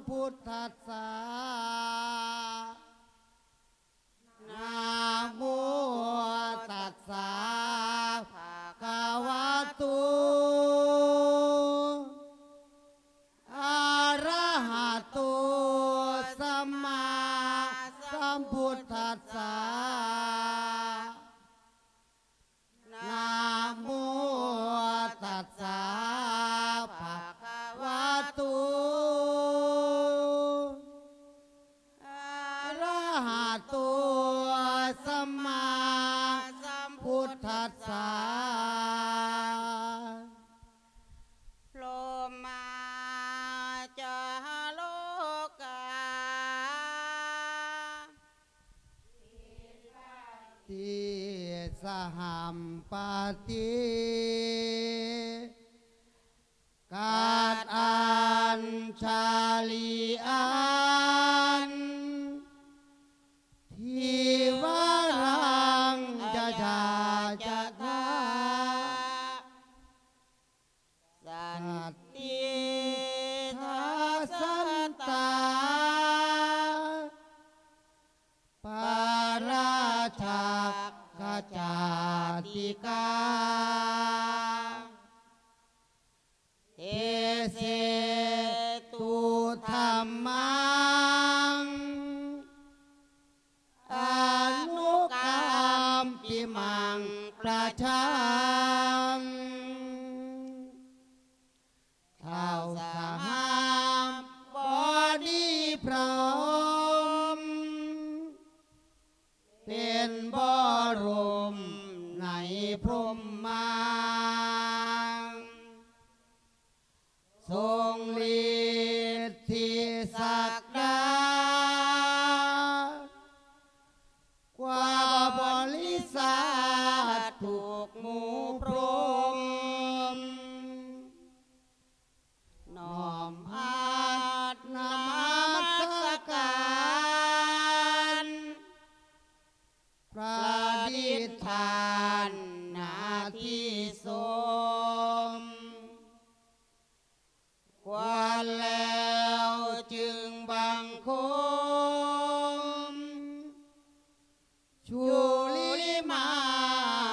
ພຸດທັດສະ ນະໂມຕັດສະ ພະຄະວະໂຕ ອະລະຫະໂຕ ສຳມາສຳພຸດທັດສະ. ນະໂມຕັດສະ ພະຄະວະໂຕ ອະລະຫະໂຕ ສຳມາສຳພຸດທັດສະ. ໂລມາຈາໂລກາ ຕິສະຫັມປະຕິ ກັດອັນຊາລີອັນ ທິວະລັງຈະຈາຈະທາ ສັນຕິທັດສັນຕາ ປາລາຈັກຂະຈາຕິກາ ເອເສຕຸທຳມັງ ອະນຸກຳປິມັງປະຊາງ ທ້າວສະຫາບບໍດີພ້ອມ ເປັນບໍລົມໃນພົມມາ ຊົງລິດທິສັກດາ ກວ່າບໍລິສັດທຸກໝູ່ພົມ ນ້ອມຮັດນະມັດສະການ ປະດິດທານໜ້າທີ່ຊົມ ຄວນແລ້ວຈຶ່ງບັງຄົມ ຊຸລິມາ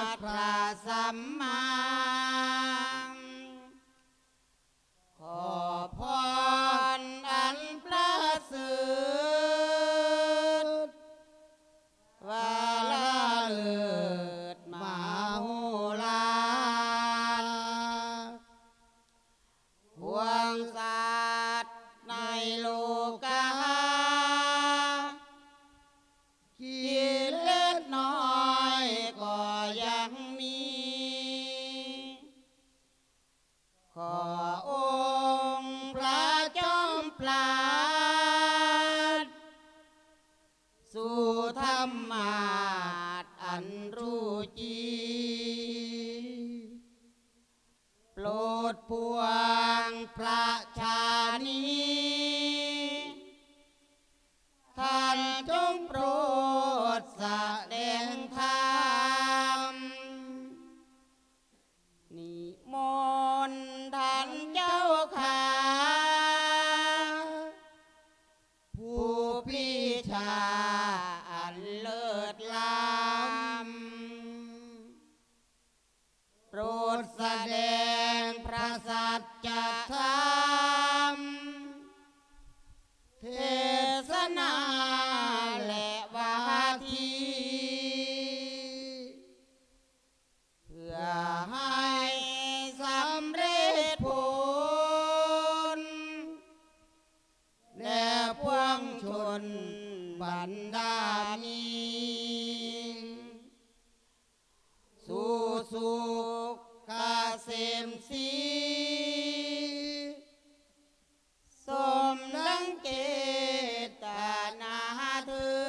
ດພະສຳມາ ຂໍພອນອັນປະເສີດ ວາລະເລີດມະໂຫລານ ພວງສັດໃນໂລກາ ກິເລດນ້ອຍກໍຍັງມີ ຂໍອົງພະຈອມປາດ ສູ່ທຳມາດອັນຮູ້ຈີ ໂປດພວງພະຊານີ ທ່ານຈົ່ງໂປດສະແດງທຳ ນິມົນທ່ານເຈົ້າຂ້າ ຜູ້ປີຊາອັນເລີດລ້ຳ ໂປດສະແດງພະສັດຈະທຳ ເທສະນາ ແລະ ວາທີ ເພື່ອໃຫ້ສຳເລັດຜົນ ແດ່ພວງຊົນບັນດາມີ ສູ່ສຸກກະເສມສີ ສົມດັ່ງເຈດຕະນາເທີ້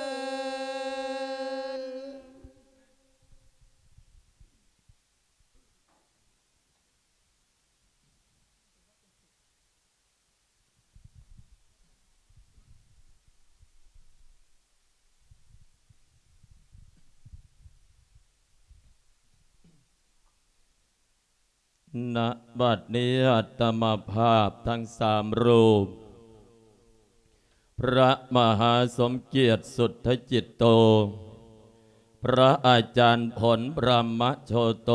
ນ. ນະບັດນີ້ ອາດຕະມາພາບທັງສາມຮູບ พระมหาสมเกียรติสุทธจิตโต พระอาจารย์ผลบรหมโชโต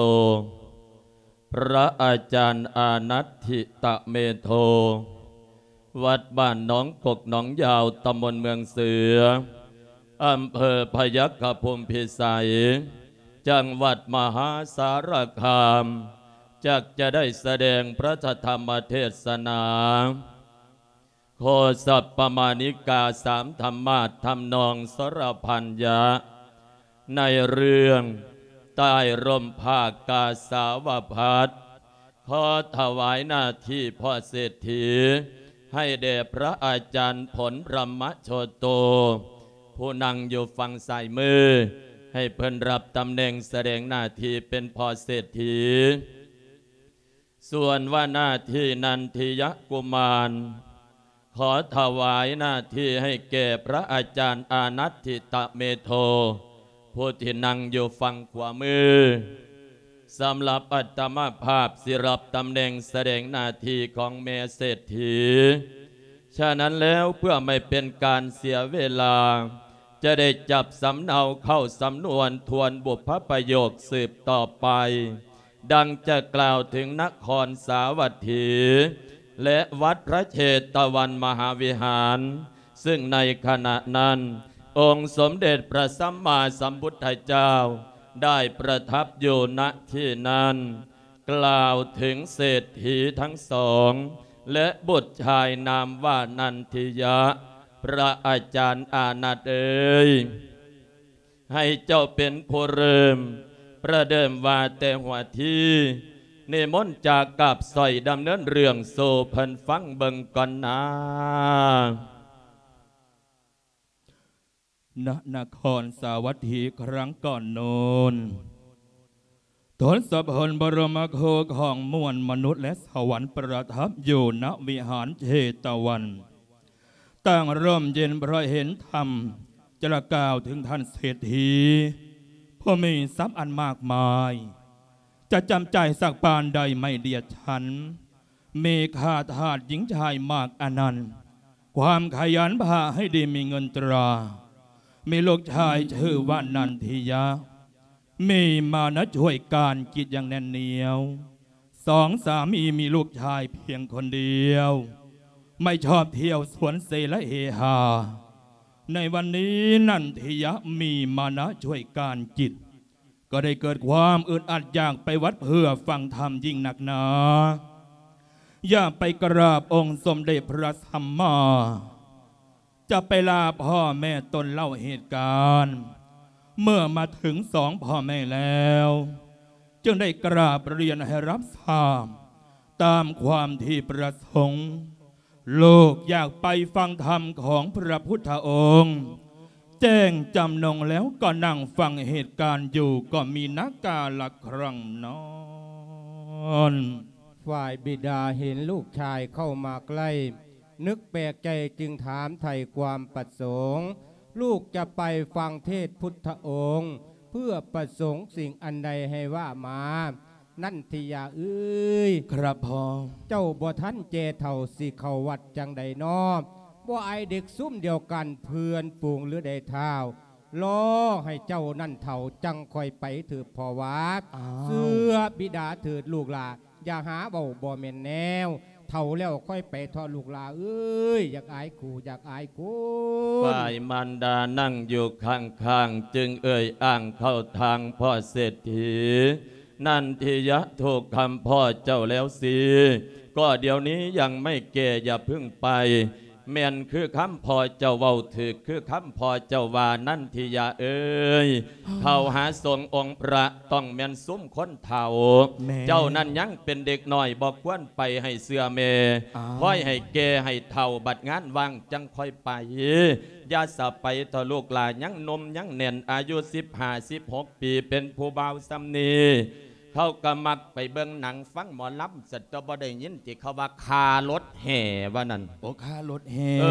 พระอาจารย์อานัตถิตะเมโท วัดบ้านหนองกกหนองยาว ตำบลเมืองเสือ อำเภอพยัคฆภูมิพิสัย จังหวัดมหาสารคาม จักจะได้แสดงพระธรรมเทศนา โคสัปปมาณิกาสามธรรมาสน์ ทำนองสรพัญญะ ในเรื่องใต้ร่มผ้ากาสาวพัสตร์ ขอถวายหน้าที่พ่อเศรษฐี ให้แด่พระอาจารย์ผลบรหมโชโต ผู้นั่งอยู่ฝั่งซ้ายมือ ให้เพิ่นรับตำแหน่งแสดงหน้าที่เป็นพ่อเศรษฐี ส่วนว่าหน้าที่นันทิยะกุมาร ขอถวายหน้าที่ให้แก่พระอาจารย์อานัตถิตะเมโท ผู้ที่นั่งอยู่ฝั่งขวามือ สำหรับอาตมาภาพสิรับตำแหน่งแสดงหน้าที่ของแม่เศรษฐี ฉะนั้นแล้วเพื่อไม่เป็นการเสียเวลา จะได้จับสำเนาเข้าสำนวนทวนบุพพประโยคสืบต่อไป ดังจะกล่าวถึงนครสาวัตถี และวัดพระเชตวันมหาวิหาร ซึ่งในขณะนั้น องค์สมเด็จพระสัมมาสัมพุทธเจ้าได้ประทับอยู่ ณ ที่นั้น กล่าวถึงเศรษฐีทั้งสอง และบุตรชายนามว่านันทิยะ พระอาจารย์อานัตเอ๋ย ให้เจ้าเป็นผู้เริ่ม ประเดิมว่าแต่หัวที นิมนต์จากกาบสร้อยดำเนินเรื่องสู่เพิ่นฟังเบิ่งก่อนนา ณ นครสาวัตถีครั้งก่อนโน้น ทศพลบรมครูของมวลมนุษย์และสวรรค์ประทับอยู่ ณ วิหารเชตวัน ตั้งร่มเย็นเพราะเห็นธรรม จะกล่าวถึงท่านเศรษฐี ผู้มีทรัพย์อันมากมาย จะจำจ่ายสักปานใดไม่เดียดฉัน มีข้าทาสหญิงชายมากอนันต์ ความขยันพาให้ดีมีเงินตรา มีลูกชายชื่อว่านันทิยะ มีมานะช่วยการกิจอย่างแน่นเหนียว สองสามีมีลูกชายเพียงคนเดียว ไม่ชอบเที่ยวสวนเสและเฮฮา ในวันนี้นันทิยะมีมานะช่วยการกิจ ก็ได้เกิดความอึดอัดอยากไปวัดเพื่อฟังธรรมยิ่งนักหนา อยากไปกราบองค์สมเด็จพระสัมมา จะไปลาพ่อแม่ตนเล่าเหตุการณ์ เมื่อมาถึงสองพ่อแม่แล้ว จึงได้กราบเรียนให้รับทราบ ตามความที่ประสงค์ ลูกอยากไปฟังธรรมของพระพุทธองค์ แจ้งจำนงแล้วก็นั่งฟังเหตุการณ์อยู่ ก็มีนักกาละครั้งนั้น ฝ่ายบิดาเห็นลูกชายเข้ามาใกล้ นึกแปลกใจจึงถามไถ่ความประสงค์ ลูกจะไปฟังเทศน์พุทธองค์ เพื่อประสงค์สิ่งอันใดให้ว่ามา นันทิยาเอ๋ย ครับพ่อ เจ้าบ่ทันแก่เฒ่าสิเข้าวัดจั่งใดน้อ บ่อายเด็กซุมเดียวกันเพื่อนฝูงหรือใดท้าว รอให้เจ้านั้นเฒ่าจั่งค่อยไปเถิดพ่อว่า อ้าว เชื่อบิดาเถิดลูกหล่า อย่าหาเว้าบ่แม่นแนว เฒ่าแล้วค่อยไปเถาะลูกหล่าเอ๋ย อยากอายครูอยากอายคน ฝ่ายมารดานั่งอยู่ข้างๆ จึงเอ่ยอ้างเข้าทางพ่อเศรษฐี นันทิยะ ถูกคำพ่อเจ้าแล้วสิ ก็เดี๋ยวนี้ยังไม่แก่ อย่าเพิ่งไป แม่นคือคำพ่อเจ้าเว้า ถูกคือคำพ่อเจ้าว่า นันทิยะเอ๋ย เฒ่าหาสงฆ์องค์พระต้องแม่นซุมคนเฒ่า แม่ เจ้านั้นยังเป็นเด็กน้อย บ่ควรไปให้เชื่อแม่ อ้าว คอยให้แก่ให้เฒ่า บัดงานว่างจั่งค่อยไป อย่าสะไปเถาะลูกหล่า ยังหนุ่มยังแน่น อายุสิบห้า สิบหกปี เป็นผู้บ่าวส่ำนี้ เขาก็มักไปเบิ่งหนังฟังหมอลำ สัตว์บ่ได้ยินที่เขาว่าค่ารถแห่ว่านั่น โอ้ ค่ารถแห่ เอ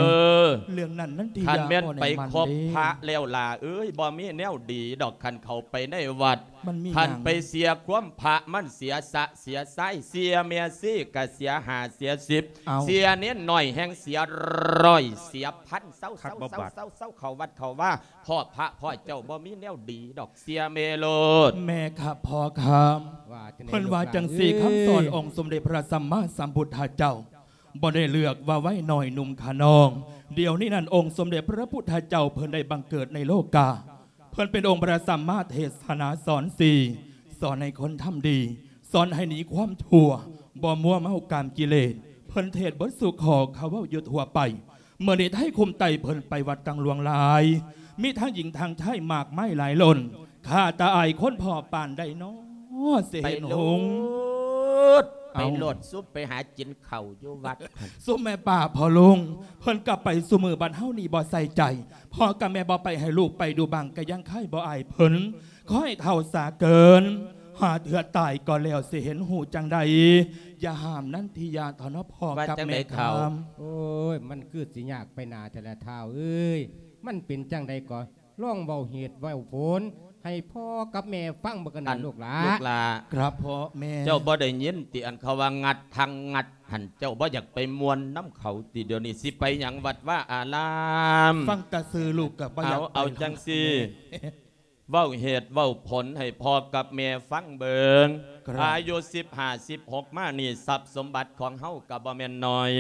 อ เรื่องนั้นนันทิยา คันแม่นไปคบพระแล้วล่ะเอ้ย บ่มีแนวดีดอก คันเข้าไปในวัด ມັນມີຫຍັງ? ຄັນໄປເສຍຄວາມພະ ມັນເສຍຊະເສຍຊາຍ ເສຍແມ່ຊີກະເສຍຫ້າເສຍສິບ ເອົ້າ ເສຍເນນນ້ອຍແຮ່ງເສຍຮ້ອຍເສຍພັນ ເຊົາ ເຊົາ ເຊົາ ເຊົາ ເຂົ້າວັດເຂົ້າວາ ພໍ່ພະພໍ່ເຈົ້າບໍ່ມີແນວດີດອກ ເສຍແມ່ໂລດ. ແມ່ຄັບ ພໍ່ຄັບ ວ່າຈັ່ງໃດ ເພິ່ນວ່າຈັ່ງຊີ້ ລູກຫຼານເອີຍ ຄຳສອນອົງສົມເດັດພະສຳມາສຳພຸດທະເຈົ້າ ບໍ່ໄດ້ເລືອກວ່າໄວນ້ອຍໜຸ່ມຂະນ້ອງ. ດຽວນີ້ນັ້ນ ອົງສົມເດັດພະພຸດທະເຈົ້າເພິ່ນໄດ້ບັງເກີດໃນໂລກາ ເພິ່ນເປັນອົງພະສຳມາເທສະນາສອນສີ ສອນໃຫ້ຄົນທຳດີ ສອນໃຫ້ໜີຄວາມຊົ່ວ ບໍ່ມົວເມົາກາມກິເລດ ເພິ່ນເທດເບິດສູ່ຂໍ້ ເຂົາເວົ້າຢູ່ທົ່ວໄປ. ມື້ນີ້ໄທຄຸມໄຕເພິ່ນໄປວັດຕັ້ງຫຼວງຫຼາຍ ມີທັງຍິງທັງຊາຍມາກມາຍຫຼາຍລົ້ນ ຂ້າຕາອາຍຄົນພໍ່ປານໃດນໍ ຊິເຫັນຫົງ. ໄປໂລດ ໄປໂລດ ເອົ້າ ຊຸມໄປຫາກິນເຂົ້າຢູ່ວັດ ຊຸມແມ່ປ້າພໍ່ລຸງ ເພິ່ນກໍໄປຊຸມື້ ບັດເຮົານີ້ບໍ່ໃສ່ໃຈ ພໍ່ກັບແມ່ບໍ່ໄປໃຫ້ລູກໄປດູບາງກະຍັງຄາຍບໍ່ອາຍເພິ່ນ ຂໍໃຫ້ເຖົ້າສາເກີນ ຫາເທື່ອຕາຍກໍແລ້ວ ຊິເຫັນຮູ້ຈັ່ງໃດ ຢ່າຫ້າມນັນທິຍາເຖົ້າເນາະ ພໍ່ກັບແມ່ ວ່າຈັ່ງໃດເຖົ້າ? ຄຳ ໂອ້ຍ ມັນຄືຊິຍາກໄປໜ້າແທ້ລະທ້າວເອີຍ ມັນເປັນຈັ່ງໃດກໍລອງເວົ້າເຫດເວົ້າຜົນໃຫ້ພໍ່ກັບແມ່ຟັງເບິ່ງກັນນະ ອັນ ລູກຫຼາ ລູກຫຼາ ຄັບພໍ່ແມ່ ເຈົ້າບໍ່ໄດ້ຍິນຕິ ອັນເຂົາວ່າງັດທັງງັດຫັ້ນ ເຈົ້າບໍ່ຢາກໄປມ່ວນນຳເຂົາຕິ? ດຽວນີ້ຊິໄປຫຍັງວັດວາອາລາມ ຟັງແຕ່ຊື່ລູກກໍບໍ່ຢາກໄປ. ເອົາ ເອົາຈັ່ງຊີ້ ແມ່ ເວົ້າເຫດເວົ້າຜົນໃຫ້ພໍ່ກັບແມ່ຟັງເບິ່ງ. ຄັບ ອາຍຸສິບຫ້າ ສິບຫົກມານີ້ ຊັບສົມບັດຂອງເຮົາກໍບໍ່ແມ່ນໜ້ອຍ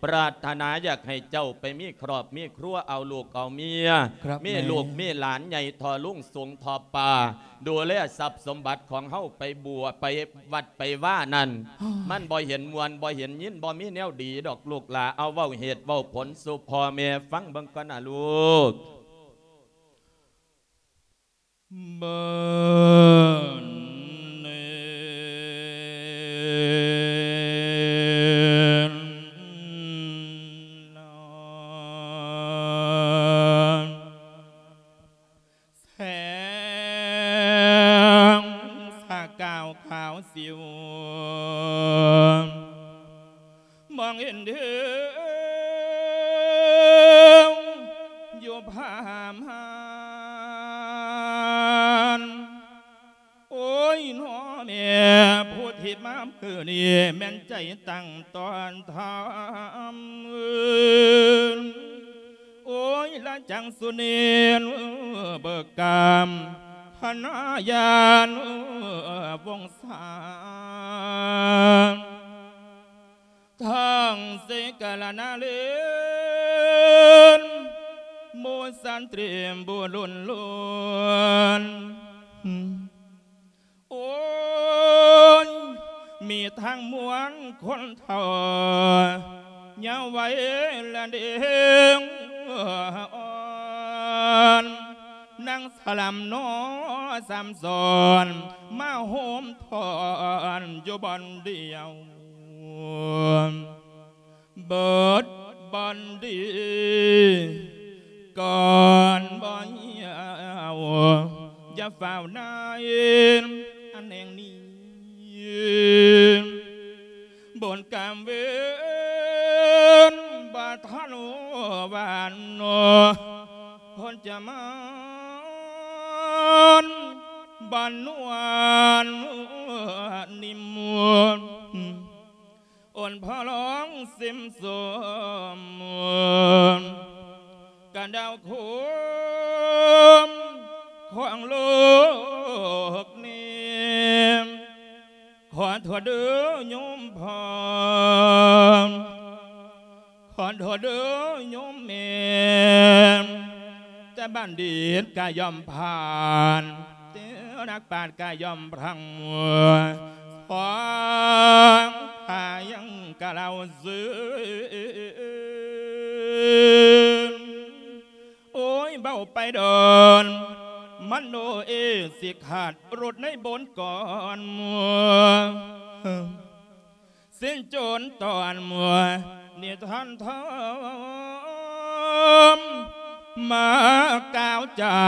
ປາດຖະໜາຢາກໃຫ້ເຈົ້າໄປມີຄອບມີຄົວ ເອົາລູກເອົາເມຍ ຄັບ ມີລູກ ແມ່ ມີຫຼານໃຫຍ່ທໍ່ລຸງສູງທໍ່ປ້າ ດູແລຊັບສົມບັດຂອງເຮົາໄປບົວ ໄປວັດໄປວານັ້ນ ມັນບໍ່ເຫັນມ່ວນ ບໍ່ເຫັນຍິນ ບໍ່ມີແນວດີດອກລູກຫຼາ. ເອົາ ເວົ້າເຫດເວົ້າຜົນສູ່ພໍ່ແມ່ຟັງເບິ່ງກ່ອນນະລູກ. ເບິ່ງເນນນານ ແສງສະກາວຂາວສິວ ມອງເຫັນເດີ ຢູ່ພາມຮານ. ໂອ້ຍ ນ້ອແມ່ ຜູ້ທີ່ມາມື້ນີ້ ແມ່ນໃຈຕັ້ງຕ້ອນທຳ. ໂອ້ຍ ລະຈັງສຸເນນ ເບີກກາມ ພະນາຍານ ວົງສາ ທັງເສກະລະນາເລນ ໝູສັນຕຣີມບຸລຸນລຸນ. ໂອ້ຍ ມີທັງມວນຄົນເຖົ້າ ຍາວໄວລະເດງອ່ອນ ນາງສະຫຼຳໜໍສາມສອນ ມາໂຮມພ້ອນຢູ່ບ່ອນດຽວ. ເບິດບອນດີກ່ອນບໍ່ຍາວ ຢ່າຟ້າວນາຍອັນແຫ່ງນີ້ ບຸນກຳເວນບໍ່ທັນຫວານ ຄົນຈະມານບໍ່ນວນນິມ ໂອນພໍ່ລອງຊິມສົມ ກະດາວໂຄມຂອງໂລກນີ້ ຂໍໂທດເດີໂຍມພໍ່ ຂໍໂທດເດີໂຍມແມ່ ແຕ່ບັນດິດກະຍ່ອມຜ່ານ ແຕ່ນັກປາດກະຍ່ອມພລັງ ສອງຂ້າຍັງກະເລົ່າຊື່ນ ໂອ້ຍ ເວົ້າໄປດອນ ມັນໂນເອ ຊິຂາດລົດໃນບົນກ່ອນ ສິ້ນຈົນຕອນ ນິທານທອມ ມາກ່າວຈາ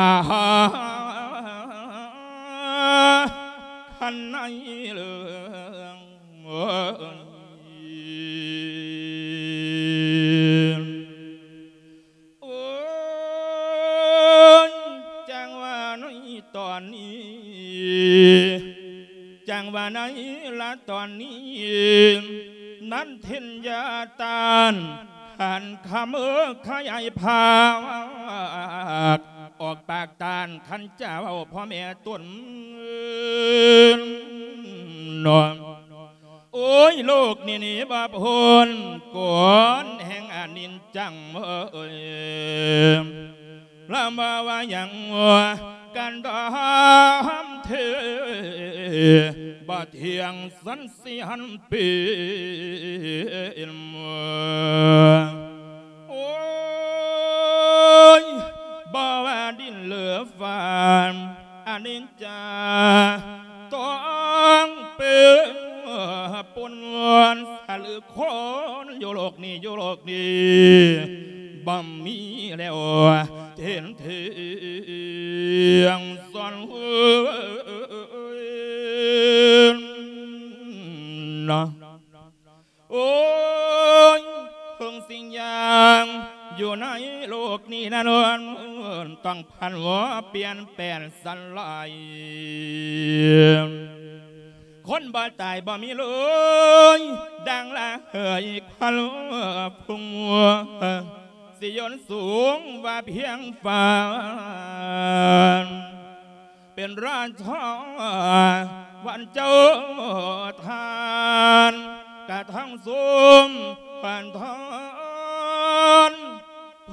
ຄັນໃນເລື່ອງ ໂອ້ຍ ໂອ້ຍ ຈັ່ງວ່າໃນຕອນນີ້ ຈັ່ງວ່າໃນລະຕອນນີ້ ນັນທິນຍາຕານ ຂັນຂະເມີຂະຫຍາຍພາກ ອອກປາກຕານ ຄັນຈະເວົ້າພໍ່ແມ່ຕົນເນາະ. ໂອ້ຍ ໂລກນີ້ໜີບໍ່ພົ້ນ ກົນແຫ່ງອະນິດຈັງເອີຍ ລະມາວ່າຫຍັງກັນດອມເທ ບໍ່ທ່ຽງສັນສິຫັນປີນ ໂອ້ຍ ບໍ່ວ່າດິນຫຼືຟ້າ ອະນິດຈາຕ້ອງເປັນປົນສະຫຼືຄົນ ຢູ່ໂລກນີ້ ຢູ່ໂລກນີ້ ບໍ່ມີແລ້ວເຫັນທ່ຽງສ່ວນເນາະ. ໂອ້ຍ ເຖິງສິ່ງຢ່າງຢູ່ໃນໂລກນີ້ນັ້ນ ຕ້ອງຜັນວາປ່ຽນແປງສະລາຍ ຄົນບໍ່ຕາຍບໍ່ມີເລີຍ ດັ່ງລະເຫີຍຄວັນຟຸງ ຊິຍົນສູງວ່າພຽງຟ້າ ເປັນລາຊາວັນເຈົ້າທານ ກະທັງຊຸມພັນທອນ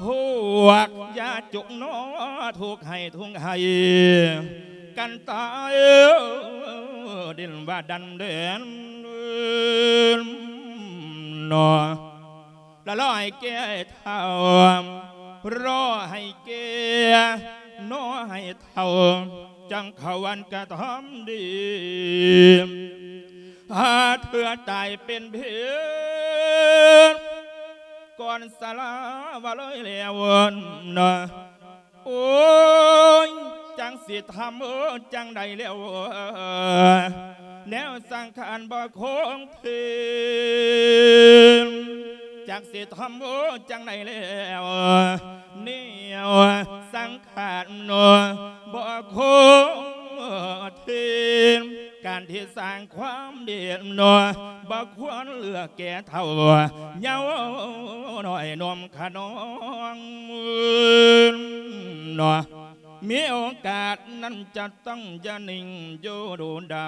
ພວກຢາຈົກໜໍ ທຸກໄຫ້ທຸກໄຫ້ກັນຕາຍ ດິນວ່າດັນເດີນໜໍ. ລະລໍໃຫ້ແກ່ເຖົ້າ ລໍໃຫ້ແກ່ ໜໍໃຫ້ເຖົ້າ ຈັ່ງເຂົ້າວັນກະທຳດີ ຫາເທື່ອຕາຍເປັນເພ ກ່ອນສະລາວ່າເລີຍແລ້ວເນາະ. ໂອ້ຍ ຈັກຊິທຳຈັ່ງໃດແລ້ວ ແນວສັງຂານບໍ່ຄົງທີ່ ຈັກຊິທຳຈັ່ງໃດແລ້ວ ແນວສັງຂານບໍ່ຄົງທີ່ ການທີ່ສ້າງຄວາມດີເນາະ ບໍ່ຄວນເລືອກແກ່ເຖົ້າ ເຍົານ້ອຍໜຸ່ມຂະນອງເນາະ ມີໂອກາດນັ້ນຈະຕ້ອງຢ່ານິ່ງຢູ່ດູດາ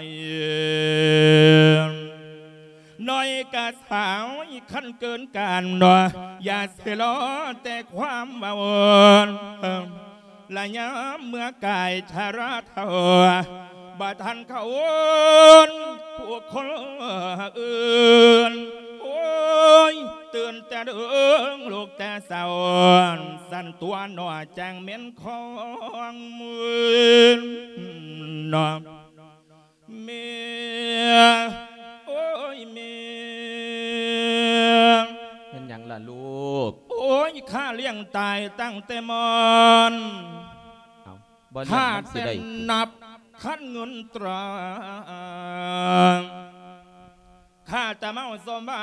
ຍ ນ້ອຍກະສາວຄັນເກີນການເນາະ ຢ່າຊິລໍແຕ່ຄວາມເວົ້າ ລະຍາມເມື່ອກາຍຊະລາເຖົ້າ ບໍ່ທັນເຂົ້າວົນຜູ້ຄົນອື່ນ ໂອ້ຍ ຕື່ນແຕ່ເດິງລຸກແຕ່ເຊົ້າ ສັ່ນຕົວໜໍ ຈັ່ງແມ່ນຂອງມືນເນາະ. ແມ່ ໂອ້ຍ ແມ່ ແມ່ນຫຍັງລະລູກ? ໂອ້ຍ ຂ້າລ້ຽງຕາຍຕັ້ງແຕ່ມອນ ເອົ້າ ບໍ່ລ້ຽງມັນຊິໄດ້ ຂ້າແຕ່ນັບຄັນເງິນຕາ ຂ້າຕະເມົາສົມບັ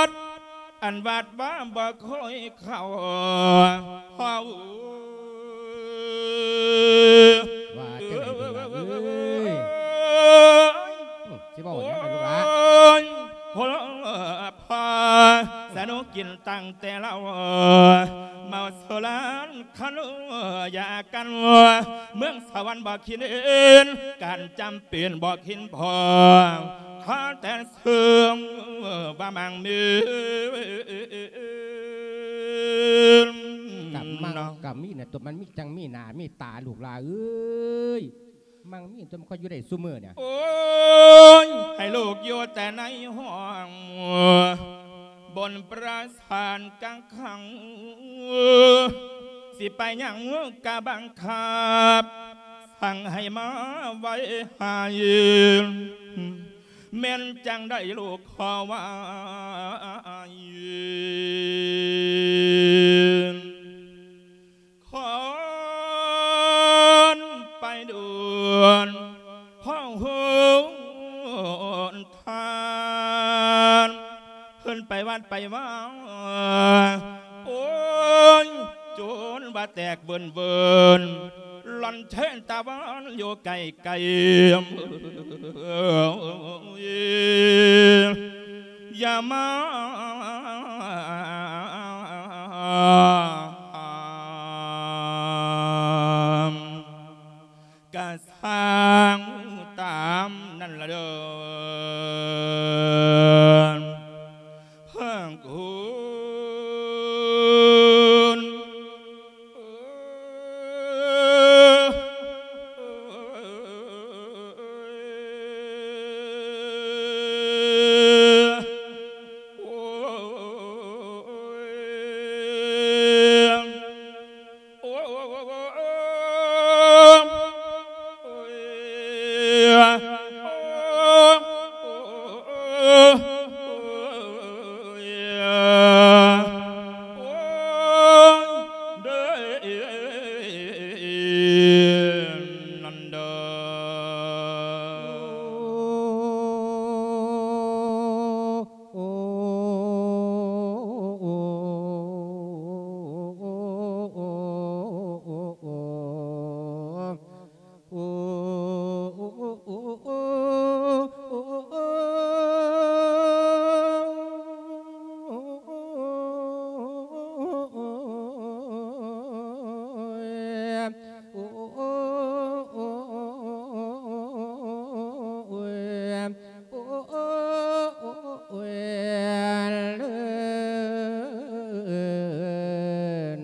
ດ ອັນວັດວ່າບໍ່ຄ່ອຍເຂົ້າ ເຮົາ ວ່າຈັ່ງໃດເບິ່ງລະເອີຍ ຊິເວົ້າຫຍັງລະລູກຫຼານ ໂອ້ຍ ໂອ້ຍ ພໍ່ ສະໜຸກກິນຕັ້ງແຕ່ເຊົ້າ ເມົາສຸລານ ຄັນຢາກັນ ເມືອງສະຫວັນບໍ່ຄິດເຫັນ ການຈຳເປັນບໍ່ຄິດພໍ ຂໍແຕ່ເຊື່ອວ່າມັງມີ ກະມັງກະມີນະ ຕົວມັນມີຈັ່ງມີໜ້າມີຕາ ລູກຫຼາເອີຍ ມັງມີຕົວມັນຄ່ອຍຢູ່ໄດ້ຊຸມື້ນີ້ ໂອ້ຍ ໃຫ້ລູກຢູ່ແຕ່ໃນຫ້ອງ ບົນປາສາດກັງຂັງ ຊິໄປຫຍັງກະບັງຄັບ ສັ່ງໃຫ້ມາໄວໃຫ້ ແມ່ນຈັ່ງໃດລູກຂໍວ່າ ຄອນໄປດ່ວນ ເພາະຫົນທາງ ເພິ່ນໄປວັດໄປວາ ໂອ້ຍ ຈົນວ່າແຕກເວີນໆ ລັນເທນຕາວັນຢູ່ໄກໆ ຢ່າມາ ກະຊ່າງຕາມນັ້ນລະເດີ ເພິ່ນຄຸນ.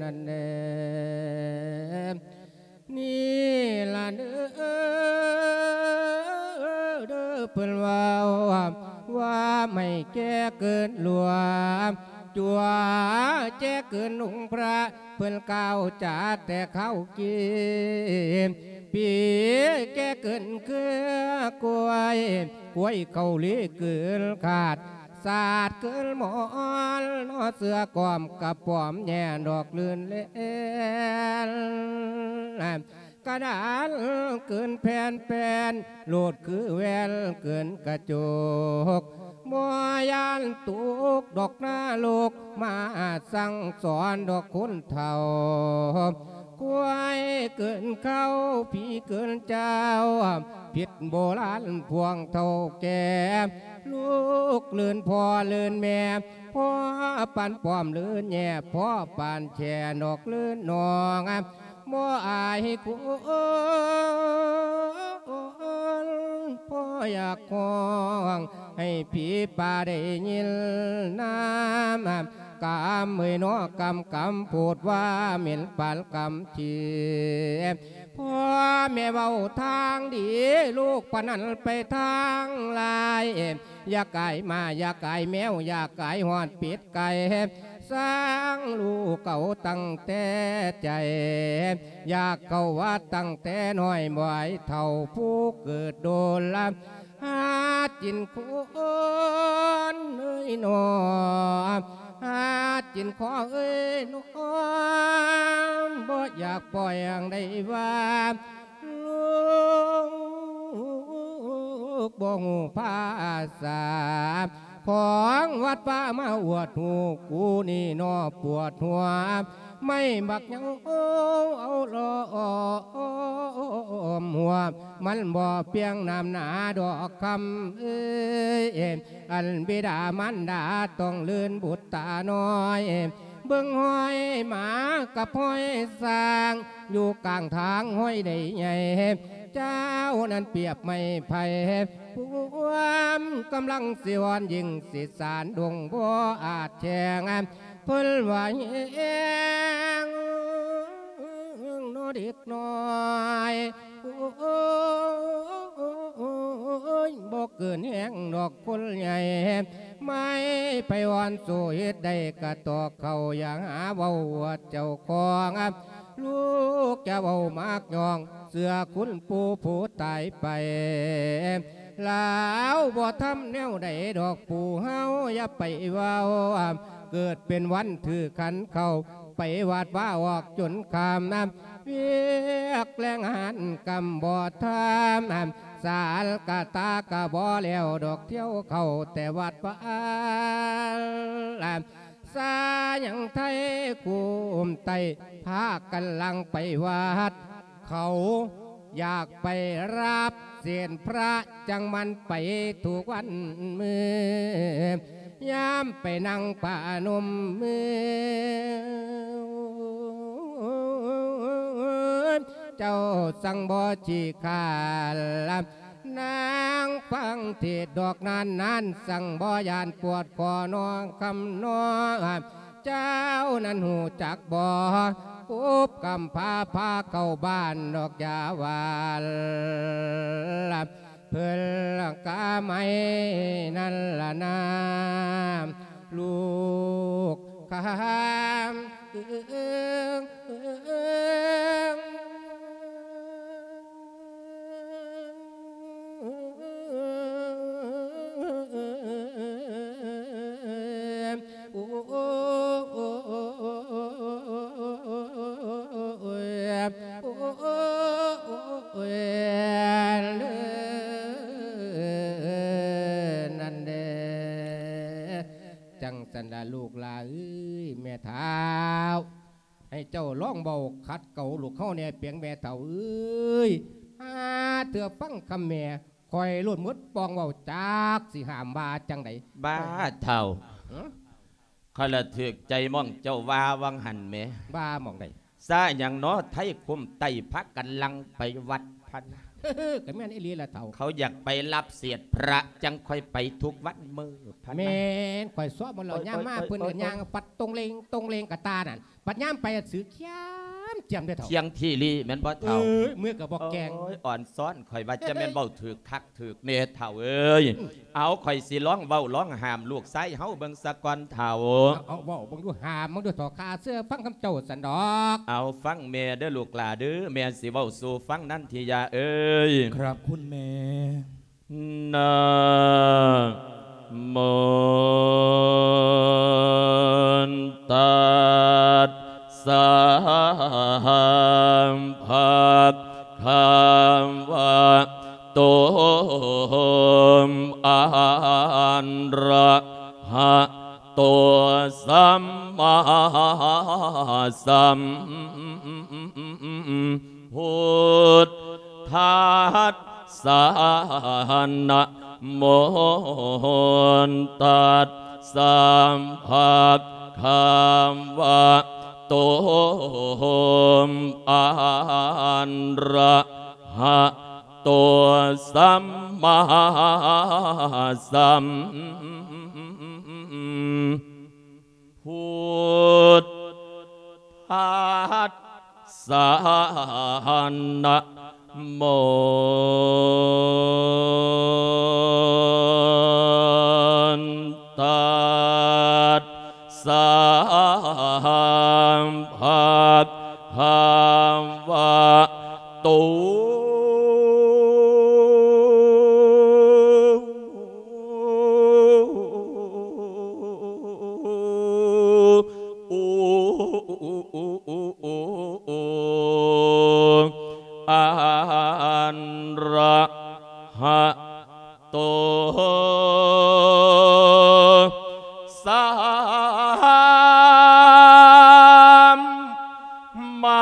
ນັ້ນແຫຼະ ນີ້ລະເດີ ເດີ ເພິ່ນເວົ້າວ່າ ໃຫ້ແກ່ເກີນຫຼວງ ຈົວແຈເກີນອົງພະ ເພິ່ນກ່າວຈາແຕ່ຄາວກີ້ ປີແກ່ເກີນເຄືອກ້ວຍ ກ້ວຍເຂົ້າລີເກີນຄາດ ສາດເກີນໝອນ ເນາະເສືອກອມກະປອມແຍ່ດອກລື່ນແລ່ນ ກະດານເກີນແຜ່ນແປ້ນ ໂລດຄືແວ່ນເກີນກະຈົກ ບໍ່ຢ້ານຕົກດອກນະລົກ ມາສັ່ງສອນດອກຄົນເຖົ້າ ຄວາຍເກີນເຄົ້າ ຜີເກີນເຈົ້າ ຜິດໂບລານພວກເຖົ້າແກ່ ລູກລື່ນພໍ່ລື່ນແມ່ ພໍ່ປານປ້ອມລືນແຍ່ ພໍ່ປານແຈນອກລືນນ້ອງ ບໍ່ອາຍຄົນ ພໍ່ຢາກຮ້ອງໃຫ້ຜີປ່າໄດ້ຍິນນຳ ກຳເອີຍເນາະ ກຳ ກຳໂພດວ່າເໝັນປານກຳທີ່ ພໍ່ແມ່ເວົ້າທາງດີ ລູກປານນັ້ນໄປທາງລາຍ ຢ່າກາຍໝາ ຢ່າກາຍແມວ ຢ່າກາຍຮອດເປັດໄກ່ ສ້າງລູກເອົາຕັ້ງແຕ່ໃຈ ຢາກເຂົ້າວັດຕັ້ງແຕ່ນ້ອຍ ບໍ່ໃຫ້ເຖົ້າຜູ້ເກີດໂດນລະ ຫາກິນຄົນເອີຍໜໍ ຫາກິນຂໍເອີຍໜໍ ບໍ່ຢາກປ່ອຍໃຫ້ໄດ້ວ່າ ລູກບໍ່ຮູ້ພາສາ ຂອງວັດປ່າມາອວດຮູ້ ກູນີ້ເນາະປວດຫົວ ໄມ້ບັກເຍົາເອົາລ້ອມຫົວ ມັນບໍ່ປ່ຽງນ້ຳໜາດອກຄຳເອີຍ ອັນບິດາມານດາຕ້ອງລື່ນບຸດຕານ້ອຍ ເບິ່ງຫ້ອຍໝາກັບຫ້ອຍຊ້າງ ຢູ່ກາງທາງຫ້ອຍໃດໃຫຍ່ ເຈົ້ານັ້ນປຽບໄມ້ໄຜ່ ພວມກຳລັງຊິອ່ອນ ຍິ່ງຊິສານດົງບໍ່ອາດແຂງ ເພິ່ນວ່າແຮງເນາະເດັກນ້ອຍ ໂອ້ຍ ບໍ່ເກີນແຮງດອກຄົນໃຫຍ່ ໄມ້ໄຜ່ອ່ອນໂຊເຮັດໄດ້ກະຕອກເຂົ້າ ຢ່າຫາເວົ້າອວດເຈົ້າຂອງ ລູກຈະເວົ້າມັກຍ້ອງ ເຊື່ອຄຸນປູ່ຜູ້ຕາຍໄປ ລາວບໍ່ທຳແນວໃດດອກ ປູ່ເຮົາຢ່າໄປເວົ້າ ເກີດເປັນວັນຖືກຂັນເຂົ້າ ໄປວັດວາອອກຈົນຄ່ຳ ວຽກແລງງານກຳບໍ່ທຳ ສາລກະຕາກະບໍ່ແລ້ວດອກ ທ່ຽວເຂົ້າແຕ່ວັດວາ ສາຍັງໄທກຸມໄຕ ພາກັນຫຼັ່ງໄປວັດ ເຂົາຢາກໄປຮັບເສດພະ ຈັ່ງມັນໄປທຸກວັນມື້ ຍາມໄປນັ່ງປະນົມມື ເຈົ້າສັ່ງບໍ່ຂີ້ຄ້ານ ນາງຟັງເທດດອກນານໆ ສັ່ງບໍ່ຢ້ານປວດຄໍນ້ອງຄຳນ້ອຍ ເຈົ້ານັ້ນຮູ້ຈັກບໍ່? ປຸບກຳພ້າພາເຂົ້າບ້ານດອກຢ່າວ່າ ເພິ່ນກະໄມ້ນັ້ນລະນາ ລູກຄຳ ໂອ້ຍ ໂອ້ຍ ໂອ້ຍ ນັ້ນເດ້ ຈັ່ງຊັ້ນລະລູກຫຼາເອີຍ ແມ່ທ້າວ ໃຫ້ເຈົ້າລອງເວົ້າຂັດເກົາລູກເຮົາແດ່ເພງແມ່ເຖົ້າເອີຍ ຫາເທື່ອຟັງຄຳແມ່ ຂ້ອຍໂລດໝົດປ່ອງເວົ້າ ຈັກຊິຫ້າມວ່າຈັ່ງໃດ. ບ້າເຖົ້າ ຮະ? ຂ້ອຍລະຖືກໃຈໝ່ອງເຈົ້າວ່າຫວ່າງຫັ້ນແໝ. ວ່າໝ່ອງໃດ? ຊາຫຍັງນໍ ໄທຄຸມໄຕ້ພາກັນຫຼັ່ງໄປວັດພະນະ. ກະແມ່ນອີ່ຫຼີລະເຖົ້າ ເຂົາຢາກໄປຮັບເສດພະ ຈັ່ງຄ່ອຍໄປທຸກວັນມື້ພະນະ. ແມ່ນ ຂ້ອຍຊອບໝົດແລ້ວ ໂອ້ຍ ຍາມມາ ໂອ້ຍ ເພິ່ນກະ ໂອ້ຍ ຍ່າງປັດຕົງເລງຕົງເລງກະຕານັ້ນ ບັດຍາມໄປອະ ຊື່ຂຽມຈຽມເດ້ເຖົ້າ. ທ່ຽງທີ່ລີແມ່ນບໍ່ເຖົ້າ? ເອີ ເມືອກະບໍ່ແກ່ງ. ໂອ້ຍ ອ່ອນຊ້ອນ ຂ້ອຍວ່າຈະແມ່ນເວົ້າຖືກຄັກຖືກແນ່ເຖົ້າເອີຍ. ອືມ ເອົາ ຂ້ອຍຊິລອງເວົ້າລອງຫ້າມລູກຊາຍເຮົາເບິ່ງສາກ່ອນເຖົ້າ. ເອົາ ເວົ້າເບິ່ງດູ ຫ້າມເບິ່ງດູເຖົ້າ ຂ້າເຊື່ອຟັງຄຳເຈົ້າຊັ້ນດອກ. ເອົາ ຟັງແມ່ເດີລູກຫຼ້າເດີ ແມ່ຊິເວົ້າສູ່ຟັງ ນັນທິຍາເອີຍ. ຄັບຄຸນແມ່. ນະໂມຕັດສະ ພະຄະວະໂຕ ອະຣະຫະໂຕ ສຳມາສຳພຸດທັດສະ ນະໂມຕັດສະ ພະຄະວະໂຕ ອະຣະຫະໂຕ ສຳມາສຳພຸດທັດສະ ນະໂມຕັດສະ ພະຄະວະໂຕ ອະຣະຫະໂຕ ສຳມາ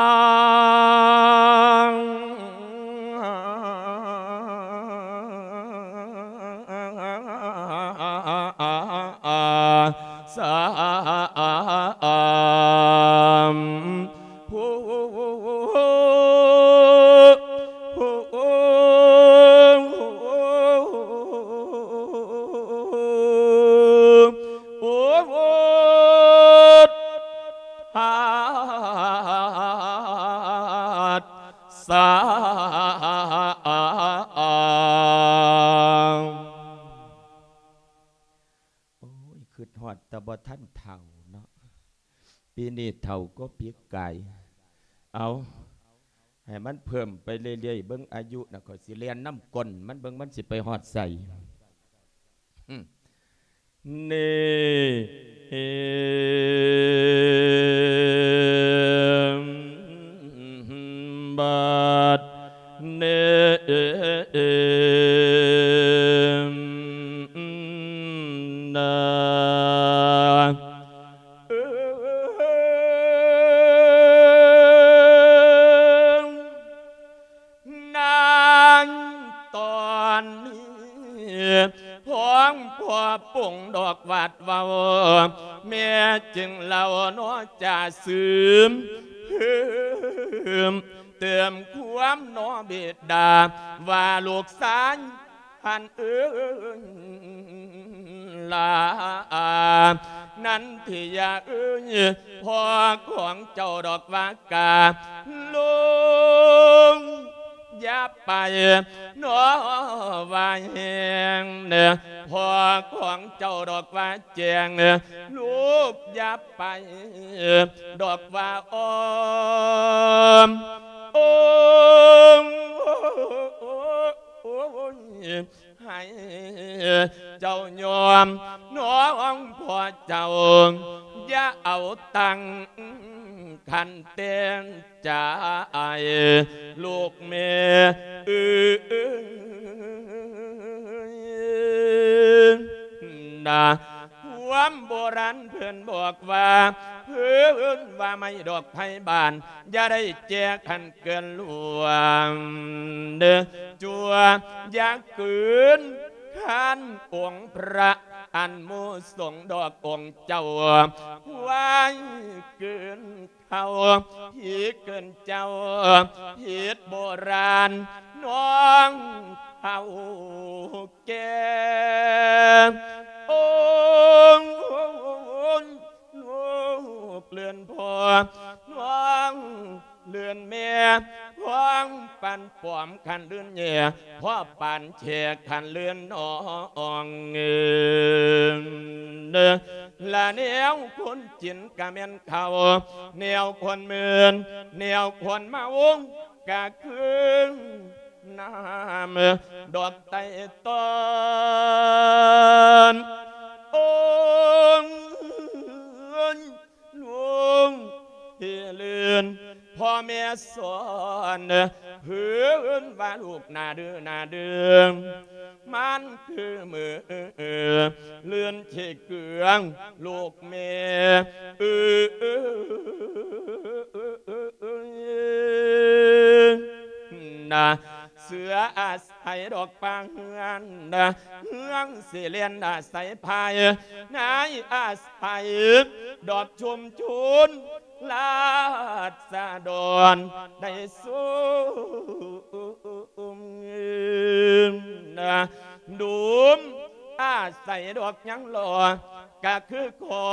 ສຳພຸດ ສະ ໂອ້ຍ ຄຶດຮອດແຕ່ບໍ່ທັນເຖົ້າເນາະ ປີນີ້ເຖົ້າກວ່າປີກາຍ. ເອົາ ໃຫ້ມັນເພີ່ມໄປເລື້ອຍໆ ເບິ່ງອາຍຸນະ ຂ້ອຍຊິແລ່ນນຳກົ້ນມັນ ເບິ່ງມັນຊິໄປຮອດໃສ. ເນ ບັດເນ ນາ ອກວາດເວົ້າ ແມ່ຈຶ່ງເລົ່າເນາະຈາຊືມ ເພີ່ມເຕີມຄວາມເນາະບິດາ ວ່າລູກຊາຍຫັ້ນເອີຍ ລາ ນັນທິຍາເອີຍ ພໍ່ຂອງເຈົ້າດອກວ່າກາລົງ ຢ່າໄປເນາະວ່າແຮງເດີ ພໍ່ຂອງເຈົ້າດອກວ່າແຈ້ງ ລູກຢ່າໄປດອກວ່າອ້ອມ ໂອ້ ໂອ້ຍ ໃຫ້ເຈົ້າຍອມນ້ອງພໍ່ເຈົ້າ ຢ່າເອົາຕັ້ງຄັນແຕ່ງໃຈ ລູກແມ່ເອີຍ ນະ ຄວາມໂບລານເພິ່ນບອກວ່າ ເພິ່ນວ່າໄມ້ດອກໄພບານ ຢ່າໄດ້ແຈກຄັນເກີນລ່ວງເດີ້ ຈົວຢ່າເກີນຄັນອົງພະ ອັນໝູ່ສົງດອກອົງເຈົ້າ ຄວາຍເກີນເຂົາ ຜີເກີນເຈົ້າ ຜິດໂບລານນ້ອງເຖົ້າ ແກ່ ໂອ້ຍ ລູກເລື່ອນພໍ່ ນ້ອງເລື່ອນແມ່ ພ້ອມປັນປອມຄັນເລື່ອນແຍ່ ພໍ່ປານແຈກຄັນເລື່ອນນ້ອງເອີຍ ລະແນວຄົນກິນກະແມ່ນເຂົ້າ ແນວຄົນເມີນ ແນວຄົນເມົາ ກະຄືນ້ຳດອກໄຕ້ຕອນ ໂອ້ຍ ລຸງທີ່ເລື່ອນ ພໍ່ແມ່ສອນ ເພິ່ນວ່າລູກໜ້າດື້ໜ້າດື້ ມັນຄືມືເລື່ອນທີ່ເກືອງ ລູກແມ່ເອີ ນະ ເສືອອາໄສດອກປາງເຮືອນ ເຮືອງຊິແລ່ນອາໄສພາຍ ນາຍອາໄສດອກຊຸມຊົນ ລາຊະດອນໄດ້ຊຸມ ນະ ດຸມອາໄສດອກຍັງລໍ ກະຄືຂໍ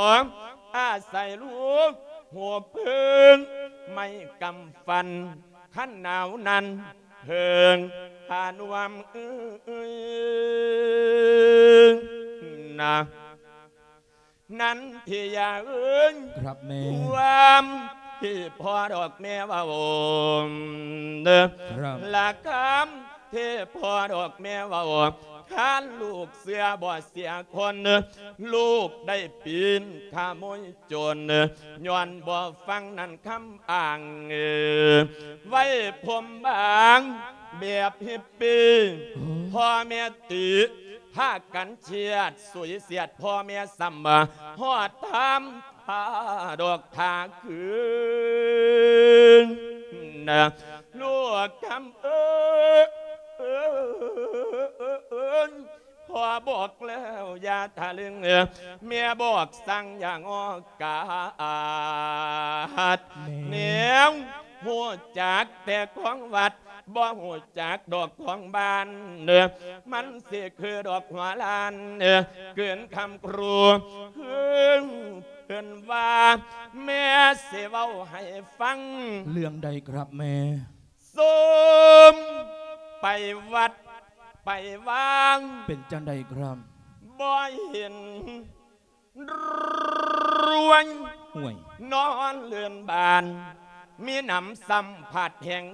ອາໄສລູກຫົວເພິງ ໄມ້ກຳຟັນ ຄັນໜາວນັ້ນເພິ່ງພານວມເອີຍ ນະ ນັນທິຍາເອີຍ ครับแม่ ຄວາມທີ່ພໍ່ດອກແມ່ເວົ້າເດີ ครับ ລະຄຳທີ່ພໍ່ດອກແມ່ເວົ້າ ຄັນລູກເຊື່ອບໍ່ເສຍຄົນ ລູກໄດ້ປີນຂະໂມຍ ຈົນຍ້ອນບໍ່ຟັງນັ້ນຄຳອ້າງ ໄວ້ຜົມບາງແບບຮິບປີ ໂອ້ ພໍ່ແມ່ຕິ ພາກັນຄຽດສຸຍສຽດ ພໍ່ແມ່ຊ້ຳ ຮອດທຳທ່າດອກທ່າຄືນ ລູກຄຳເອີຍ ພໍ່ບອກແລ້ວຢ່າທະລຶງ ແມ່ບອກສັ່ງຢ່າງໍກາດ ແນວຮູ້ຈັກແຕ່ຂອງວັດ ບໍ່ຮູ້ຈັກດອກຂອງບ້ານ ມັນຊິຄືດອກຫົວລ້ານ ເກີນຄຳຄູ ຄືເພິ່ນວ່າ ແມ່ຊິເວົ້າໃຫ້ຟັງ ເລື່ອງໃດຄັບແມ່? ສົມໄປວັດໄປວາງ ເປັນຈັ່ງໃດຄັບ? ບໍ່ເຫັນລວຍ ຫ້ວຍ ນອນເລື່ອນບ້ານ ມີໜຳຊ້ຳພັດແຮງ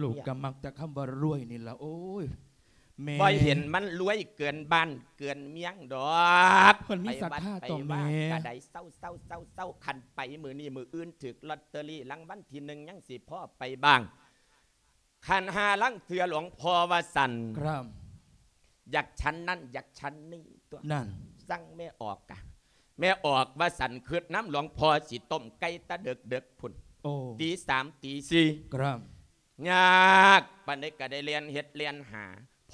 ລູກກໍມັກແຕ່ຄຳວ່າລວຍນີ້ລະ ໂອ້ຍ ແມ່ ບໍ່ເຫັນມັນລວຍເກີນບ້ານເກີນເມືອງດອກ ເພິ່ນມີສັດທາຕໍ່ແມ່ ໄປວັດໄປວາກໍໄດ້ເຊົາໆໆໆ ຄັນໄປມື້ນີ້ມື້ອື່ນຖືກລອດເຕີຣີລາງວັນທີໜຶ່ງ ຍັງຊິພໍໄປບ້າງ ຄັນຫ້າລາງເທື່ອຫຼວງພໍ່ວ່າຊັ້ນ ຄັບ ຢາກຊັ້ນນັ້ນຢາກຊັ້ນນີ້ຕົວະ ນັ້ນ ສັ່ງແມ່ອອກກະ ແມ່ອອກວ່າຊັ້ນ ຄິດນຳຫຼວງພໍ່ຊິຕົ້ມໄກ່ແຕ່ເດິກໆພຸ້ນ ໂອ້ ຕີສາມຕີສີ່ ຄັບ ຍາກປານໃດກໍໄດ້ແລ່ນເຮັດແລ່ນຫາ ພ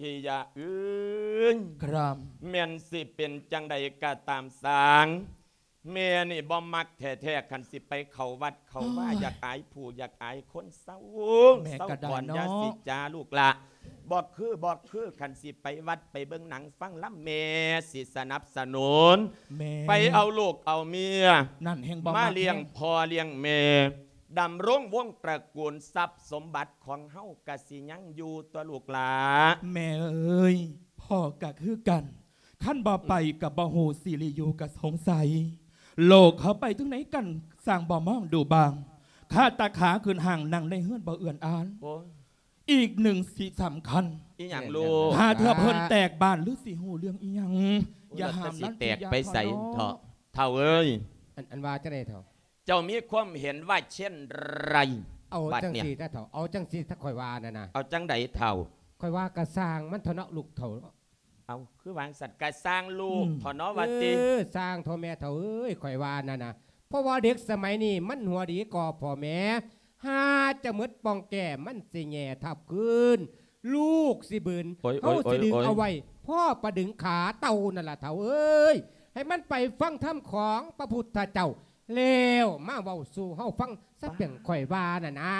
ທີ່ຢາກເອີຍ ຄັບ ແມ່ນຊິເປັນຈັ່ງໃດກໍຕາມຊ່າງ ແມ່ນີ້ບໍ່ມັກແທ້ໆ ຄັນຊິໄປເຂົ້າວັດເຂົ້າວາ ໂອ້ຍ ຢາກອາຍຜູ້ຢາກອາຍຄົນ ເຊົາ ແມ່ກໍໄດ້ເນາະ ເຊົາກ່ອນ ຢ່າຊິຈາລູກຫຼ້າ ບໍ່ຄື ບໍ່ຄື ຄັນຊິໄປວັດໄປເບິ່ງໜັງຟັງລຳ ແມ່ຊິສະໜັບສະໜູນ ແມ່ ໄປເອົາລູກເອົາເມຍ ນັ້ນແຮ່ງບໍ່ ມາ ມັກແຮງ ລ້ຽງພໍ່ລ້ຽງແມ່ ດຳລົງວົງຕະກູນ ຊັບສົມບັດຂອງເຮົາກະຊິຍັງຢູ່ຕົວະລູກຫຼ້າ ແມ່ເອີຍ ພໍ່ກະຄືກັນ ຄັນບໍ່ໄປ ອືມ ກະບໍ່ຮູ້ຊິລິຢູ່ກະສົງໄສ ໂລກເຂົາໄປເຖິງໃດກັນ ຊ່າງບໍ່ມອງດູບາງ ຄາຕາຂາຂຶ້ນຫ້າງ ນັ່ງໃນເຮືອນບໍ່ເອື້ອນອານ ໂອ້ຍ ອີກໜຶ່ງຊິສຳຄັນ ອີຫຍັງລູກ ຫາເທື່ອເພິ່ນແຕກບ້ານ ຫຼືຊິຮູ້ເລື່ອງອີຫຍັງ ໂອ້ຍ ຢ່າຫ້າມ ແລ້ວຈະຊິແຕກໄປໃສເຖາະ ເຖົ້າເອີຍ ອັນ ອັນວ່າຈັ່ງໃດເຖົ້າ ເຈົ້າມີຄວາມເຫັນວ່າເຊັ່ນໃດ ເອົາ ບັດ ຈັ່ງ ເນີ້ຍ ຊີ້ເຖາະ ເອົາຈັ່ງຊີ້ ຖ້າຂ້ອຍວ່ານັ້ນນະ ເອົາຈັ່ງໃດເຖົ້າ ຂ້ອຍວ່າກະຊ່າງມັນເຖາະເນາະລູກເຖົ້າ ເອົາ ຄືວ່າຈັ່ງຊັ້ນ ກະຊ່າງລູກ ອືມ ເຖາະເນາະວ່າຕິ ເອີ ຊ່າງເຖາະແມ່ເຖົ້າເອີຍ ຂ້ອຍວ່ານັ້ນນະ ເພາະວ່າເດັກສະໄໝນີ້ມັນຫົວດີກວ່າພໍ່ແມ່ ຫາຈະໝົດປ່ອງແກ້ ມັນຊິແຍ່ທັບຄືນ ລູກຊິບືນ ໂອ້ຍ ເຮົາ ໂອ້ຍ ຊິດຶງ ໂອ້ຍ ເອົາໄວ້ ພໍປາດຶງຂາເຕົ່ານັ້ນລະເຖົ້າເອີຍ ໃຫ້ມັນໄປຟັງທຳຂອງພະພຸດທະເຈົ້າ ແລ້ວມາເວົ້າສູ່ເຮົາຟັງ ສະເປັນຂ້ອຍວ່ານັ້ນນາ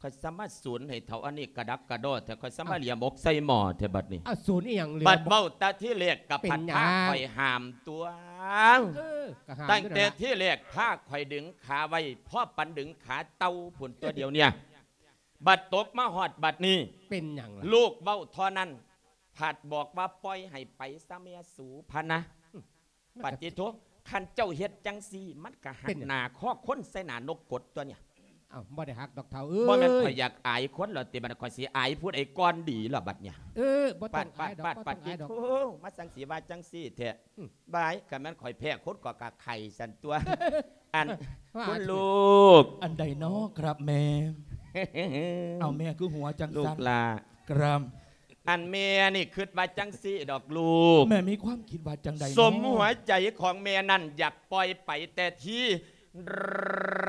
ຂ້ອຍສາມາດສູນໃຫ້ເຖົ້າອັນນີ້ກະດັກກະດໍແທ້ ຂ້ອຍສາມາດ ເອົ້າ ຫຼຽມອົກໃສ່ໝໍ້ແທ້ບັດນີ້ ເອົ້າ ສູນອີຫຍັງ ບັດເວົ້າແຕ່ທີແລກກະພັດພາຂ້ອຍຫ້າມຕົວະ ເອີ ກະຫ້າມ ຕັ້ງແຕ່ທີແລກພາຂ້ອຍດຶງຂາໄວ້ ພໍປານດຶງຂາເຕົ່າພຸ້ນຕົວະ ດຽວເນີ້ຍ ບັດຕົກມາຮອດບັດນີ້ ເປັນຫຍັງລະ ລູກເວົ້າທໍ່ນັ້ນ ພັດບອກວ່າປ່ອຍໃຫ້ໄປຊະແມ່ສູພະນະ ອືມ ປະຕິໂທ ຄັນເຈົ້າເຮັດຈັ່ງຊີ້ ມັນກະຫັກໜ້າຄໍຄົນໃສ່ໜ້ານົກກົດຕົວະເນີ້ຍ ເອົ້າ ບໍ່ໄດ້ຫັກດອກເຖົ້າເອີຍ ບໍ່ແມ່ນຂ້ອຍຢາກອາຍຄົນແລ້ວຕິ ບັດຂ້ອຍຊິອາຍຜູ້ໃດກ່ອນດີລະບັດເນີ້ຍ ເອີ ບໍ່ຕ້ອງອາຍດອກ ປາດ ປາດ ປາດ ປາດຕິໂທ ມາຈັ່ງຊີ້ວ່າຈັ່ງຊີ້ແທ້ ອືມ ບາຍ ຄັນແມ່ນຂ້ອຍແພ້ຄົນກໍກະໄຂ່ຊັ້ນຕົວະ ອັນ ວ່າ ຄຸນລູກ ອັນໃດເນາະ ຄັບແມ່ ເອົາ ແມ່ຄືຫົວຈັ່ງຊັ້ນ ລູກຫຼ້າ ຄັບ ອັນແມ່ນີ້ຄິດວ່າຈັ່ງຊີ້ດອກລູກ ແມ່ມີຄວາມຄິດວ່າຈັ່ງໃດເນາະ ສົມຫົວໃຈຂອງແມ່ນັ້ນຢາກປ່ອຍໄປແຕ່ທີ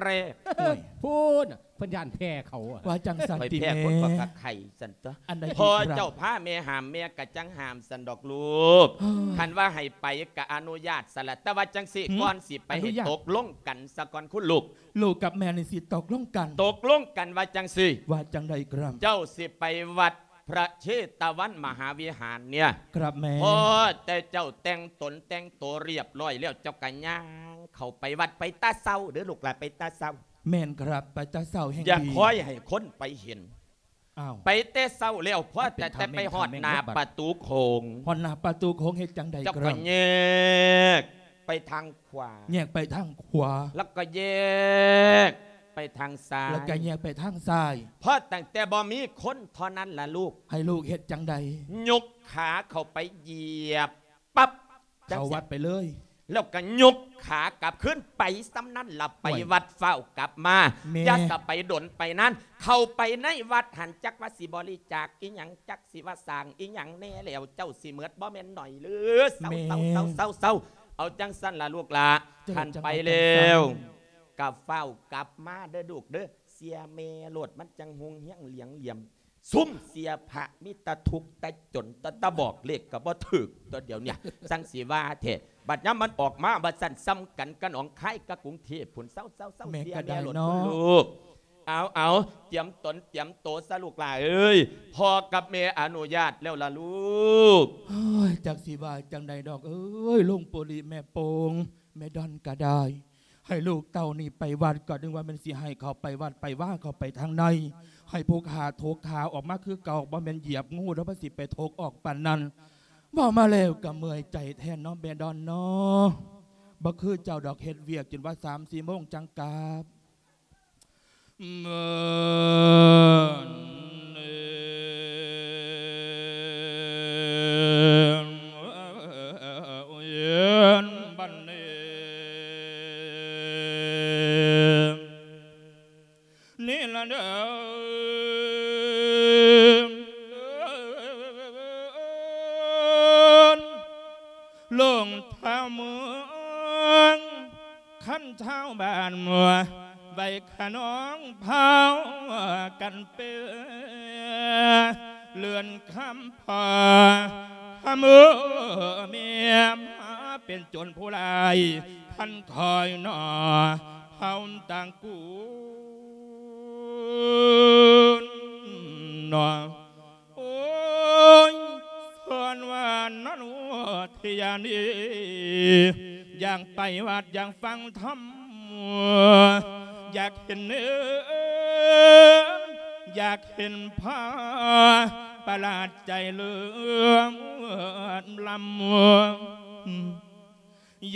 ແລກ ໂອ້ຍ ພຸ້ນນະ ເພິ່ນຢ້ານແພ້ເຂົາ ວ່າຈັ່ງຊັ້ນຕິແມ່ ຂ້ອຍແພ້ຄົນກໍກະໄຂ່ຊັ້ນຕົວະ ອັນໃດ ພໍ່ເຈົ້າພາແມ່ຫ້າມ ແມ່ກະຈັ່ງຫ້າມຊັ້ນດອກລູກ ເອີ ຄັນວ່າໃຫ້ໄປກະອະນຸຍາດຊັ້ນລະ ແຕ່ວ່າຈັ່ງຊີ້ ຫື ກ່ອນຊິໄປ ອະນຸຍາດ ໃຫ້ຕົກລົງກັນສາກ່ອນຄຸນລູກ ລູກກັບແມ່ນີ້ຊິຕົກລົງກັນ ຕົກລົງກັນວ່າຈັ່ງຊີ້ ວ່າຈັ່ງໃດ ຄັບ ເຈົ້າຊິໄປວັດ ພະເຊຕະວັນມະຫາວິຫານເນີ້ຍ ຄັບແມ່ ພໍແຕ່ເຈົ້າແຕ່ງຕົນແຕ່ງໂຕຮຽບຮ້ອຍແລ້ວ ເຈົ້າກະຍ່າງເຂົ້າໄປວັດ ໄປແຕ່ເຊົ້າເດີລູກຫຼ້າ ໄປແຕ່ເຊົ້າ ແມ່ນຄັບ ໄປແຕ່ເຊົ້າແຮ່ງດີ ຢ່າຄອຍໃຫ້ຄົນໄປເຫັນ ອ້າວ ໄປແຕ່ເຊົ້າແລ້ວ ພໍແຕ່ ແຕ່ໄປຮອດໜ້າປະຕູໂຂງ ຮອດໜ້າປະຕູໂຂງເຮັດຈັ່ງໃດ ເຈົ້າກະ ຄັບ ແຍກໄປທາງ ຂວາ ແຍກໄປທາງຂວາ ແລ້ວກໍແຍກໄປທາງຊ້າຍ ແລ້ວກໍແຍກໄປທາງຊ້າຍ ເພາະຕັ້ງແຕ່ບໍ່ມີຄົນເທົ່ານັ້ນລະລູກ ໃຫ້ລູກເຮັດຈັ່ງໃດ ຍົກຂາເຂົ້າໄປຢຽບປັບ ເຂົ້າວັດໄປເລີຍ ແລ້ວກໍຍົກຂາກັບຄືນໄປ ສ່ຳນັ້ນລະໄປ ໂອ້ຍ ວັດ ຟ້າວກັບມາ ແມ່ ຢ່າສະໄປດົນໄປນານ ເຂົ້າໄປໃນວັດຫັ້ນ ຈັກວ່າຊິບໍລິຈາກອີ່ຫຍັງ ຈັກຊິວ່າສ້າງອີ່ຫຍັງແດ່ແລ້ວ ເຈົ້າຊິເໝິດບໍ່ແມ່ນໜ້ອຍເລີຍ ເຊົາ ແມ່ ເຊົາ ເຊົາ ເຊົາ ເຊົາ ເອົາຈັ່ງຊັ້ນລະລູກຫຼ້າ ເຈົ້າ ຄັນໄປແລ້ວ ເຈົ້າ ຈັ່ງວ່າຈັ່ງຊັ້ນ ກໍຟ້າວກັບມາເດີລູກເດີ ເຊື່ອແມ່ໂລດ ມັນຈັ່ງຮຸ່ງເຮືອງຫຼຽງຫຼຽມ ຊຸມເຊື່ອພະມີແຕ່ທຸກແຕ່ຈົນ ແຕ່ ແຕ່ບອກເລກກໍບໍ່ຖືກຕົວະ ດຽວເນີ້ຍ ຈັ່ງຊິວ່າແທ້ ບັດຍາມມັນອອກມາວ່າຊັ້ນ ສ່ຳກັນກັບໜອງຄາຍກັບກຸງເທບພຸ້ນ ເຊົາ ເຊົາ ເຊົາ ແມ່ ເຊື່ອແມ່ໂລດ ກໍໄດ້ເນາະ ຄຸນລູກ ເອົາ ເອົາ ຕຽມຕົນຕຽມໂຕຊະລູກຫຼ້າເອີຍ ພໍ່ກັບແມ່ອະນຸຍາດແລ້ວລະລູກ ໂອ້ຍ ຈັກຊິວ່າຈັ່ງໃດດອກເອີຍ ລຸງປູລິ ແມ່ໂປ່ງ ແມ່ດອນກໍໄດ້ ໃຫ້ລູກເຕົ້ານີ້ໄປວັດ ກໍນຶກວ່າແມ່ນຊິໃຫ້ເຂົ້າໄປວັດໄປວາເຂົ້າໄປທາງໃນ ໃຫ້ຜູ້ຂ້າຖົກຂາອອກມາຄືເກົ່າ ບໍ່ແມ່ນຢຽບງູດອກມາ ຊິໄປຖົກອອກປານນັ້ນ ເວົ້າມາແລ້ວກໍເມື່ອຍໃຈແທນເນາະ ແມ່ດອນເນາະ ບໍ່ຄືເຈົ້າດອກ ເຮັດວຽກຈົນວ່າສາມສີ່ໂມງຈັ່ງກັບ. ເອີ ບັດນີ້ ນີ້ລະເດີ ລົງທ້າວເມືອງ ຄັນຊາວບ້ານວ່າ ໄວ້ຂະນອງພາວກັນເປີ ເລື່ອນຄຳພາ ຄຳເອີແມ່ມາເປັນໂຈນຜູ້ຮ້າຍ ຄັນຄອຍໜໍ່ເຮົາຕ່າງກູນໜໍ່. ໂອ້ຍ ສ່ວນວ່ານັ້ນເທຍານີ ຢາກໄປວັດ ຢາກຟັງທຳ ຢາກເຫັນເນີ ຢາກເຫັນພະ ປະຫຼາດໃຈເລີນລຳ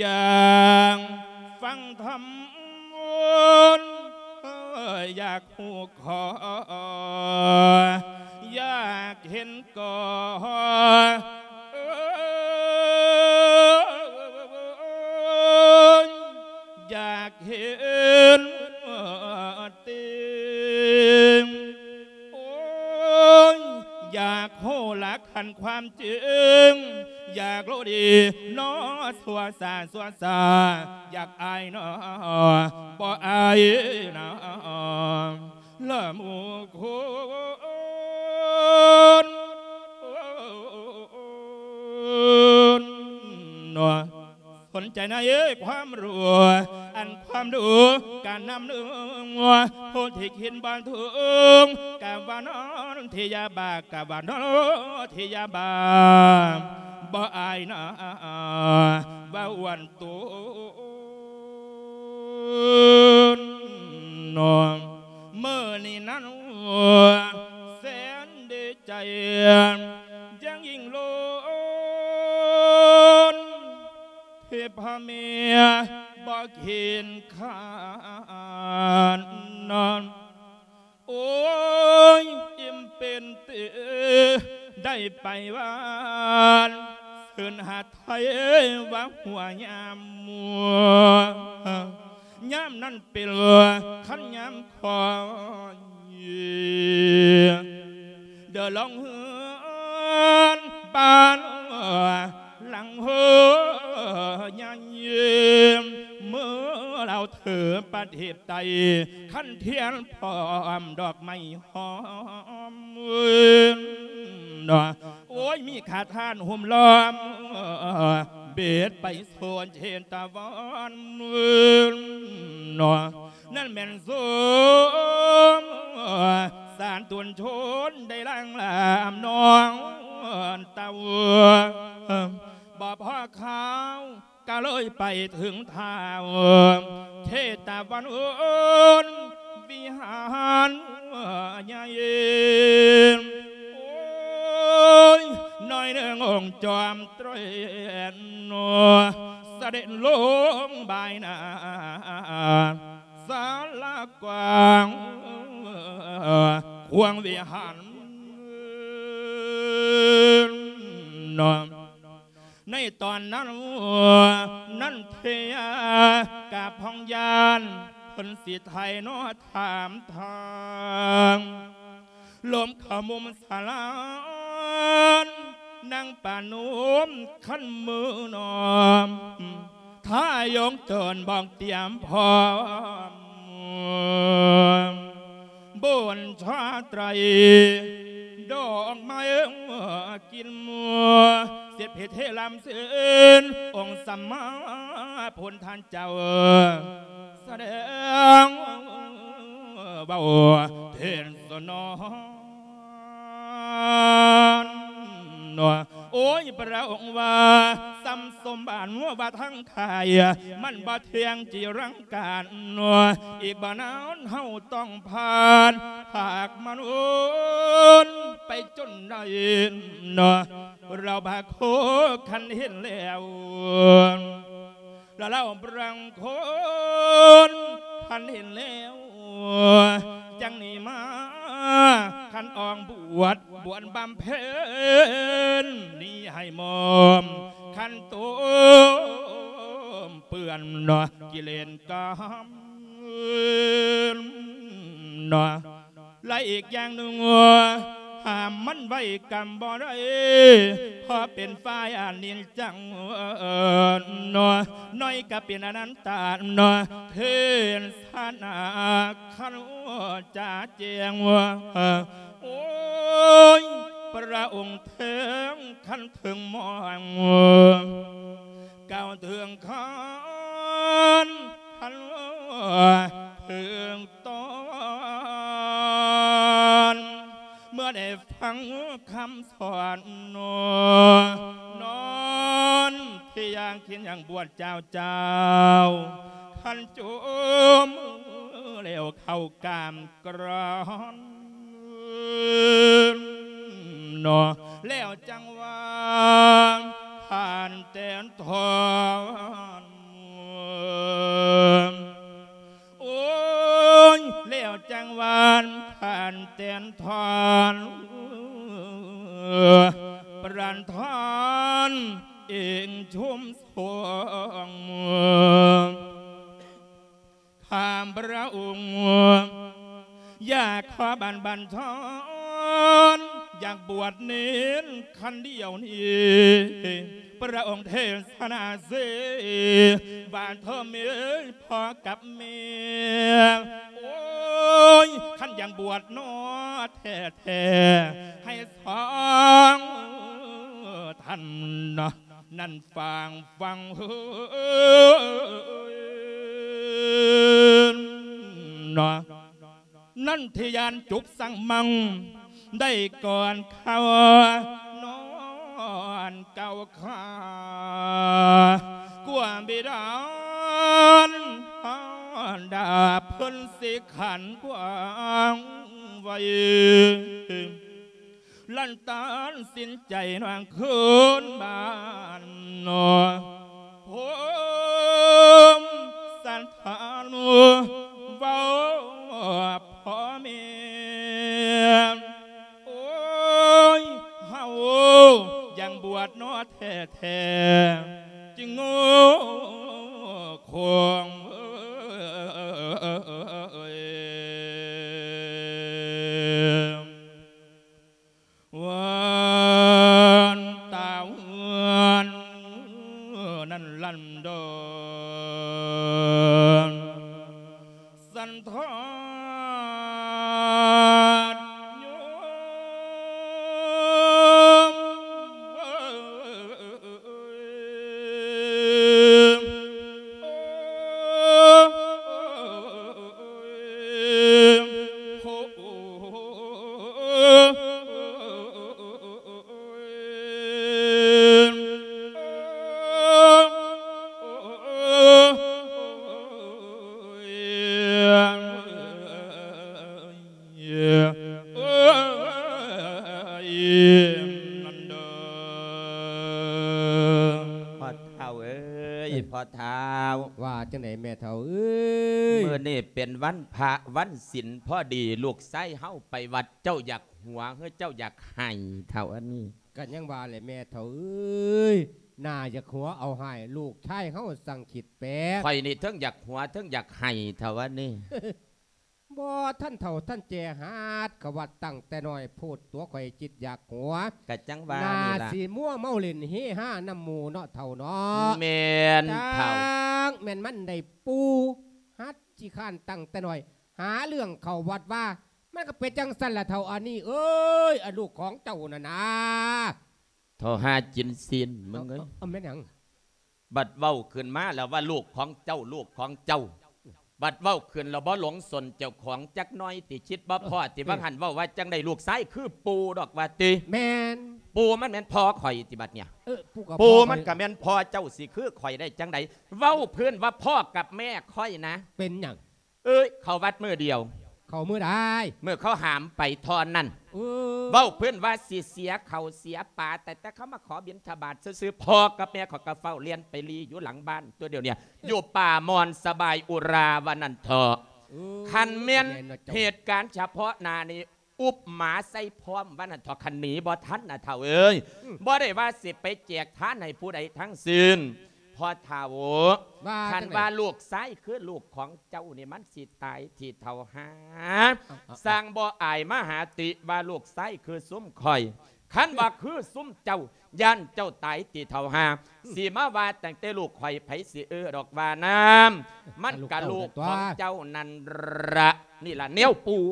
ຢາກຟັງທຳ ຢາກຮູ້ຂໍ ຢາກເຫັນກໍ ຢາກເຫັນເຕັມ ໂອ້ຍ ຢາກຮູ້ຫຼັກ ຄັນຄວາມຈິງ ຢາກຮູ້ດີເນາະ ຊົ່ວຊາ ຊົ່ວຊາ ຢາກອາຍເນາະ ບໍ່ອາຍນະ ລະໝູ່ຄົນເນາະ. ສົນໃຈໃນຄວາມຮູ້ ອັນຄວາມຮູ້ການນຳໜຶ່ງ ຜູ້ທີ່ຄິດບໍ່ເຖິງ ກະວ່ານອນທີ່ຢາບາ ກະວ່ານອນທີ່ຢາບາ ບໍ່ອາຍນະ ວ່າອ້ວນໂຕນເນາະ. ມື້ນີ້ນັ້ນ ແສນດີໃຈ ຢ່າງຍິ່ງໂລດ ທີ່ພໍ່ແມ່ບໍ່ເຂັນຂານນອນ ໂອ້ຍ ອີ່ມເປັນເຕ ໄດ້ໄປຫວານ ຊື່ນຫາໄທວ່າຫົວຍາມ ຍາມນັ້ນເປັນຄັນຍາມ ຂ້ອຍເດີນລົງເຮືອນບ້ານຫຼັງໂຮຍາຍິມ ເມື່ອລາວເທີປະເທດໃຕ້ ຂັນທຽນພ້ອມດອກໄມ້ຫອມເນາະ. ໂອ້ຍ ມີຂ້າທ່ານໂຮມລ້ອມ ເບັດໄປໂຊນເທດຕາວັນເນາະ. ນັ້ນແມ່ນສົມສານຕົນຊົນໄດ້ລ້າງລາມນ້ອງເຕົ້າ ບໍ່ພໍຄາວ ກະເລີຍໄປເຖິງທ້າວເທດຕາວັນວິຫານໃຫຍ່ ໂອ້ຍ ໜ້ອຍໜຶ່ງອົງຈອມເຕຣນ ສະເດັດລົງບາຍໜ້າ ສາລາກວ້າງຂວາງວິຫານເນາະ. ໃນຕອນນັ້ນ ນັນເທຍາກະພອງຍານ ເພິ່ນຊິໄຖ່ເນາະຖາມທາງ ລົມເຂົ້າມຸມສາລາ ນາງປານຸມຄັນມືນອມ ຖ້າຍົງເຈີນບອກຕຽມພ້ອມ ບຸນຊາໄຕຣ ດອກໄມ້ກິນ ສິດພິເທລຳສິນ ອົງສຳມາພຸດທະເຈົ້າ ສະແດງເວົ້າເທດສະໜອນ ໂອ້ຍ ພະອົງວ່າ ສ່ຳສົມບັດວ່າທັງຂາຍ ມັນບໍ່ທ່ຽງຈີລັງການ ອີກບໍ່ນານເຮົາຕ້ອງຜ່ານ ຫາກມະນຸດໄປຈົນໄດ້ ລາວພາໂຄຄັນເຫັນແລ້ວ ລະລາວບາງຄົນຄັນເຫັນແລ້ວ ຈັ່ງໜີມາ ຄັນອອກບວດ ບວດບຳເພັນ ໜີໃຫ້ໝອມ ຄັນໂຕມເປື້ອນ ກິເລນກາມເນາະ. ແລະອີກຢ່າງໜຶ່ງ ຫ້າມມັນໄວ້ກຳບໍ່ໄດ້ ເພາະເປັນຝ່າຍອະນິດຈັງ ໜ້ອຍກະເປັນອະນັດຕາ ເທດສະໜາຄັນຈະແຈ້ງ ໂອ້ຍ ພະອົງເທິງຄັນເທິງມອງ ກ່າວເຖິງຄັນ ຄັນເຖິງຕອນ ເມື່ອໄດ້ຟັງຄຳສອນ ນອນທີ່ຢາງກິນຢ່າງບວດເຈົ້າເຈົ້າ ຄັນຈຸມແລ້ວເຂົ້າກາມ ກຣອນເນາະ ແລ້ວຈັ່ງວ່າຜ່ານແຕນທອນ ໂອ້ຍ ແລ້ວຈັ່ງວ່າຜ່ານແຕນທອນ ປານທອນເອງຊຸມສວງ ຂ້າພະອົງ ຢາກຂໍບັນ ບັນທອນ ຢາກບວດເນນຄັນດຽວນີ້ ພະອົງເທສະນາເສ ວ່າເທີເມ ພໍ່ກັບແມ່ ໂອ້ຍ ຄັນຢາກບວດເນາະແທ້ໆ ໃຫ້ສອງທ່ານເນາະ ນັ້ນຟັງ ຟັງເຮີນເນາະ ນັນທິຍານຈຸກສັງມັງ ໄດ້ກ່ອນເຂົ້ານອນເກົ້າຂາ ກວ່າບິດານດາເພິ່ນສິຂັນກວ້າງໄວ ລັນຕັດສິນໃຈນາງຄືນບ້ານ ໂຮມສັນທານເວົ້າພໍ່ແມ່ ໂອ້ຍ ເຮົາຍັງບວດເນາະແທ້ໆ ຈຶ່ງໂງ່ຄົງ ວານຕາວານນັ້ນລັນດອນ ສັນທອນໂຍມ ພໍ່ເຖົ້າເອີຍ ເອີ ພໍ່ເຖົ້າ ວ່າຈັ່ງໃດແມ່ເຖົ້າເອີຍ? ມື້ນີ້ເປັນວັນພະວັນສິນ ພໍດີລູກຊາຍເຮົາໄປວັດ ເຈົ້າຢາກຫົວ ຫຼື ເຈົ້າຢາກໄຫ້ເຖົ້າອັນນີ້? ກໍຍັງວ່າແຫຼະແມ່ເຖົ້າເອີຍ ໜ້າຢາກຫົວເອົາຮ້າຍ ລູກຊາຍເຮົາຊ່າງຄິດແປກ. ຂ້ອຍນີ້ເທິງຢາກຫົວເທິງຢາກໄຫ້ເຖົ້າອັນນີ້. ບໍ່ທັນເຖົ້າທັນແກ່ ຫັດເຂົ້າວັດຕັ້ງແຕ່ນ້ອຍໂພດ ຕົວຂ້ອຍຈິດຢາກຫົວ ກະຈັ່ງວ່ານີ້ລະ ໜ້າຊິມົວເມົາຫຼິ້ນເຮຮານຳໝູ່ເນາະເຖົ້າເນາະ. ແມ່ນເຖົ້າ ຈັກແມ່ນມັນໄດ້ປູ່ ຫັດຂີ້ຄ້ານຕັ້ງແຕ່ນ້ອຍ ຫາເລື່ອງເຂົ້າວັດວ່າ ມັນກໍເປັນຈັ່ງຊັ້ນລະເຖົ້າອັນນີ້ເອີຍ ອະລູກຂອງເຈົ້ານັ້ນນາ. ເຖົ້າຫາຈິນຊີນ ມຶງເອີຍ ເອົາ ເອົາ ແມ່ນຫຍັງ? ບັດເວົ້າຂຶ້ນມາແລ້ວວ່າລູກຂອງເຈົ້າ ລູກຂອງເຈົ້າ ບັດເວົ້າຂຶ້ນແລ້ວບໍ່ຫຼົງສົນເຈົ້າຂອງຈັກໜ້ອຍຕິ ຄິດບໍ່ພໍຕິ ເອີ ວ່າຫັ້ນເວົ້າວ່າຈັ່ງໃດ ລູກຊາຍຄືປູ່ດອກວ່າຕິ. ແມ່ນ ປູ່ມັນແມ່ນພໍ່ຂ້ອຍຕິບັດເນີ້ຍ ເອີ ປູ່ກໍ ປູ່ມັນກໍແມ່ນພໍ່ເຈົ້າ ຊິຄືຂ້ອຍໄດ້ຈັ່ງໃດ? ເວົ້າພື້ນວ່າພໍ່ກັບແມ່ຂ້ອຍນະ. ເປັນຫຍັງ? ເອີຍ ເຂົ້າວັດມື້ດຽວ ເຂົ້າມື້ໃດ? ມື້ເຂົາຫາມໄປເທົ່ານັ້ນ. ເອີ ເວົ້າພື້ນວ່າຊິເສຍເຂົ້າເສຍປາ ແຕ່ ແຕ່ເຂົາມາຂໍບິນທະບາດຊື່ໆ ພໍ່ກັບແມ່ເຂົາກໍເຝົ້າລ່ຽນໄປລີ້ຢູ່ຫຼັງບ້ານຕົວດຽວນີ້ ຢູ່ປ່າມ່ອນສະບາຍອຸຣາວ່ານັ້ນເຖາະ. ເອີ ຄັນແມ່ນ ແມ່ນເນາະເຈົ້າ ເຫດການສະເພາະໜ້ານີ້ ອຸບໝາໃສ່ພ້ອມວ່ານັ້ນເຖາະ ຄັນໜີບໍ່ທັນນະເຖົ້າເອີຍ. ອືມ ບໍ່ໄດ້ວ່າຊິໄປແຈກທານໃຫ້ຜູ້ໃດທັງສິ້ນ. ພໍ່ເຖົ້າ ວ່າ ຄັນວ່າ ຈັ່ງໃດ? ລູກຊາຍຄືລູກຂອງເຈົ້ານີ້ ມັນຊິຕາຍຕິເຖົ້າຫາ. ເອົາ ເອົາ ສ້າງບໍ່ອາຍມະຫາຕິ ວ່າລູກຊາຍຄືຊຸມຂ້ອຍ. ຄັນວ່າຄືຊຸມເຈົ້າ ຢ້ານເຈົ້າຕາຍຕິເຖົ້າຫາ. ອືມ ຊິມາວ່າຕັ້ງແຕ່ລູກຂ້ອຍ ໃຜຊິເອີດອກວ່ານຳ. ມັນກະລູກຂອງເຈົ້ານັ້ນລະ. ນີ້ລະແນວປູ່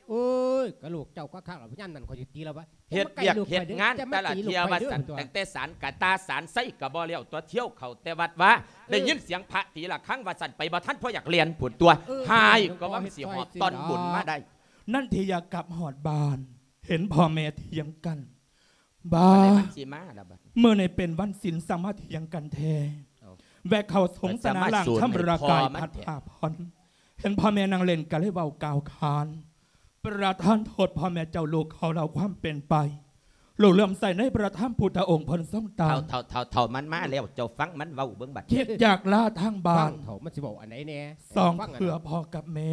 ໂອ້ຍ ກະລູກເຈົ້າຄັກໆ ລະຍາມນັ້ນຂ້ອຍຊິຕີລະວະ ເຮັດວຽກເຮັດງານແຕ່ລະເທື່ອວ່າຊັ້ນ ຕັ້ງແຕ່ສານກະຕ່າສານໄຊກະບໍ່ແລ້ວຕົວະ ທ່ຽວເຂົ້າແຕ່ວັດວາ ເອີ ໄດ້ຍິນສຽງພະຕີລະຄັງວ່າຊັ້ນ ໄປບໍ່ທັນພໍຢາກແລ່ນພຸ້ນຕົວະ ເອີ ຫາຍກະວ່າມັນຊິຫອບຕ່ອນບຸນມາໄດ້. ນັນທິຍາກັບຮອດບ້ານ ເຫັນພໍ່ແມ່ຖຽງກັນ ບ້າ ມື້ນີ້ເປັນວັນສິນ ຊ່າງມາຖຽງກັນແທ້. ເອົ້າ ແວະເຂົ້າສົງສະໜາລ້າງຊຳລະກາຍພັກຜ່ອນ ເຫັນພໍ່ແມ່ນັ່ງເຫຼັ້ນກະເລີຍເວົ້າກ່າວຂານ ປະທານໂທດພໍ່ແມ່ເຈົ້າລູກເຂົາເລົ່າຄວາມເປັນໄປ ລູກເຫຼື້ອມໃສໃນພະທຳພຸດທະອົງເພິ່ນຊົງຕາຍ. ເຖົ້າ ເຖົ້າ ເຖົ້າ ເຖົ້າ ມັນມາແລ້ວ ເຈົ້າຟັງມັນເວົ້າເບິ່ງບັດ ຄິດຢາກລາທາງບ້ານ ເຖົ້າ ມັນຊິເວົ້າອັນໃດແດ່ ສອງເພື່ອພໍ່ກັບແມ່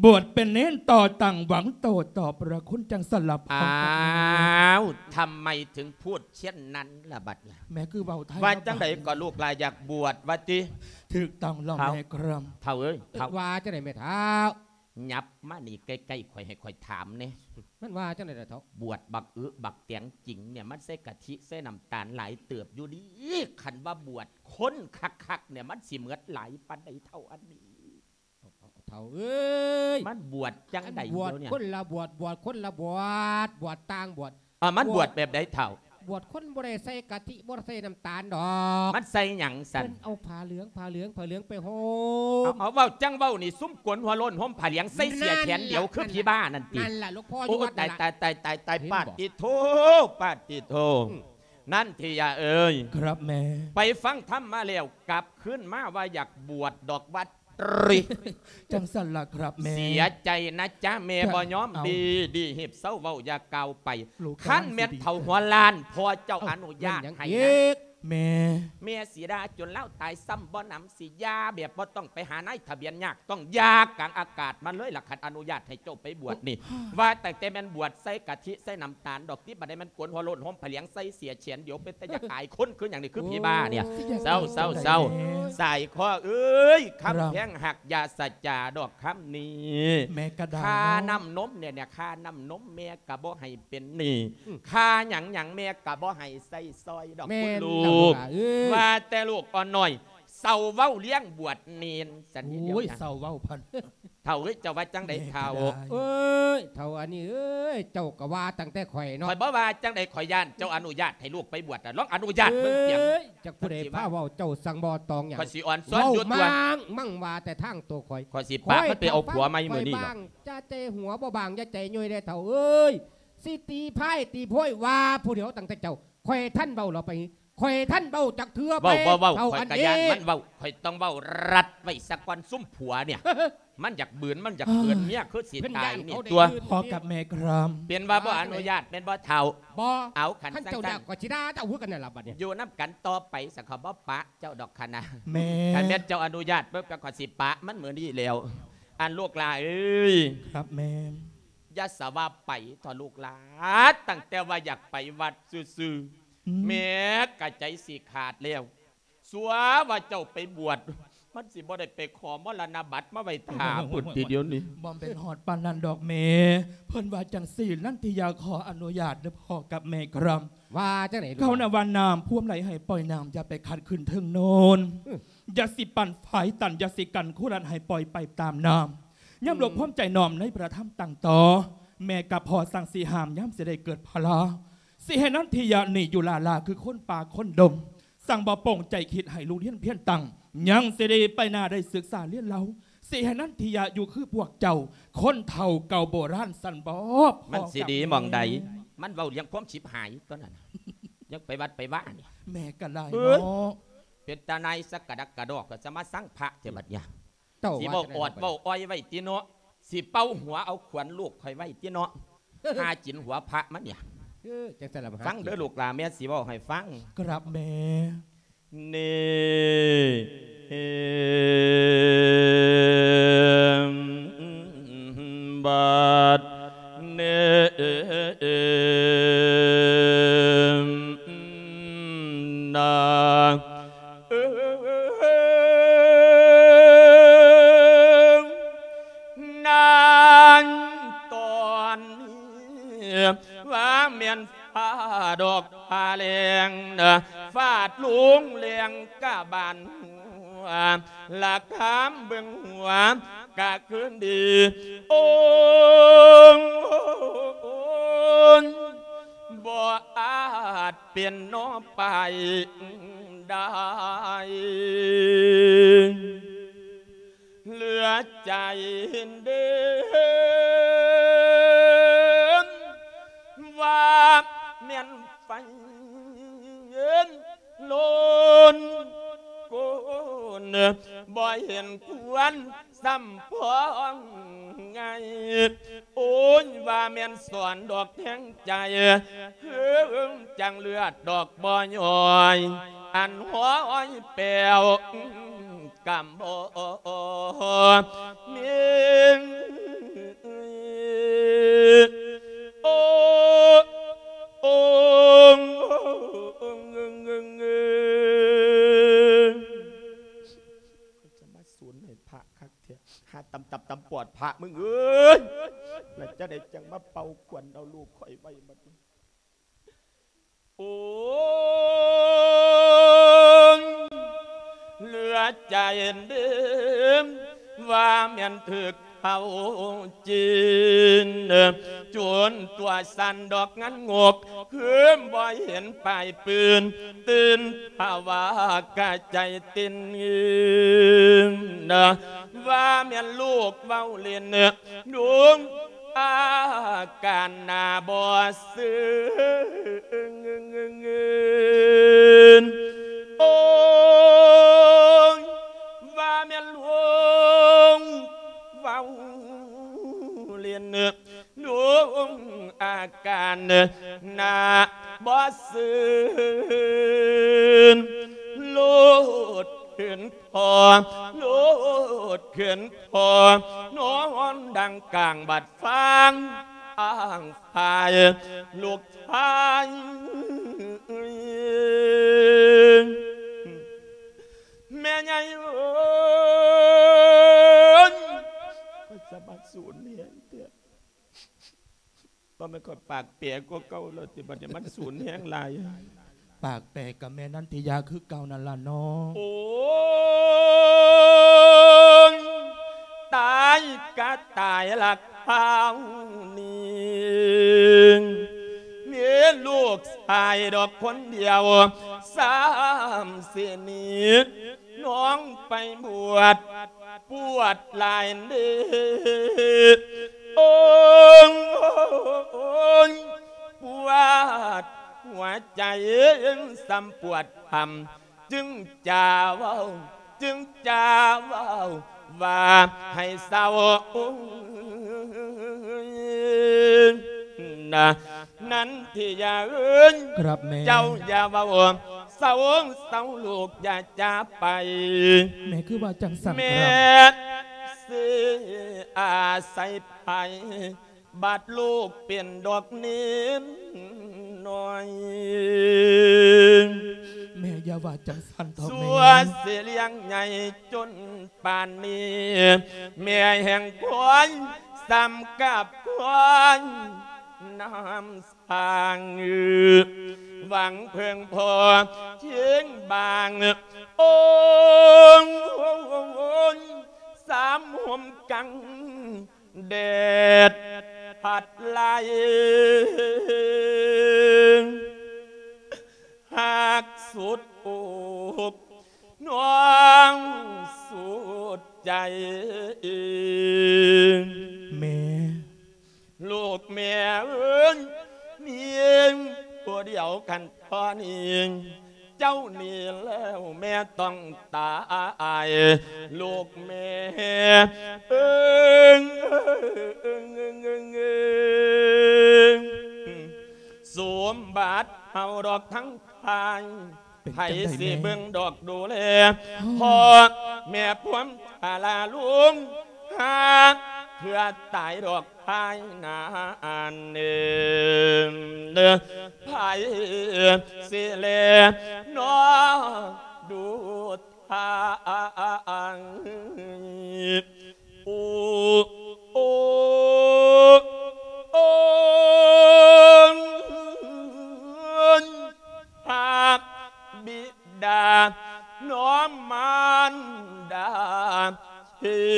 ບວດເປັນເນນຕໍ່ຕັ້ງຫວັງໂຕຕໍ່ພະຄຸນ ຈັ່ງຊັ້ນລະພໍ່ກັບແມ່. ອ້າວ ທຳໄມເຖິງພູດເຊັ່ນນັ້ນລະບັດລະ? ແມ່ຄືເວົ້າໄທ ວ່າຈັ່ງໃດກໍລູກຫຼານຢາກບວດວ່າຕິ? ຖືກຕ້ອງແລ້ວແມ່ຄຣຳ. ເຖົ້າເອີຍ ເຖົ້າ ວ່າຈັ່ງໃດແມ່ເຖົ້າ? ຫຍັບມານີ້ໃກ້ໆຂ້ອຍ ໃຫ້ຂ້ອຍຖາມແດ່ ມັນວ່າຈັ່ງໃດລະເຖົ້າ? ບວດບັກອຶບັກແຕງຈິງນີ້ ມັນໃສ່ກະທິໃສ່ນ້ຳຕານຫຼາຍເຕີບຢູ່ດີ ຄັນວ່າບວດຄົນຄັກໆນີ້ ມັນຊິໝົດຫຼາຍປານໃດເຖົ້າອັນນີ້? ເຖົ້າເອີຍ ມັນບວດຈັ່ງໃດ ບວດຄົນລະບວດ ບວດຄົນລະບວດ ບວດຕ່າງບວດ. ເອີ ມັນບວດແບບໃດເຖົ້າ? ບວດຄົນບໍ່ໄດ້ໃສ່ກະທິ ບໍ່ໄດ້ໃສ່ນ້ຳຕານດອກ. ມັນໃສ່ຫຍັງຊັ້ນ? ເພິ່ນເອົາຜ້າເຫຼືອງ ຜ້າເຫຼືອງ ຜ້າເຫຼືອງໄປຫົ່ມ. ເອົາ ເອົາ ເວົ້າຈັ່ງເວົ້ານີ້ ຊຸມໂກນຫົວໂລ້ນ ຫົວມຜ້າຫຼຽງ ໃສ່ເສື້ອແຂນດຽວ ຄືຜີບ້ານັ້ນຕິ? ນັ້ນລະ ຫຼວງພໍ່ຢູ່ວັດນັ້ນລະ. ໂອ້ ຕາຍ ຕາຍ ຕາຍ ຕາຍ ປາດຕິໂທ ປາດຕິໂທ. ນັນທິຍາເອີຍ ຄັບແມ່ ໄປຟັງທຳມາແລ້ວ ກັບຄືນມາວ່າຢາກບວດດອກວ່າ ຕຣີ ຈັ່ງຊັ້ນລະຄັບແມ່. ເສຍໃຈນະຈ໊ະແມ່ ບໍ່ຍອມດີ ດີຮີບເຊົາເວົ້າຢ່າກ່າວໄປ. ຄັນແມ່ນເຖົ້າຫົວລ້ານ ພໍ່ເຈົ້າອະນຸຍາດໃຫ້ນະ ແມ່ ແມ່ຊິດ່າຈົນລາວຕາຍຊ້ຳບໍ່ໜຳ ຊິຢ່າແບບບໍ່ຕ້ອງໄປຫານາຍທະບຽນຍາກ ຕ້ອງຢ່າກາງອາກາດມາເລີຍລະ ຄັນອະນຸຍາດໃຫ້ເຈົ້າໄປບວດນີ້. ວ່າຕັ້ງແຕ່ແມ່ນບວດໃສ່ກະທິໃສ່ນ້ຳຕານດອກຕິ ບັດນີ້ແມ່ນໂກນຫົວໂລ້ນ ຫົ່ມຜ້າຫຼຽງ ໃສ່ເສື້ອແຂນດຽວ ເປັນຕາຢາກອາຍຄົນຄືຫຍັງນີ້ ຄືຜີບ້ານີ້. ເຈົ້າ ເຈົ້າ ເຈົ້າ ສາຍຄໍເອີຍ ຄຳແພງຮັກ ຢ່າສະຈາດອກຄຳນີ້. ຄ່ານ້ຳນົມນີ້ ຄ່ານ້ຳນົມແມ່ກະບໍ່ໃຫ້ເປັນໜີ້ ຄ່າຫຍັງຫຍັງແມ່ກະບໍ່ໃຫ້ໃຊ້ສອຍດອກ ຄຸນລູກ. ວ່າແຕ່ລູກອ່ອນນ້ອຍ ເຊົາເວົ້າລ້ຽງບວດເນນຊັ້ນນີ້ດຽວ. ໂອ້ຍ ເຊົາເວົ້າພັນ ເຖົ້າເອີຍ ເຈົ້າວ່າຈັ່ງໃດເຖົ້າ? ເອີຍ ເຖົ້າອັນນີ້ເອີຍ ເຈົ້າກະວ່າຕັ້ງແຕ່ຂ້ອຍເນາະ. ຂ້ອຍບໍ່ວ່າຈັ່ງໃດ ຂ້ອຍຢ້ານເຈົ້າອະນຸຍາດໃຫ້ລູກໄປບວດນະ ລອງອະນຸຍາດເບິ່ງຕຽງ. ເອີຍ ຈັກຜູ້ໃດພາເວົ້າ ເຈົ້າສັ່ງບໍ່ຕອງຫຍັງ. ຂ້ອຍຊິອ່ອນຊ້ອນຢູ່ຕົວະ ມັງວ່າແຕ່ທາງໂຕຂ້ອຍ ຂ້ອຍຊິປະມັນໄປເອົາຜົວໃໝ່ມື້ນີ້ດອກ. ຢ່າໃຈຫົວບໍ່ບາງ ຢ່າໃຈຍ່ອຍແດ່ເຖົ້າເອີຍ ຊິຕີພາຍຕີໂພຍວ່າຜູ້ດຽວຕັ້ງແຕ່ເຈົ້າ. ຂ້ອຍທັນເວົ້າລະໄປ ຂ້ອຍທັນເວົ້າຈັກເທື່ອໄປ. ເວົ້າ ເວົ້າ ເວົ້າ ເຖົ້າ ຂ້ອຍກະຢ້ານມັນເວົ້າ ຂ້ອຍຕ້ອງເວົ້າລັດໄວ້ສາກ່ອນ ຊຸມຜົວນີ້ ມັນຢາກບືນ ມັນຢາກເຂືອນເມຍຄືຊິຕາຍນີ້ຕົວະ. ພໍ່ກັບແມ່ຄຣຳ ເປັນວ່າບໍ່ອະນຸຍາດແມ່ນບໍ່ເຖົ້າ? ບໍ່. ເອົາ ຄັນເຈົ້າຢາກ ຂ້ອຍຊິດ່າເຈົ້າຄືກັນນັ້ນລະບັດນີ້. ຢູ່ນຳກັນຕໍ່ໄປ ສະເຂົາບໍ່ປະເຈົ້າດອກຄະນະ. ແມ່ ຄັນແມ່ນເຈົ້າອະນຸຍາດເບິ່ງ ຂ້ອຍຊິປະມັນມື້ນີ້ແລ້ວ. ອັນລູກຫຼາເອີຍ ຄັບແມ່ ຢ່າສະວ່າໄປເຖາະລູກຫຼາ ຕັ້ງແຕ່ວ່າຢາກໄປວັດຊື່ໆ ແມ່ກະໃຈຊິຂາດແລ້ວ. ຊົ່ວວ່າເຈົ້າໄປບວດ ມັນຊິບໍ່ໄດ້ໄປຂໍມໍລະນະບັດມາໄວ້ຖ້າພຸ້ນຕິດຽວນີ້. ບໍ່ແມ່ນຮອດປານນັ້ນດອກແມ່ ເພິ່ນວ່າຈັ່ງຊີ້ ນັນທິຍາຂໍອະນຸຍາດເດີພໍ່ກັບແມ່ຄຣຳ. ວ່າຈັ່ງໃດ? ເຂົານະວ່ານ້ຳພວມໄຫຼໃຫ້ປ່ອຍນ້ຳ ຢ່າໄປຂັດຂຶ້ນເທິງໂນນ. ຢ່າຊິປັ່ນຝາຍຕັນ ຢ່າຊິກັ້ນຄູລັດໃຫ້ປ່ອຍໄປຕາມນ້ຳ. ຍາມລວມຄວາມໃຈນ້ອມໃນພະທຳຕັ້ງຕໍ່ ແມ່ກັບພໍ່ສັ່ງຊິຫ້າມ ຍາມຊິໄດ້ເກີດພະລາ ຊິໃຫ້ນັນທິຍານີ້ຢູ່ລ້າໆ ຄືຄົນປ່າຄົນດົງ. ສັ່ງບໍ່ໂປ່ງໃຈຄິດໃຫ້ລູກຮຽນພຽນຕັ້ງ ຍັງຊິໄດ້ໄປໜ້າໄດ້ສຶກສາຮຽນເລົ່າ. ຊິໃຫ້ນັນທິຍາຢູ່ຄືພວກເຈົ້າ ຄົນເຖົ້າເກົ່າໂບລານຊັ້ນບໍ? ມັນຊິດີໝ່ອງໃດ? ມັນເວົ້າເລື່ອງຄວາມຊິບຫາຍຕົວນັ້ນ ຍັງໄປວັດໄປວານີ້. ແມ່ກະຫຼາຍເນາະ ເປັນຕານາຍສະກະດັກກະດອກ ກໍຈະມາສັງພະແທ້ບັດນີ້. ເຈົ້າຊິເວົ້າອອດເວົ້າອ້ອຍໄວ້ຕິເນາະ ຊິເປົ່າຫົວເອົາຂວັນລູກຂ້ອຍໄວ້ຕິເນາະ ຫາກິນຫົວພະມັນນີ້. ເອີ ຈັ່ງຊັ້ນລະ ຟັງເດີລູກຫຼານ ແມ່ຊິເວົ້າໃຫ້ຟັງ. ກະລາບແມ່ ນີ້ ບັດນີ້ນາ ເອີ ນານຕອນນີ້ ວ່າແມ່ນຟ້າດອກຟ້າແລງ ຟາດລົງແລງກະບານຫົວ ລະຄາມເບິ່ງຫົວກະຄືນດີ ໂອ້ ເປັນໜໍ່ປາຍໄດ້ ເຫຼືອໃຈເດີມ ວ່າແມ່ນໄຟໂລນໂກນ ບໍ່ເຫັນຄວນ ສຳພອງໄງ ໂອ້ຍ ວ່າແມ່ນສອນດອກແທງໃຈ ເຮີງຈັງເລືອດດອກບໍ່ຍ້ອຍ ອັນຫ້ອຍແປວກຳບໍ່ມີ ໂອ້ ໂອ້ ຂ້ອຍຈະມາສູນໃຫ້ພະຄັກແທ້ ຫາຕຳຕັບຕຳປອດພະມຶງເອີຍ ແລ້ວຈັ່ງໃດຈັ່ງມາເປົ່າຂວັນເອົາລູກຂ້ອຍໄວ້ບັດນີ້ ໂອ້ຍ ເຫຼືອໃຈເດີມ ວ່າແມ່ນຖືກເຂົາຈີນ ຈົນຕົວສັ່ນດອກງານງົກ ຄືມບໍ່ເຫັນປາຍປືນ ຕື່ນພາວາກະໃຈເຕັ້ນ ວ່າແມ່ນລູກເວົ້າຫຼິ້ນ ລຸງອາການໜ້າບໍ່ຊື່ນ ໂອ້ຍ ວ່າແມ່ນລຸງເວົ້າຫຼິ້ນ ລຸງອາການໜ້າບໍ່ຊື່ນ ໂລດຂຶ້ນ ພໍ່ ໂລດຂຶ້ນພໍ່ ນອນດັງກາງບັດຟາງອ້າງພາຍ ລູກຊາຍ ແມ່ໃຫຍ່ເອີຍ ຂ້ອຍຈະມາສູນແຮງແທ້ ບໍ່ແມ່ນຂ້ອຍປາກແປກວ່າເກົ່າແລ້ວຕິ ບັດນີ້ມັນສູນແຮງຫຼາຍ ປາກແປກກັບແມ່ນັນທິຍາຄືເກົ່ານັ້ນລະເນາະ ໂອ້ຍ ຕາຍກະຕາຍລະຄາວນີ້ ມີລູກຊາຍດອກຄົນດຽວ ຊ້ຳຊິໜີ ນ້ອງໄປບວດ ປວດຫຼາຍເດ້ ໂອ້ຍ ປວດຫົວໃຈ ສ່ຳປວດພຳ ຈຶ່ງຈະເວົ້າ ຈຶ່ງຈະເວົ້າວ່າໃຫ້ເຊົາ ນະ ນັນທິຍາເອີຍ ຄັບແມ່ ເຈົ້າຢ່າເວົ້າ ເຊົາ ເຊົາລູກຢ່າຈາໄປ ແມ່ຄືວ່າຈັ່ງຊັ້ນ ແມ່ ຄັບ ຊິອາໄສໃຜ ບັດລູກເປັນດອກເນນນ້ອຍ ແມ່ຢ່າວ່າຈັ່ງຊັ້ນເຖາະ ຊົ່ວ ແມ່ ຊິລ້ຽງໃຫຍ່ຈົນ ປານນີ້ ແມ່ແຫ່ງຄວາຍ ສ່ຳກັບຄວາຍນ້ຳສ້າງ ຫວັງເພິ່ງພໍຄຽງບາງ ໂອ້ຍ ສາມຮົ່ມກັງແດດພັດໄລ່ ຮັກສຸດອົກ ນ້ອງສຸດໃຈ ແມ່ ລູກແມ່ເອີຍ ມີຜູ້ດຽວຄັນພໍນີ້ ເຈົ້າໜີແລ້ວແມ່ຕ້ອງຕາຍ ລູກແມ່ເອີຍ ສົມບັດເຮົາດອກທັງ ພາຍ ເປັນ ໃຜ ຈັ່ງໃດ ຊິ ແມ່ ເບິ່ງດອກດູແລ ພໍ່ແມ່ພວມພາລາລຸງ ຫາເທື່ອຕາຍດອກພາຍນານເດີ ໃຜ ຊິ ແລ ນອ ດູ ທາງ ໂອ ໂອ ໂອ ພະບິດາ ນ້ອງມານດາ ທີ່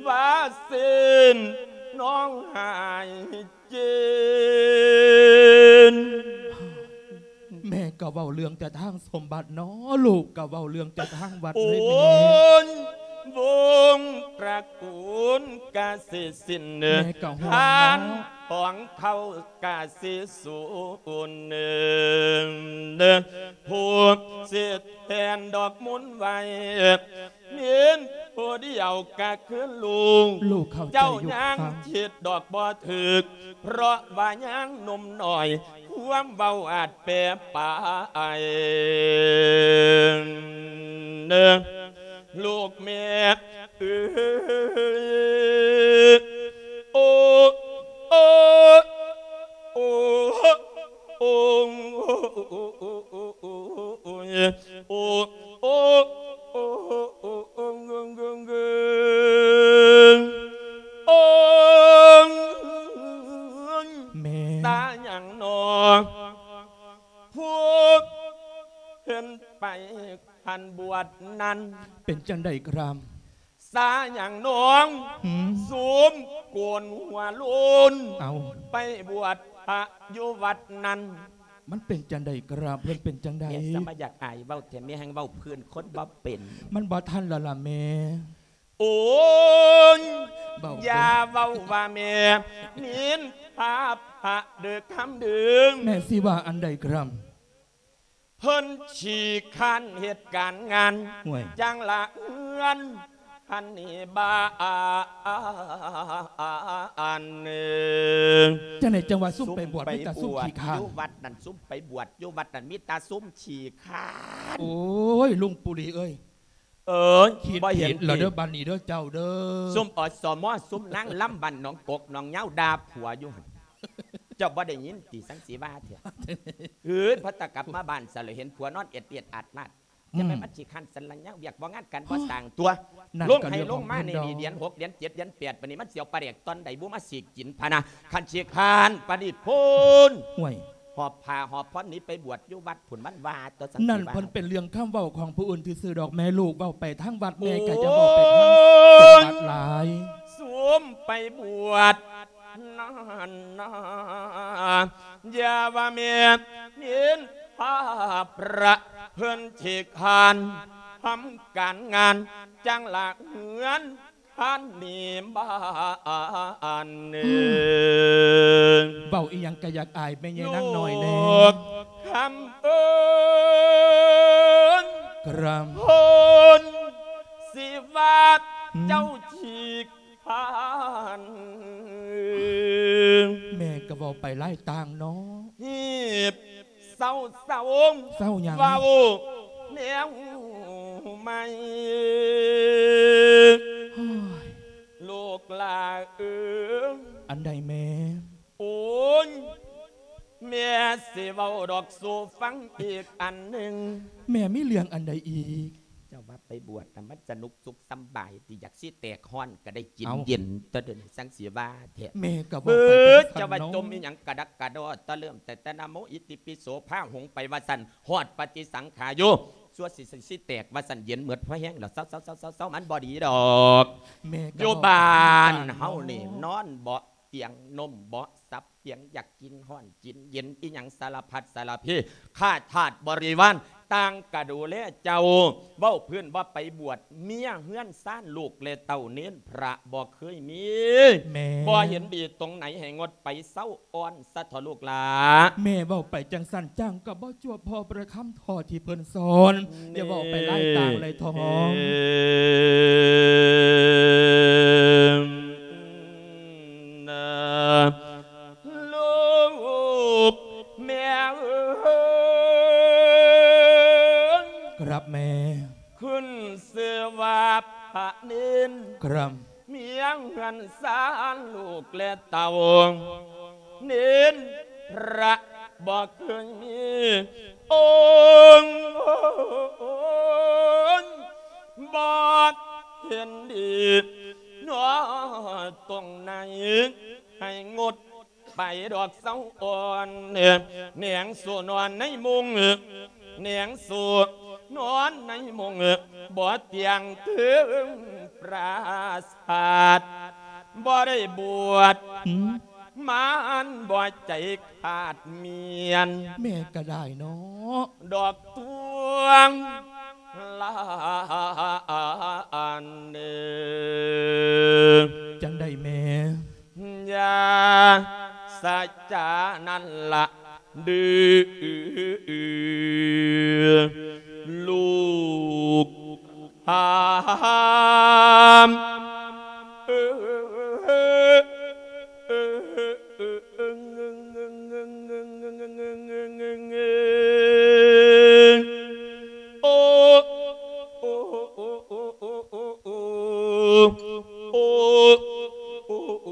ວ່າເຊັ່ນ ນ້ອງຫາຍເຈັນ ແມ່ ກໍເວົ້າເລື່ອງແຕ່ທາງສົມບັດເນາະ ລູກກໍເວົ້າເລື່ອງແຕ່ທາງວັດເລີຍແມ່ ໂອ້ຍ ວົງຕະກູນກະຊິສິ້ນ ແມ່ກໍຫ່ວງເນາະ ທ່ານຂອງເຂົາກະຊິສູນ ຜູ້ຊິແທນດອກມົນໄວ້ ມີນຜູ້ດຽວກະຄືລູກ ລູກເຂົ້າໃຈຢູ່ ເຈົ້າຍັງຄິດດອກບໍ່ຖືກ ເພາະວ່າຍັງໜຸ່ມໜ້ອຍ ຄວາມເວົ້າອາດແປປາຍ ເດີ ລູກແມ່ເອີຍ ໂອ້ ໂອ້ ໂອ້ ໂອ້ ໂອ້ ໂອ້ ໂອ້ ໂອ້ ໂອ້ ແມ່ ຕາຫຍັງນໍ ພວກເພິ່ນໄປ ອັນບວດນັ້ນ ເປັນຈັ່ງໃດຄຣາມ ສາຫຍັງນ້ອງ ຫືມ ຊຸມໂກນຫົວໂລນ ເອົ້າ ໄປບວດພະຢູ່ວັດນັ້ນ ມັນເປັນຈັ່ງໃດຄຣາມ ເພິ່ນເປັນຈັ່ງໃດ ແມ່ສະມາຢາກອາຍເວົ້າແທ້ ແມ່ແຮ່ງເວົ້າພື້ນຄົນບໍ່ເປັນ ມັນບໍ່ທັນແລ້ວລະແມ່ ໂອ້ຍ ເວົ້າ ຢ່າເວົ້າວ່າແມ່ ນິນທາພະເດີຄຳເດີ ແມ່ຊິວ່າອັນໃດຄຣາມ ເພິ່ນຂີ້ຄ້ານເຮັດການງານ ໂອ້ຍ ຈັ່ງລະເຮືອນຫັ້ນນີ້ບ້ານ ຈັ່ງໃດຈັ່ງວ່າຊຸມໄປບວດ ຊຸມໄປ ມີແຕ່ຊຸມ ບວດ ຂີ້ຄ້ານ ຢູ່ວັດນັ້ນ ຊຸມໄປບວດຢູ່ວັດນັ້ນ ມີແຕ່ຊຸມຂີ້ຄ້ານ ໂອ້ຍ ລຸງປູລີເອີຍ ເອີຍ ຄິດຜິດແລ້ວເດີ ບາດນີ້ເດີເຈົ້າເດີ ຊຸມ ອສມ ຊຸມນາງລຳບ້ານໜອງກົກໜອງຍາວ ດ່າຜົວຢູ່ຫັ້ນ ເຈົ້າບໍ່ໄດ້ຍິນຕິ ສັງສີວາເທື່ອ ເອີຍ ພໍຕະກັບມາບ້ານຊະລະເຫັນຜົວນອນເອດໆອາດໆ ອືມ ຈັ່ງໃດມັນຊິຄັນສັນລະຍາວ ວຽກບໍ່ງານການບໍ່ສ້າງຕົວ ໂອ້ຍ ລົງໄຮ່ລົງມານີ້ ເດືອນຫົກ ເດືອນເຈັດ ເດືອນແປດ ປານນີ້ມັນຊິເອົາປາແດກຕອນໃດບຸມາສີກກິນພະນະ ຄັນຂີ້ຄ້ານປານນີ້ພຸ້ນ ໂອ້ຍ ຫອບຜ້າຫອບຜ່ອນໜີໄປບວດຢູ່ວັດພຸ້ນ ມັນວ່າຕົວະ ສັງສີວາ ນັ້ນເພິ່ນເປັນເລື່ອງຄຳເວົ້າຂອງຜູ້ອື່ນຊື່ໆດອກແມ່ ລູກເວົ້າໄປທາງວັດແມ່ກໍຢ່າເວົ້າໄປທາງ ໂອ້ຍ ວັດຫຼາຍ ຊຸມໄປບວດນັ້ນນາ ຢ່າວ່າແມ່ ເຫັນພາບພະເພິ່ນຂີ້ຄ້ານທຳການງານ ຈັ່ງລະເຮືອນ ທ່ານນີ້ບ້ານເອີ ອືມ ເວົ້າອີ່ຫຍັງກະຢາກອາຍແມ່ໃຫຍ່ນາງນ້ອຍແດ່ ລູກຄຳເອີຍ ກຣາມ ຄົນຊິວ່າ ອືມ ເຈົ້າຂີ້ຄ້ານ ແມ່ກະເວົ້າໄປຫຼາຍຕ່າງເນາະ ຮີບ ເຊົາເຊົາ ເຊົາຫຍັງ ເວົ້າແນວໃໝ່ ໂອ້ຍ ລູກຫຼ້າເອີຍ ອັນໃດແມ່ ໂອ້ຍ ແມ່ຊິເວົ້າດອກສູ່ຟັງອີກອັນໜຶ່ງ ແມ່ມີເລື່ອງອັນໃດອີກ ເຈົ້າວ່າໄປບວດນະ ມັນສະໜຸກສຸກສຳບາຍຕິ ຢາກຊິແຕກຮ້ອນກະໄດ້ກິນ ເອົ້າ ເຢັນ ຕະເດີນສັງສີວາແທ້ ແມ່ກະເວົ້າໄປຈັ່ງຊັ້ນເນາະ ເຈົ້າວ່າຈົ່ມອີ່ຫຍັງກະດັກກະດໍ ຕະເລີ່ມແຕ່ ແຕ່ນະໂມອິຕິປິໂສພາຫົງໄປວ່າຊັ້ນ ຮອດປະຕິສັງຂາໂຍ ຊົ່ວຊິ ຊິແຕກວ່າຊັ້ນ ເຢັນໝົດພໍແຮງແລ້ວ ເຊົາໆໆໆ ມັນບໍ່ດີດອກ ແມ່ກະ ຢູ່ບ້ານເຮົານີ້ ເວົ້າໄປຈັ່ງຊັ້ນເນາະ ນອນເບາະຕຽງ ນົມເບາະສັບຕຽງ ຢາກກິນຮ້ອນກິນເຢັນ ອີ່ຫຍັງສາລະພັດສາລະເພ ຂ້າທາດບໍລິວານຕ່າງກະດູແລເຈົ້າ ເວົ້າພື້ນວ່າໄປບວດ ເມຍເຮືອນຊານ ລູກແລະເຕົ້າເນນ ພະບໍ່ເຄີຍມີ ແມ່ ບໍ່ເຫັນດີຕົງໃດ ໃຫ້ງົດໄປ ເຊົາ ອ່ອນສະເທາະລູກຫຼ້າ ແມ່ເວົ້າໄປຈັ່ງຊັ້ນ ຈ້າງກະບໍ່ຈວບພໍປະຄຳເທົ່າທີ່ເພິ່ນສອນ ແມ່ ຢ່າເວົ້າໄປຫຼາຍຕ່າງຫຼາຍທອງ ລູກແມ່ເອີຍ ກະລາບແມ່ ຂຶ້ນຊື່ວ່າພະເນນ ກະລາບ ເມຍເຮືອນຊານລູກແລະເຕົ້າ ເນນພະບໍ່ເຄີຍມີອົງ ບໍ່ເຫັນດີເນາະ ຕົງໃດໃຫ້ງົດ ໄປດອກເຊົາອ່ອນ ແນງສູ່ນອນໃນມຸງ ແນງສູ່ນອນໃນມຸງ ບໍ່ຕຽງເຖິງປາສາດ ບໍ່ໄດ້ບວດ ຫືມ ມານບໍ່ໃຈຂາດມຽນ ແມ່ກໍໄດ້ເນາະ ດອກຕວງລານເດີ ຈັ່ງໃດແມ່? ຢ່າສະຈານັ້ນລະ ດືລູກຫາມ ໂອ ໂອ ໂອ ໂອ ໂອ ໂອ ໂອ ໂອ ໂອ ໂອ ໂ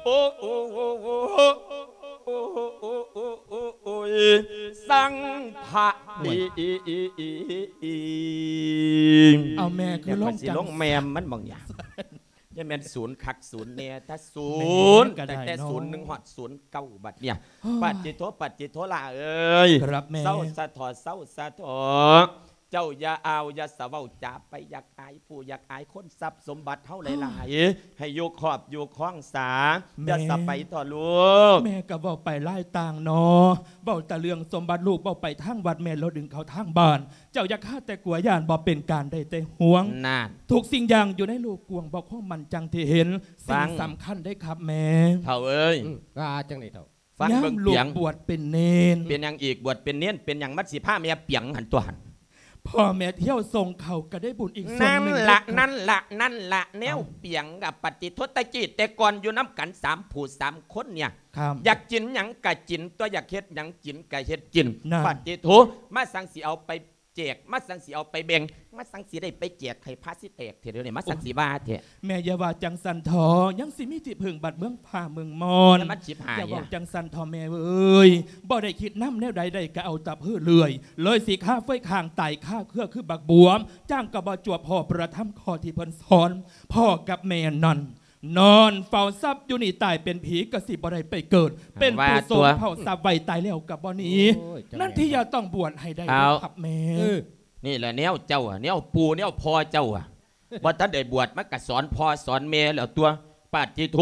ອ ໂອ ໂອ ໂອ ໂອ ໂອ ໂອ ໂອ້ຍ ສັງພະ ໂອ້ຍ ເອົາແມ່ຄື ແມ່ ລອງ ຊິລົງ ຈັງ ແມ່ມມັນບາງຢ່າງ ຢ່າແມ່ນສູນຄັກສູນແນ່ ຖ້າສູນ ແມ່ກໍໄດ້ ຕັ້ງແຕ່ ເນາະ ສູນໜຶ່ງຮອດສູນເກົ້າ ບັດເນີ້ຍ ໂອ້ຍ ປາດຕິໂທ ປາດຕິໂທ ຫຼ້າເອີຍ ຄັບແມ່ ເຊົາຊະເຖາະ ເຊົາຊະເຖາະ ເຈົ້າຢ່າອາວ ຢ່າສະເວົ້າຈາໄປ ຢາກອາຍຜູ້ ຢາກອາຍຄົນ ຊັບສົມບັດເຮົາຫຼາຍໆ ໃຫ້ຢູ່ຄອບຢູ່ຄອງສາ ແມ່ ຢ່າສະໄປເຖາະລູກ ແມ່ກໍເວົ້າໄປຫຼາຍຕ່າງເນາະ ເວົ້າແຕ່ເລື່ອງສົມບັດ ລູກເວົ້າໄປທາງວັດ ແມ່ລະດຶງເຂົ້າທາງບ້ານ ເຈົ້າຢ່າຄາດແຕ່ກົວ ຢ້ານບໍ່ເປັນການ ໄດ້ແຕ່ຫ່ວງ ນັ້ນ ທຸກສິ່ງຢ່າງຢູ່ໃນໂລກກວ້າງ ບໍ່ຄວາມໝັ້ນຈັ່ງທີ່ເຫັນ ສິ່ງ ຟັງ ສຳຄັນເດ້ຄັບແມ່ ເຖົ້າເອີຍ ອືມ ວ່າຈັ່ງໃດເຖົ້າ? ຟັງເບິ່ງ ຍາມລູກປຽງ ບວດເປັນເນນ ເປັນຫຍັງອີກ? ບວດເປັນເນນ ເປັນຫຍັງ? ມັນຊິພາແມ່ປຽງຫັ້ນຕົວະຫັ້ນ ພໍ່ແມ່ທ່ຽວສົ່ງເຂົ້າກໍໄດ້ບຸນອີກສ່ວນໜຶ່ງ ນັ້ນລະ ເດ້ ນັ້ນລະ ນັ້ນລະ ເອົ້າ ແນວປຽງ ອະ ປະຕິໂທ ແຕ່ກີ້ແຕ່ກ່ອນຢູ່ນຳກັນສາມຜູ້ສາມຄົນເນີ້ຍ ຄັບ ຢາກກິນຫຍັງກະກິນຕົວະ ຢາກເຮັດຫຍັງກິນກະເຮັດກິນ ນັ້ນ ປະຕິໂທ ມາສັງຊິເອົາໄປ ແຈກ ມາສັງຊິເອົາໄປແບ່ງ ມາສັງຊິໄດ້ໄປແຈກໃຫ້ພະຊິແຕກແທ້ດຽວນີ້ ມາສັງຊິວ່າແທ້ ໂອ້ຍ ແມ່ຢ່າວ່າຈັ່ງຊັ້ນເຖາະ ຍັງຊິມີທີ່ເພິ່ງບັດເມືອງຟ້າເມືອງມອນ ແລ້ວມັນຊິບຫາຍ ຢ່າເວົ້າຈັ່ງຊັ້ນເຖາະແມ່ເອີຍ ບໍ່ໄດ້ຄິດນຳແນວໃດ ໄດ້ກໍເອົາແຕ່ເພີເລື້ອຍ ເລີຍຊິຄາເຟຍຄ້າງຕາຍຄາເຄືອຄືບັກບວບ ຈ້າງກໍບໍ່ຈວບພໍ້ ພະທຳຂໍ້ທີ່ເພິ່ນສອນ ພໍ່ກັບແມ່ນັ້ນ ນອນເຝົ້າຊັບຢູ່ນີ້ ຕາຍເປັນຜີກໍຊິບໍ່ໄດ້ໄປເກີດ ເປັນຜູ້ ວ່າຕົວ ສົມເຝົ້າຊັບໄວ້ ຕາຍແລ້ວກໍບໍ່ໜີ ໂອ້ຍ ນັ້ນທີ່ຢ່າຕ້ອງບວດໃຫ້ໄດ້ ເອົາ ເດີຄັບແມ່ ເອີ ນີ້ແຫຼະແນວເຈົ້າ ແນວປູ່ແນວພໍ່ເຈົ້າ ບໍ່ທັນໄດ້ບວດ ມັນກໍສອນພໍ່ສອນແມ່ແລ້ວຕົວະ ປາດຕິໂທ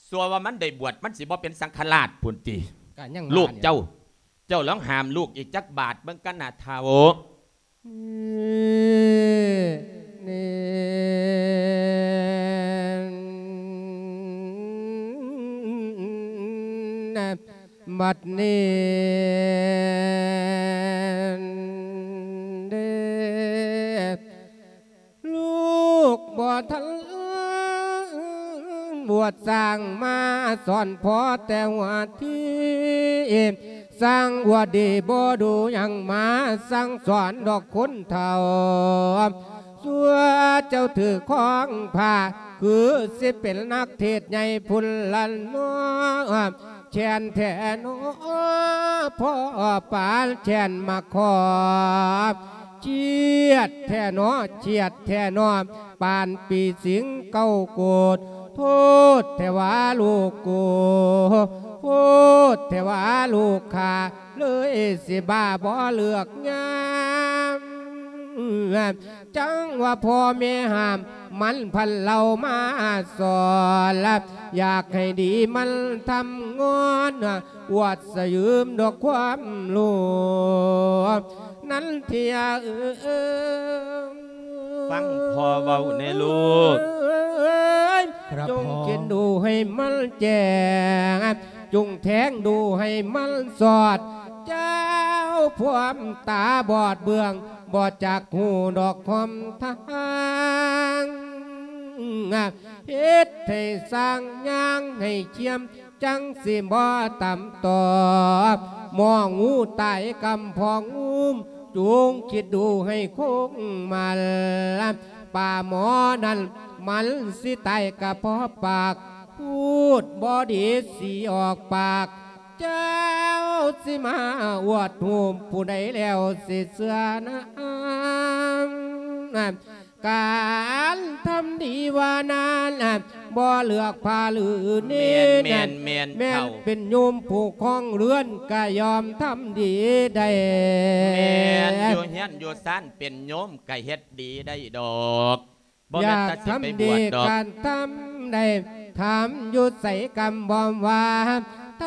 ຊົ່ວວ່າມັນໄດ້ບວດ ມັນຊິບໍ່ເປັນສັງຄະລາດພຸ້ນຕິ ກໍຍັງວ່າ ລູກເຈົ້າ ເຈົ້າລອງຫ້າມລູກອີກຈັກບາດເບິ່ງກັນນະ ທ້າວ ນີ້ ນີ້ ບັດນີ້ເດ້ ລູກບໍ່ທັນບວດ ສ້າງມາສອນພໍ່ແຕ່ຫົວທີ ສ້າງອວດດີບໍ່ດູຫຍັງມາສັ່ງສອນດອກຄົນເຖົ້າ ສ່ວນເຈົ້າຖືຄອງພາ ຄືຊິເປັນນັກເທດໃຫຍ່ພຸ້ນລະເນາະ ແຄ້ນແທ້ເນາະ ພໍ່ປານແຄ້ນມາຂໍ ຄຽດແທ້ເນາະ ຄຽດແທ້ເນາະ ປານປີສິງເກົ້າໂກດ ໂພດແທ້ວ່າລູກກູ ໂພດແທ້ວ່າລູກຂ້າ ເລີຍຊິບ້າບໍ່ເລືອກຍາມ ຈັ່ງວ່າພໍ່ແມ່ຫ້າມ ມັນພັນເລົ່າມາສອນ ຢາກໃຫ້ດີມັນທຳງອນ ອວດສະຢືມດອກຄວາມຮູ້ ນັນທິຍາເອີຍ ຟັງພໍ່ເວົ້າແດ່ລູກ ຄັບ ຈົງ ພໍ່ ຄິດດູໃຫ້ມັນແຈ້ງ ຈົ່ງແທງດູໃຫ້ມັນສອດ ເຈົ້າພວມຕາບອດເບື້ອງ ບໍ່ຈັກຮູ້ດອກຄວາມທາງ ເຮັດໃຫ້ສ້າງຍ່າງໃຫ້ຄຽມ ຈັ່ງຊິບໍ່ຕ່ຳຕໍ່ ໝໍງູຕາຍກຳພອງງຸ້ມ ຈົ່ງຄິດດູໃຫ້ຄົງມັນ ປາໝໍນັ້ນມັນຊິຕາຍກະເພາະປາກ ພູດບໍ່ດີຊິອອກປາກ ເຈົ້າຊິມາອວດຮູບຜູ້ໃດແລ້ວຊິເຊື່ອນາ ການທຳດີວ່ານັ້ນ ບໍ່ເລືອກພະຫຼືເນນ ແມ່ນໆໆ ແມ່ນເປັນໂຍມຜູ້ຄອງເຮືອນ ກະຍອມທຳດີໄດ້ ແມ່ນ ຢູ່ເຮືອນຢູ່ຊານເປັນໂຍມກະເຮັດດີໄດ້ດອກ ບໍ່ແມ່ນແຕ່ຊິໄປບວດດອກ ການທຳໄດ້ ທຳຢູ່ໃສກຳບອມວ່າ ທ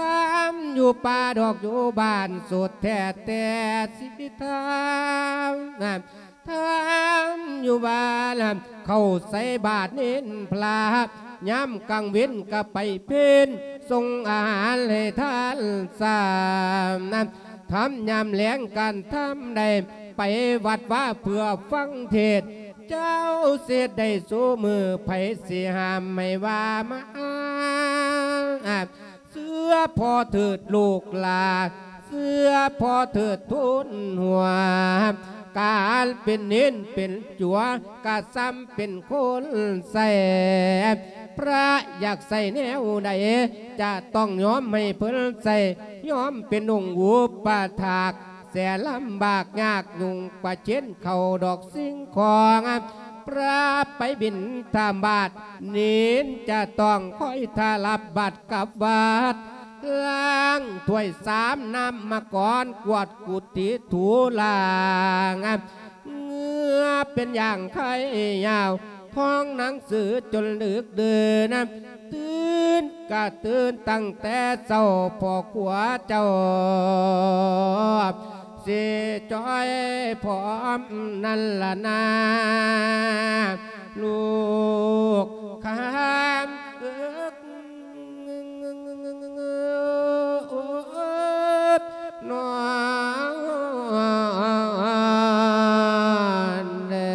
ຳຢູ່ປ່າດອກຢູ່ບ້ານ ສຸດແທ້ແຕ່ຊິທຳ ທຳຢູ່ບ້ານ ເຂົ້າໃສ່ບາດເນນພະ ຍາມກາງເວັນກະໄປເພັນ ສົ່ງອາຫານໃຫ້ທ່ານສາມ ທຳຍາມແລງການທຳໄດ້ ໄປວັດວາເພື່ອຟັງເທດ ເຈົ້າເສດໄດ້ຊູມື້ ໃຜຊິຫ້າມໃຫ້ວ່າມາ ເຊື່ອພໍ່ເຖີດລູກຫຼານ ເຊື່ອພໍ່ເຖີດທູນຫົວ ການເປັນເນນເປັນຈົວ ກະສ່ຳເປັນຄົນໃຊ້ ພະຢາກໃຊ້ແນວໃດ ຈະຕ້ອງຍອມໃຫ້ເພິ່ນໃຊ້ ຍອມເປັນອົງອຸປະຖາກ ແສນລຳບາກຍາກຫຍຸ້ງ ປະເຈັນເຂົ້າດອກສິ່ງຂອງ ພະໄປບິນທະບາດ ເນນຈະຕ້ອງຄອຍຖ້າຮັບບາດກັບວັດ ລ້າງຖ້ວຍຊາມນ້ຳມະກອນ ກວາດກຸຕິຖູລ້າງ ເຫື່ອເປັນຢ່າງໄຂ່ຍາວ ທ່ອງໜັງສືຈົນດຶກດື່ນ ຕື່ນກະຕື່ນຕັ້ງແຕ່ເຊົ້າ ພໍ່ຄົວເຈົ້າ ຊິຈ່ອຍພ້ອມນັ້ນລະນາ ລູກຄຳເອິກ ນອນແລະ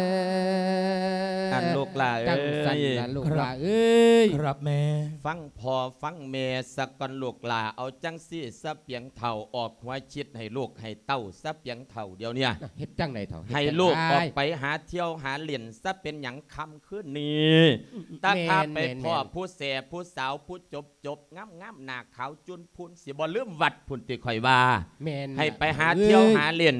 ອັນລູກຫຼ້າເອີຍ ຈັ່ງຊັ້ນລະລູກຫຼ້າເອີຍ ຄັບແມ່ ຟັງພໍ່ຟັງແມ່ສາກ່ອນລູກຫຼ້າ ເອົາຈັ່ງຊີ້ ສະປຽງເຖົ້າ ອອກຫົວຄິດໃຫ້ລູກໃຫ້ເຕົ້າ ສະປຽງເຖົ້າດຽວເນີ້ຍ ເຮັດຈັ່ງໃດເຖົ້າ ໃຫ້ລູກອອກໄປຫາທ່ຽວຫາຫຼິ້ນ ສະເປັນຫຍັງຄ່ຳຄືນນີ້ ຕາຂ້າໄປພໍ້ຜູ້ແສຜູ້ສາວ ຜູ້ຈົບ ຈົບງາມໆ ໜ້າຂາວຈຸນພຸ່ນ ຊິບໍ່ລືມວັດພຸ້ນຕິ ຂ້ອຍວ່າ ແມ່ນ ໃຫ້ໄປຫາທ່ຽວຫາຫຼິ້ນ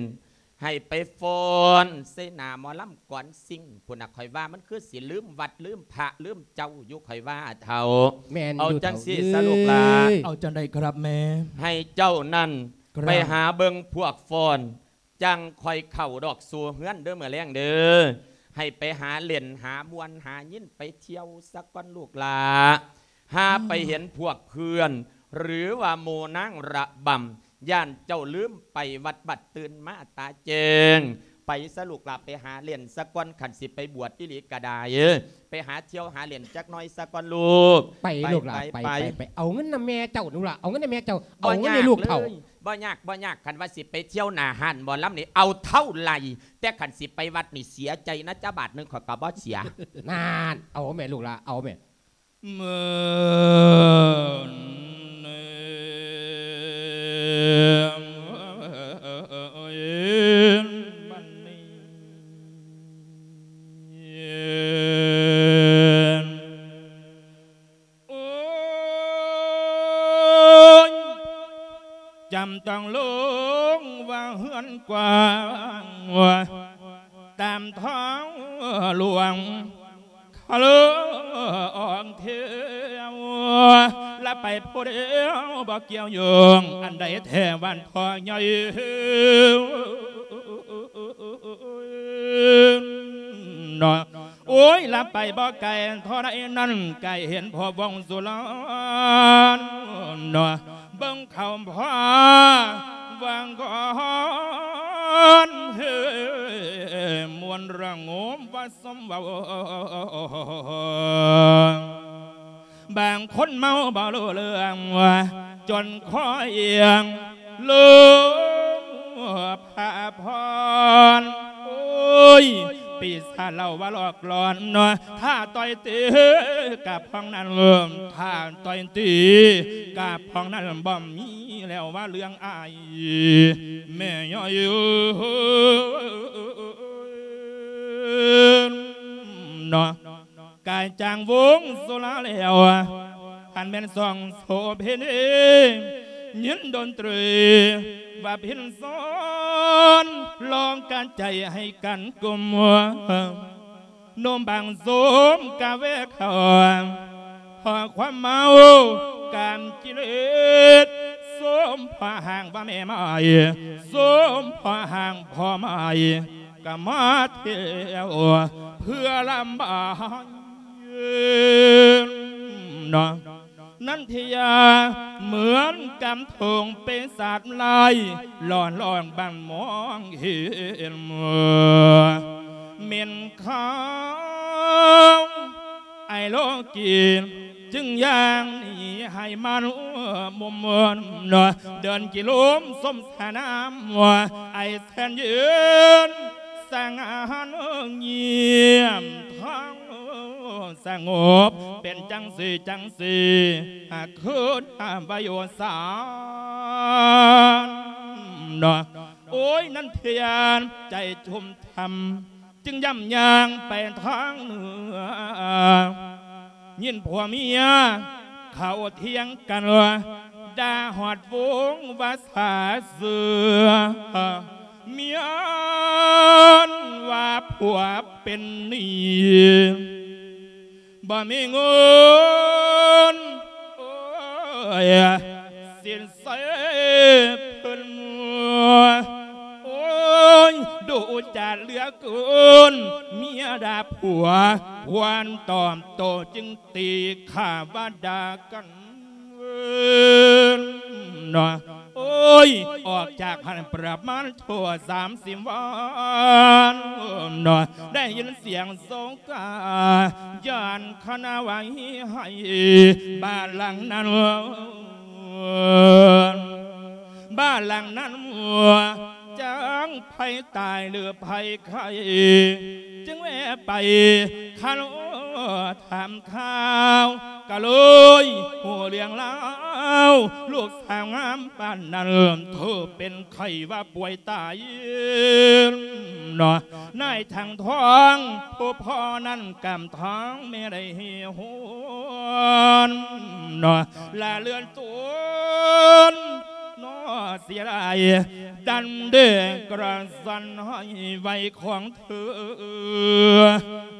ໃຫ້ໄປຟ້ອນໃສ່ໜ້າໝໍລຳກອນຊິງພຸ້ນນະ ຂ້ອຍວ່າມັນຄືຊິລືມວັດລືມພະລືມເຈົ້າຢູ່ ຂ້ອຍວ່າເຖົ້າ ແມ່ນ ເອົາຈັ່ງຊີ້ຊະລູກຫຼ້າ ເອົາຈັ່ງໃດຄັບແມ່ ໃຫ້ເຈົ້ານັ້ນ ໄປຫາເບິ່ງພວກຟ້ອນ ຈັ່ງຄ່ອຍເຂົ້າດອກສູ່ເຮືອນເດີ ມື້ແລງເດີ ໃຫ້ໄປຫາຫຼິ້ນ ຫາມ່ວນ ຫາຍິນ ໄປທ່ຽວສາກ່ອນລູກຫຼ້າ ຫາໄປເຫັນພວກເພື່ອນ ຫຼືວ່າໝູ່ນາງລະບຳ ຢ້ານເຈົ້າລືມໄປວັດບັດ ຕື່ນມາຕາແຈ້ງ ໄປຊະລູກຫຼ້າ ໄປຫາຫຼິ້ນສາກ່ອນ ຄັນຊິໄປບວດອີ່ຫຼີກະດາຍ ໄປຫາທ່ຽວຫາຫຼິ້ນຈັກໜ້ອຍສາກ່ອນລູກ ໄປລູກຫຼ້າ ໄປ ໄປ ໄປ ໄປ ເອົາເງິນນຳແມ່ເຈົ້າລູກຫຼ້າ ເອົາເງິນນຳແມ່ເຈົ້າ ເອົາເງິນໃຫ້ລູກເຖົ້າ ບໍ່ຍາກ ບໍ່ຍາກ ຄັນວ່າຊິໄປທ່ຽວໜ້າຮ້ານໝໍລຳນີ້ ເອົາເທົ່າໄຫຼ ແຕ່ຄັນຊິໄປວັດນີ້ເສຍໃຈນະ ຈັກບາດໜຶ່ງຂ້ອຍກະບໍ່ເສຍ ນັ້ນ ເອົາແມ່ລູກຫຼ້າ ເອົາແມ່ ໂອ້ຍ ຈຳຕ້ອງລົງວ່າເຮືອນກວ້າງ ຕາມທາງຫຼວງ ຄະເລີອອກທ່ຽວ ລະໄປຜູ້ດຽວບໍ່ກ່ຽວໂຍງ ອັນໃດແທ້ບ້ານພໍ່ໃຫຍ່ເນາະ ໂອ້ຍ ລະໄປບໍ່ໄກເທົ່າໃດນັ້ນ ໃກ້ເຫັນພໍ່ວົງສຸລານເນາະ ເບິ່ງເຂົ້າພໍ່ວັງກອນ ເຮີ ມ່ວນລະງົມວ່າສົມເວົ້າ ບາງຄົນເມົາບໍ່ຮູ້ເລື່ອງ ຈົນຄໍອຽງລົງພະພອນ ໂອ້ຍ ປີສາດເລົ່າວ່າຫຼອກຫຼອນ ຖ້າຕ່ອຍຕີກະພອງນັ້ນ ຖ້າຕ່ອຍຕີກະພອງນັ້ນ ບໍ່ມີແລ້ວວ່າເລື່ອງອາຍ ແມ່ຍ້ອຍເນາະ ກາຍຈາງວົງສຸລາແລ້ວ ຫັນແມ່ນສອງໂສເພນີ ຍິນດົນຕຣີວ່າພິນສອນ ລອງການໃຈໃຫ້ກັນກຸມ ນົມບາງໂສມກະແວເຂົ້າ ເພາະຄວາມເມົາກາມກິເລດ ໂສມເພາະຮ່າງວ່າແມ່ໄມ້ ໂສມເພາະຮ່າງພໍ່ໄມ້ ກະມາແຖວເພື່ອລຳບາຍເນາະ. ນັນທິຍາເໝືອນກຳທົງເປັນສັດລາຍ ຫຼອນລອງບັງມອງເຫັນ ເໝັນຂາວໄອໂລກີ ຈຶ່ງຢ່າງໜີໃຫ້ມັນມຸມເມີນ ເດີນກິໂລມສົມສະໜາມ ໄອແສນເຢັນ ສະຫງ່າງຽມທາງສະຫງົບ ເປັນຈັ່ງຊີ້ຈັ່ງຊີ້ ຫາກຄືນຫາໄວໂອສານເນາະ. ໂອ້ຍ ນັນທະຍານໃຈຊຸ່ມຊ່ຳ ຈຶ່ງຢ້ຳຍ່າງໄປທາງເໜືອ ຍິນຜົວເມຍເຂົາຖຽງກັນ ດ່າຮອດວົງວ່າສາເສືອ ເມຍນວ່າຜົວເປັນໜີ້ ບໍ່ມີເງິນ ໂອ້ຍ ສິນໃສ່ເພິ່ນ ໂອ້ຍ ດຸຈາດເຫຼືອເກີນ ເມຍດ່າຜົວ ຄວນຕອບໂຕ້ຈຶ່ງຕີຂ້າວ່າດ່າກັນ ເນາະ. ໂອ້ຍ ອອກຈາກຫັ້ນປະມານທົ່ວສາມສິບວັນເນາະ ໄດ້ຍິນສຽງໂຊກາ ຢ້ານຄະນະໄຫວ້ໄຫ້ ບ້ານຫຼັງນັ້ນ ບ້ານຫຼັງນັ້ນ ຈັກໃຜຕາຍຫຼືໃຜໄຂ້ ຈຶ່ງແວ່ໄປຄາໂລ ຖາມຂ່າວ ກະເລີຍຮູ້ເລື່ອງລາວ ລູກສາວງາມປານນັ້ນ ຖືເປັນໄຂ້ວ່າປ່ວຍຕາຍເນາະ. ນາຍທັງທ້ອງ ຜູ້ພໍ່ນັ້ນກຳທາງແມ່ໄດ້ເຮ່ຮ້ອນເນາະ ລະເລື່ອນຕົນເນາະ ເສຍດາຍ ດັນເດກະສັນໃຫ້ໄວຂອງ ເອີ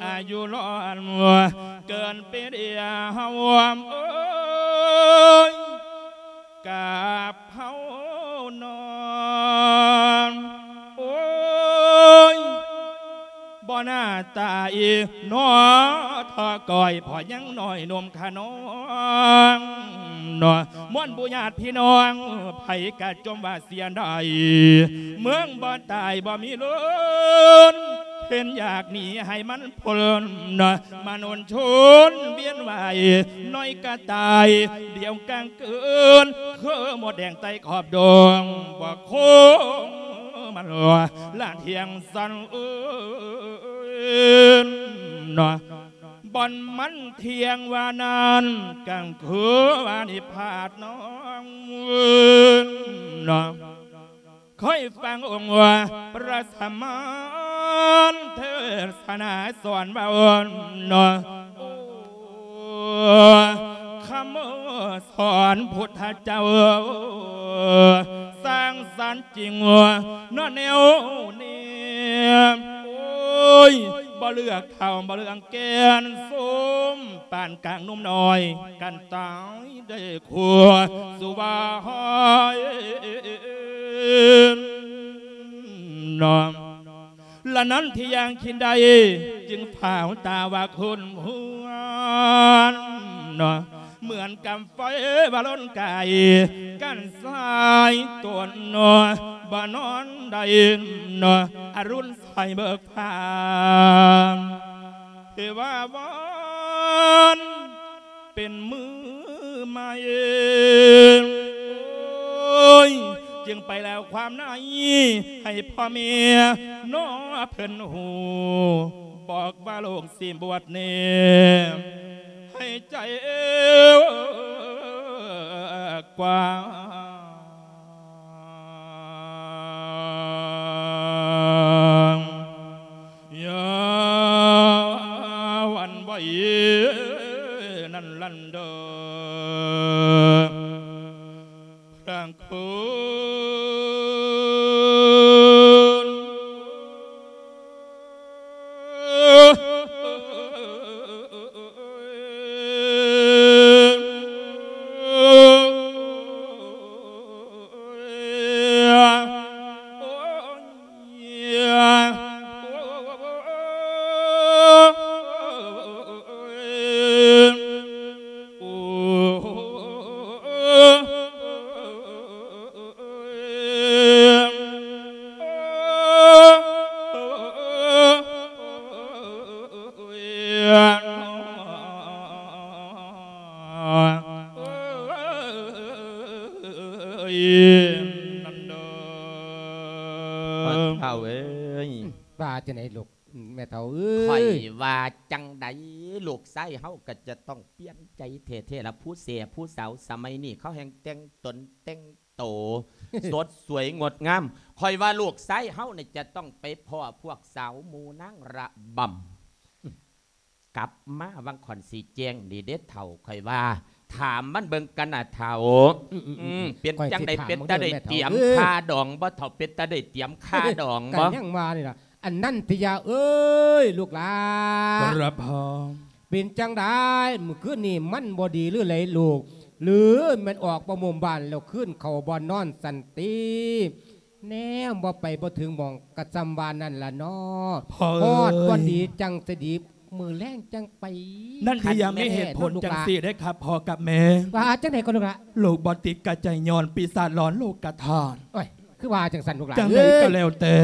ອາຍຸຫຼອນເກີນປີດຽວ ເອີຍ ກາບເຜົານອນ ໂອ້ຍ ບໍ່ໜ້າຕາອີໜໍ ທໍ່ກ້ອຍ ພໍຍັງນ້ອຍໜຸ່ມຂະນອງເນາະ. ມວນໝູ່ຍາດພີ່ນ້ອງ ໃຜກະຈົ່ມວ່າ ເສຍດາຍ ເມືອງບໍ່ຕາຍບໍ່ມີເລີນ ເຫັນຢາກໜີໃຫ້ມັນພົ້ນ ມາໂນນຊົນວຽນວ່າຍ ນ້ອຍກະຕາຍ ດຽວກາງເກີນ ຄືມົດແດງໄຕ່ຂອບດົງ ບໍ່ຄົງມັນລະທຽງສັນເອີນ ບ່ອນມັນທຽງວ່ານັ້ນ ກາງຄືວ່ານິພາດນ້ອງເອີນ ເນາະ. ຄ່ອຍຟັງອົງພະສະມານເທດສະນາສອນເວົ້າເນາະ ໂອ້ ຄຳສອນພຸດທະເຈົ້າ ສ້າງສັນຈິງເນາະແນວນີ້ ໂອ້ຍ ບໍ່ເລືອກເຖົ້າ ບໍ່ເລືອກແກ່ນ ສົມປານກາງໜຸ່ມນ້ອຍ ກັນຕາຍ ໄດ້ຄົວສຸວາຫອຍເນາະ. ລະນັ້ນທີ່ຢ່າງຄິດໄດ້ ຈຶ່ງພາວຕາວ່າຄົນເຮືອນເນາະ ເໝືອນກັບໄຟວ່າລົນກາຍ ກັນສາຍຕົນເນາະ ບໍ່ນອນໃດເນາະ ອະລຸນໃສເບີກຟ້າ ເທວາວັນ ເປັນມື້ໃໝ່ ໂອ້ຍ ຈຶ່ງໄປແລ້ວຄວາມໃນ ໃຫ້ພໍ່ແມ່ນ້ອເພິ່ນຮູ້ ບອກວ່າລູກຊິບວດນີ້ ໃຫ້ໃຈກວ້າງ ຢ່າຫວັ່ນໄຫວນັ້ນລັນເດີ ພະຄຸນ ນັນດາ ພໍ່ເຖົ້າເອີຍ ວ່າຈັ່ງໃດລູກ ແມ່ເຖົ້າເອີຍ ຂ້ອຍວ່າຈັ່ງໃດ ລູກຊາຍເຮົາກໍຈະຕ້ອງປ່ຽນໃຈແທ້ໆລະ ຜູ້ເສຍຜູ້ສາວສະໄໝນີ້ ເຂົາແຮ່ງແຕ່ງຕົນແຕ່ງໂຕ ສົດສວຍງົດງາມ ຂ້ອຍວ່າລູກຊາຍເຮົານີ້ຈະຕ້ອງໄປພໍ້ພວກສາວໝູ່ນາງລະບຳ ກັບມາວັງຂ້ອນຊິແຈ້ງນີ້ເດ້ເຖົ້າ ຂ້ອຍວ່າ ຖາມມັນເບິ່ງກັນນະເຖົ້າ ອືມໆໆ ອືມ ເປັນຈັ່ງໃດ ຂ້ອຍຊິຖາມ ເປັນຕາໄດ້ຕຽມ ເບິ່ງເດີແມ່ເຖົ້າເອີຍ ຄ່າດອງບໍ່ເຖົ້າ ເປັນຕາໄດ້ຕຽມຄ່າດອງບໍ່ ກໍຍັງວ່ານີ້ລະ ອັນນັ້ນຕິຍາເອີຍ ລູກຫຼານ ຄັບ ເປັນຈັ່ງໃດ ມື້ຄືນນີ້ມັນບໍ່ດີຫຼືໃດລູກ ຫຼືແມ່ນອອກບໍ່ມຸມບ້ານແລ້ວ ຄືນເຂົ້າບ່ອນນອນຊັ້ນຕິ ແນມບໍ່ໄປບໍ່ເຖິງໝ່ອງ ກະຊ່ຳວ່ານັ້ນລະເນາະ ພໍ່ເອີຍ ຮອດບ່ອນດີຈັ່ງຊິດີ ມື້ແລງຈັ່ງໄປ ນັ້ນທີ່ຍັງມີເຫດຜົນຈັ່ງຊີ້ເດ້ຄັບພໍ່ກັບແມ່ ວ່າຈັ່ງໃດກໍລູກລະ ລູກບໍ່ຕິດກະໃຈຍ້ອນປີສາດຫຼອນໂລກກະທາດ ໂອ້ຍ ຄືວ່າຈັ່ງຊັ້ນລູກຫຼານ ຈັ່ງໃດກໍແລ້ວແຕ່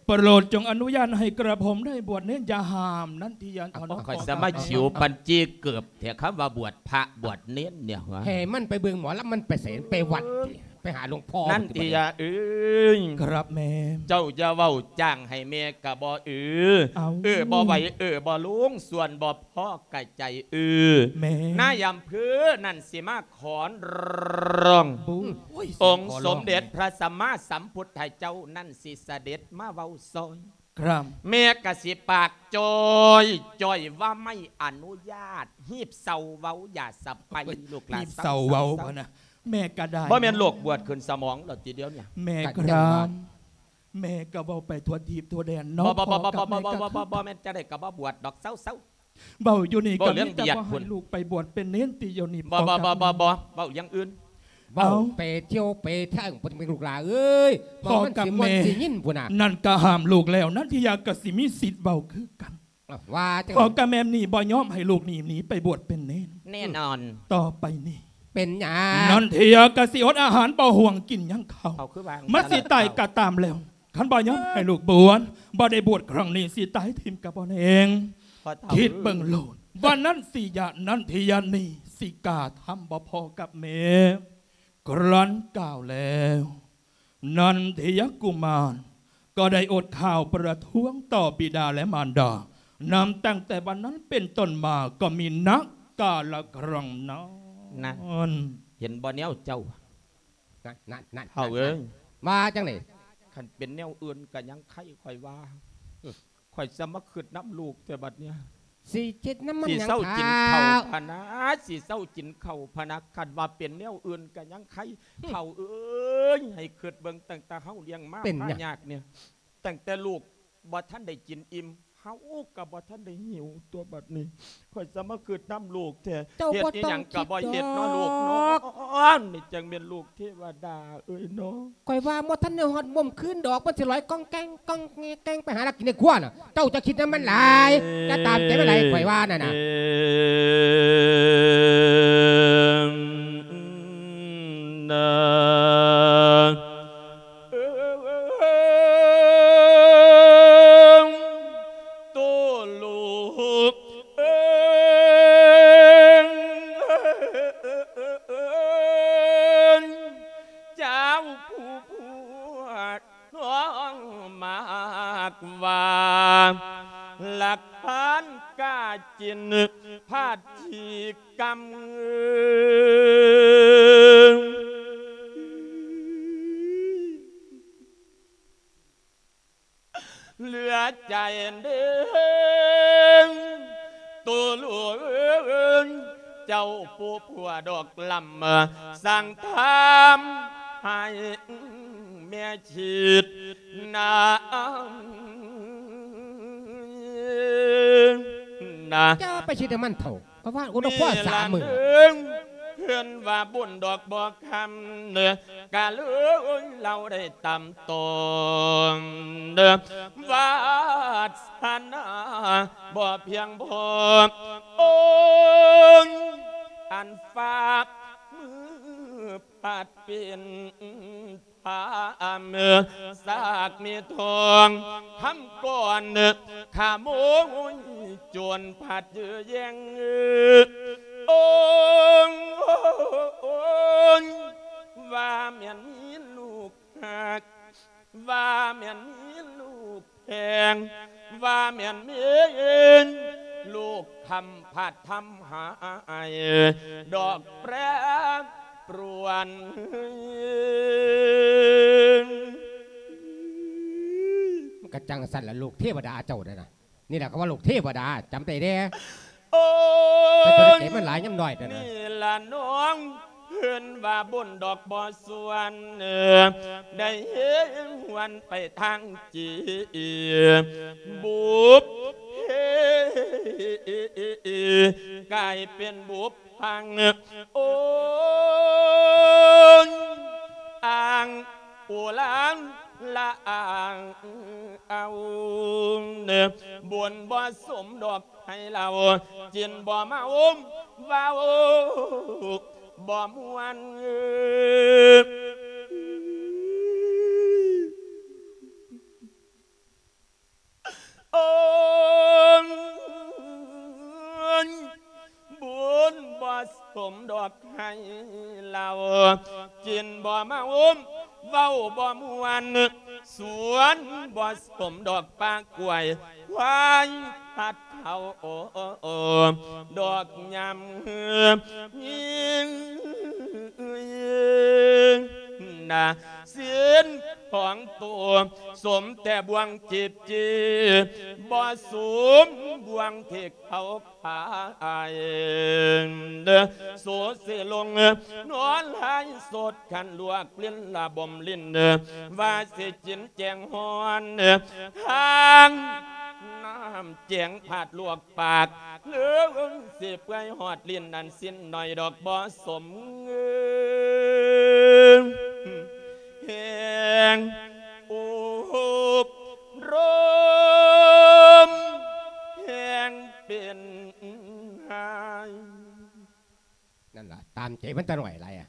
ໂປດຈົ່ງອະນຸຍາດໃຫ້ກະຜົມໄດ້ບວດເນນ ຢ່າຫ້າມ ນັ້ນທີ່ຍັງ ຂ້ອຍສາມາດຂິວປັນຈີເກີບ ແທ້ຄຳວ່າບວດພະບວດເນນນີ້ຫວາ ໃຫ້ມັນໄປເບິ່ງໝໍລຳ ມັນໄປໃສ ໄປວັດຕິ ໄປຫາຫຼວງພໍ່ ນັ້ນຕິຍາເອີຍ ຄັບແມ່ ເຈົ້າຢ່າເວົ້າຈ້າງໃຫ້ແມ່ກະບໍ່ເອີ ເອີບໍ່ໄຫວ ເອີບໍ່ລົງ ສ່ວນບໍ່ພໍກະໃຈເອີ ແມ່ ນາຍອຳເພີນັ້ນຊິມາຂອນຮ້ອງ ອົງສົມເດັດພະສຳມາສຳພຸດທະເຈົ້ານັ້ນຊິສະເດັດມາເວົ້າຊ່ອຍ ຄັບ ແມ່ກະຊິປາກຈ່ອຍ ຈ່ອຍວ່າໄມ່ອະນຸຍາດ ຮີບເຊົາເວົ້າຢ່າສະໄປ ລູກຫຼານ ຮີບເຊົາເວົ້າ ເຊົາ ເວົ້ານະ ແມ່ກະໄດ້ ບໍ່ແມ່ນໂລກບວດຂຶ້ນສະໝອງແລ້ວຕິດຽວນີ້ ແມ່ ກະຍັງວ່າ ຄັບ ແມ່ກະເວົ້າໄປທົ່ວທີບທົ່ວແດນເນາະ ບໍ່ ບໍ່ ບໍ່ ບໍ່ ບໍ່ ບໍ່ ບໍ່ແມ່ນຈັ່ງໃດກະບໍ່ບວດດອກ ເຊົາ ເຊົາ ເວົ້າຢູ່ນີ້ກະມີແຕ່ບໍ່ໃຫ້ລູກໄປບວດເປັນເນນຕິ ດຽວນີ້ ບໍ່ ບໍ່ ບໍ່ ບໍ່ ບໍ່ ເວົ້າຢ່າງອື່ນ ເວົ້າໄປທ່ຽວໄປທາງພຸ້ນແມ່ລູກຫຼາເອີຍ ພໍ່ກັບແມ່ ນັ້ນກະຫ້າມລູກແລ້ວ ນັນທິຍາກະຊິມີສິດເວົ້າຄືກັນ ວ່າຈັ່ງ ພໍ່ກັບແມ່ນີ້ບໍ່ຍອມໃຫ້ລູກນີ້ໜີໄປບວດເປັນເນນ ແນ່ນອນ ຕໍ່ໄປນີ້ ເປັນຫຍັງ ນັນທິຍາກະຊິອົດອາຫານ ບໍ່ຫວງກິນຫຍັງເຂົ້າ ມັນຊິຕາຍກະຕາມແລ້ວ ຄັນບໍ່ຍອມໃຫ້ລູກບວດ ບໍ່ໄດ້ບວດຄັ້ງນີ້ ຊິຕາຍຖິ້ມກະບໍ່ແນງ ຄິດເບິ່ງໂລດ ວ່ານັນທິຍາ ນັນທິຍານີ້ ຊິກ້າທຳບໍ່ພໍ່ກັບແມ່ ຄັ້ນກ່າວແລ້ວ ນັນທິຍະກຸມານ ກໍໄດ້ອົດຂ້າວປະທ້ວງຕໍ່ບິດາ ແລະ ມານດາ ນັບຕັ້ງແຕ່ວັນນັ້ນເປັນຕົ້ນມາ ກໍມີນັກກາລະຄັ້ງນັ້ນ ນັ້ນ ເຫັນບໍ່ແນວເຈົ້າ ນັ້ນໆໆ ເຖົ້າເອີຍ ວ່າຈັ່ງໃດ ຄັນເປັນແນວອື່ນກະຍັງໄຄ ຂ້ອຍວ່າ ຂ້ອຍສະມາຄຶດນຳລູກແທ້ບັດນີ້ ຊິຄິດນຳມັນຫຍັງ ຊິເຊົາກິນເຂົ້າພະນາ ຊິເຊົາກິນເຂົ້າພະນາ ຄັນວ່າເປັນແນວອື່ນກະຍັງໄຄ ເຖົ້າເອີຍ ໃຫ້ຄຶດເບິ່ງ ຕັ້ງແຕ່ເຮົາລ້ຽງມາ ເປັນຫຍັງ ພາຍາກນີ້ ຕັ້ງແຕ່ລູກບໍ່ທັນໄດ້ກິນອີ່ມ ເຮົາກະບໍ່ທັນໄດ້ຫິວຕົວະ ບັດນີ້ ຂ້ອຍສະມາຄຶດນຳລູກແທ້ ເຮັດອີ່ຫຍັງກະບໍ່ເຮັດເນາະລູກເນາະ ນີ້ຈັ່ງແມ່ນລູກເທວະດາເອີຍເນາະ ຂ້ອຍວ່າບໍ່ທັນໄດ້ຮອດມຸມຄືນດອກ ມັນຊິລອຍກ້ອງແກ້ງ ກ້ອງແກ້ງ ໄປຫາລັກກິນໃນຄົວນະ ເຈົ້າຈະຄິດນຳມັນຫຼາຍ ຢ່າຕາມໃຈມັນຫຼາຍ ຂ້ອຍວ່ານັ້ນນະ ເອີ ນາ ໂຕລູກເອີຍ ເຈົ້າຜູ້ພວກນ້ອງມາກວ່າ ຫຼັກຖານກາຈິນພາດທີ່ກຳ ເຫຼືອໃຈເດີ ໂຕລູກເອີຍ ເຈົ້າຜູ້ຜົວດອກລຳ ສັ່ງທຳໃຫ້ແມ່ຄິດນຳ ນະ ຢ່າໄປຄິດນຳມັນເຖົ້າ ເພາະວ່າອຸດອກຄອສາມມື້ ເພິ່ນວ່າບຸນດອກບໍ່ຄຳ ກະເລີຍເລົ່າໄດ້ຕາມຕ້ອງ ວາສະນາບໍ່ພຽງພໍ ໂອ້ຍ ອັນຝາກມືພາດເປັນ ພາມສາກມີທອງຄຳກ່ອນ ຂະໂມຍໂຈນພັດເຢີແຍ່ງ ໂອ້ຍ ວ່າແມ່ນມີລູກຮັກ ວ່າແມ່ນມີລູກແພງ ວ່າແມ່ນມີລູກຄຳພັດທຳໃຫ້ດອກແປຣປຣວນ. ມັນກະຈັ່ງຊັ້ນລະ ລູກເທວະດາເຈົ້ານັ້ນນະ. ນີ້ລະເຂົາວ່າລູກເທວະດາ ຈຳໄດ້ເດ້. ໂອ້ຍ ແຕ່ຕົວເລັກໃຈມັນຫຼາຍຍາມນ້ອຍເດ້ນະ. ນີ້ລະນ້ອງ ເພິ່ນວ່າບຸນດອກບໍ່ສວນ ໄດ້ເຮັດຫວນໄປທາງຈີ ບຸບເພ ກາຍເປັນບຸບພັງ ໂອ້ຍ ອ່າງ ໂອລາງລະອາງເອົາ ບຸນບໍ່ສົມດອກໃຫ້ເລົ່າ ຈິນບໍ່ເມົາເວົ້າບໍ່ມ່ວນ. ໂອ້ຍ ບຸນບໍ່ສົມດອກໃຫ້ເລົ່າ ຈິນບໍ່ເມົາ ເວົ້າບໍ່ມ່ວນ ສວນບໍ່ສົມດອກປາກກ້ວຍ ຄວາຍພັດເຂົ້າ ດອກຍາມຍິງ ນະ ສິ້ນຂອງໂຕ ສົມແຕ່ບ່ວງຈີບຈີ ບໍ່ສົມບ່ວງທີ່ເຂົາຂາຍ. ໂສເສລົງນອນຫຼາຍສົດ ຄັນລວກຫຼິ້ນລະບົມຫຼິ້ນ ວ່າຊິກິນແກງຮ້ອນ ທາງນ້ຳແກງພາດລວກ ປາກເລີງຊິເປື່ອຍຮອດລີ້ນ ອັນສິ້ນໜ້ອຍດອກບໍ່ສົມເງິນ ແຮງອົບລົມ ແຮງເປັນໄຫ້. ນັ້ນລະ ຕາມໃຈມັນຕາໜ້ອຍຫຼາຍອະ.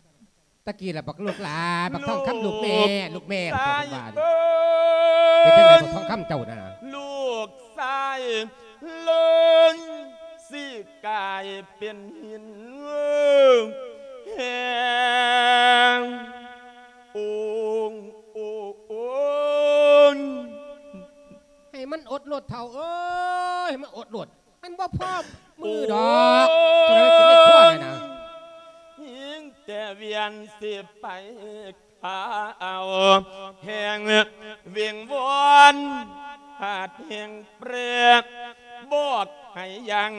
ຕະກີ້ລະ ບັກລູກຫຼ້າ ບັກທອງຄຳ ລູກແມ່ ລູກແມ່ ເພິ່ນວ່າ ເປັນຈັ່ງໃດບັກທອງຄຳເຈົ້ານະ? ລູກຊາຍເລີຍຊິກາຍເປັນຫີນແຮງ ໂອງໂອງ ໃຫ້ມັນອົດໂລດເຖົ້າເອີຍ ໃຫ້ມັນອົດໂລດ. ມັນບໍ່ພໍມືດອກ ໂອ້ຍ ຈະໄດ້ກິນໃນຄົວນີ້ນະ. ຍິງແຕ່ວຽນຊິໄປຂ້າເອົາ ແຮງວິງວອນ ຫາດແຮງແປກ ບອກໃຫ້ຍັງ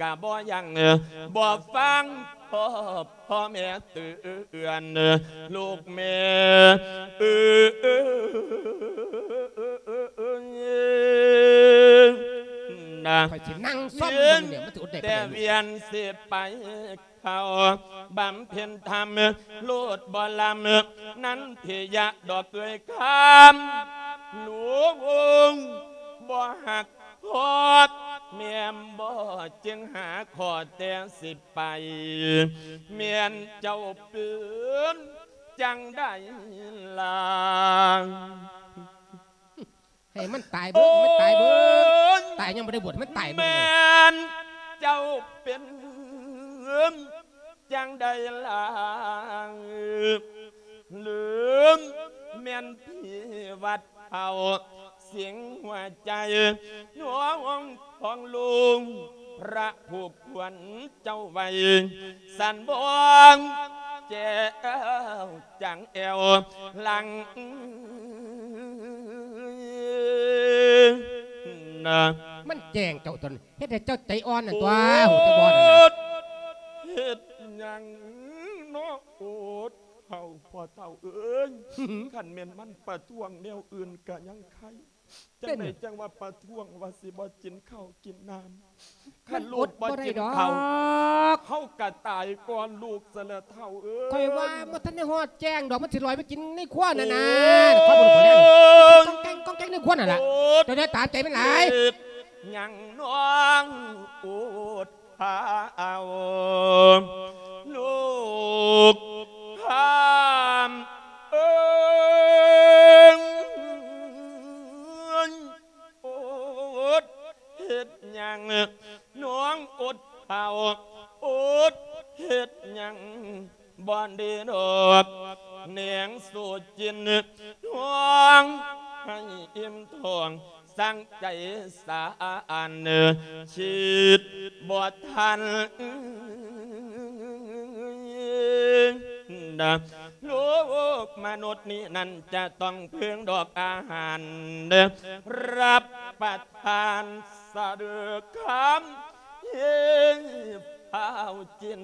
ກະບໍ່ຍັງ ບໍ່ຟັງພໍ່ ພໍ່ແມ່ເຕືອນ ລູກແມ່ເອີຍນະ. ຂ້ອຍຊິນັ່ງຊອມເບິ່ງແລ້ວ ມັນຊິອົດໄດ້ປານໃດ ແຕ່ວຽນຊິໄປເຂົ້າບຳເພັນທຳ ໂລດບໍ່ລຳ ນັນທິຍະດອກເອີຍຄຳ ຫຼວງ ບໍ່ຮັກ ຮອດແມ່ນບໍ່ ຈຶ່ງຫາຂໍແຕ່ຊິໄປ ແມ່ນເຈົ້າເປັນຈັ່ງໃດລະ? ໃຫ້ມັນຕາຍເບິ່ງ ໃຫ້ມັນຕາຍເບິ່ງ ໂອ້ຍ ຕາຍຍັງບໍ່ໄດ້ບວດ ໃຫ້ມັນຕາຍເບິ່ງ. ແມ່ນເຈົ້າເປັນຈັ່ງໃດລະ? ຫຼືແມ່ນຜີວັດເຜົາ ສິງຫົວໃຈ ນ້ອງຂອງລຸງ ພະຜູ້ຄວນເຈົ້າໄວ້ ສັນບອງແຈວຈາງແອວຫຼັງນະ. ມັນແຈ້ງເຈົ້າຕົນ ເຮັດໃຫ້ເຈົ້າໃຈອ່ອນນັ້ນຕົວະ ໂອດ ຮູ້ຈັກບໍ່ນັ້ນນະ? ເຮັດຫຍັງເນາະ ໂອດ ເຖົ້າ ພໍ່ເຖົ້າເອີຍ ຄັນແມ່ນມັນປະທ້ວງແນວອື່ນກະຍັງໄຄ ຈັ່ງໃດຈັ່ງວ່າປະທ້ວງວ່າຊິບໍ່ກິນເຂົ້າກິນນ້ຳ ຄັນລູກບໍ່ກິນເຂົ້າ ເຮົາກະຕາຍກ່ອນລູກຊະແລ້ວເຖົ້າເອີຍ. ຂ້ອຍວ່າບໍ່ທັນໄດ້ຮອດແຈ້ງດອກ ມັນຊິລອຍໄປກິນໃນຄົວນັ້ນນະ ໂອ້ຍ ຄວາມບໍ່ຮູ້ບໍ່ແລ້ວ ກ້ອງແກ້ງ ກ້ອງແກ້ງໃນຄົວນັ້ນລະ ໂອດ ເຈົ້າຢ່າຕາມໃຈມັນຫຼາຍ ເຮັດຫຍັງນ້ອງໂອດ ພາເອົາລູກພາມເອີຍ ໂອດເຮັດຫຍັງ ນ້ອງໂອດເຖົ້າ ໂອດເຮັດຫຍັງ ບໍ່ໄດ້ດອກ ແນງສູ່ກິນທ້ອງໃຫ້ອີ່ມທ້ອງ ສັງໃຈສາອັນ ຄິດບໍ່ທັນ ໂລກມະນຸດນີ້ນັ້ນ ຈະຕ້ອງເພິ່ງດອກອາຫານ ຮັບປະທານສະເດີຄຳ ເຮັດເຂົ້າກິນ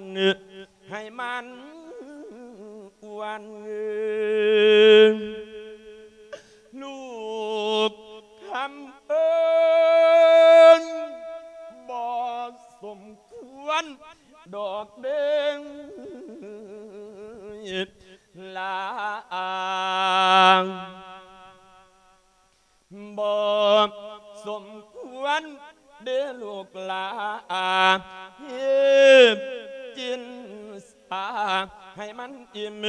ໃຫ້ມັນອ້ວນ ລູກຄຳເອີນ ບໍ່ສົມຄວນດອກເດ້ງຫຼາ ບໍ່ສົມຄວນເດ້ລູກຫຼາ ຮີບກິນສາ ໃຫ້ມັນອີ່ມ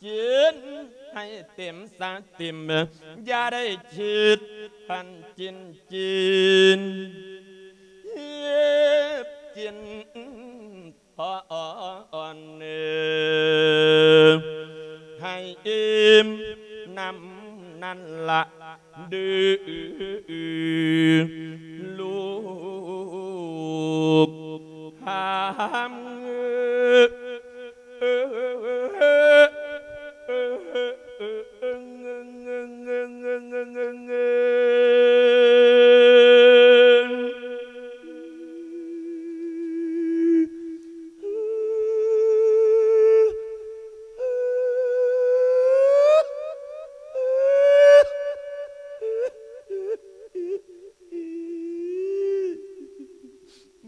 ກິນໃຫ້ເຕັມສະຕິມ ຢ່າໄດ້ຄິດພັນກິນກິນ ຮີບກິນ ພໍອ່ອນເອີ ໃຫ້ອີ່ມນຳນັ້ນລະ ດື ລູກຄຳ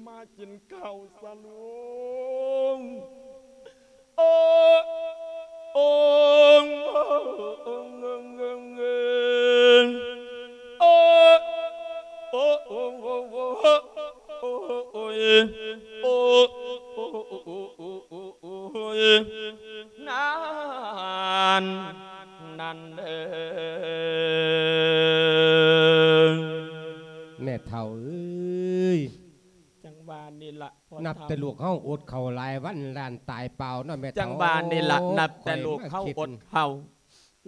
ມາກິນເຂົ້າຊະລູກ ໂອ ໂອ ໂອ ໂອ ໂອ ໂອ ໂອ ໂອ ນານ ນັ້ນເດີ ແມ່ເຖົ້າເອີຍ ຈັ່ງວ່ານີ້ລະ ນັບແຕ່ລູກເຮົາອົດເຂົ້າຫຼາຍວັນ ລ້ານຕາຍເປົ່າເນາະແມ່ເຖົ້າ ຈັ່ງວ່ານີ້ລະ ໂອ້ ນັບແຕ່ລູກເຮົາອົດເຂົ້າ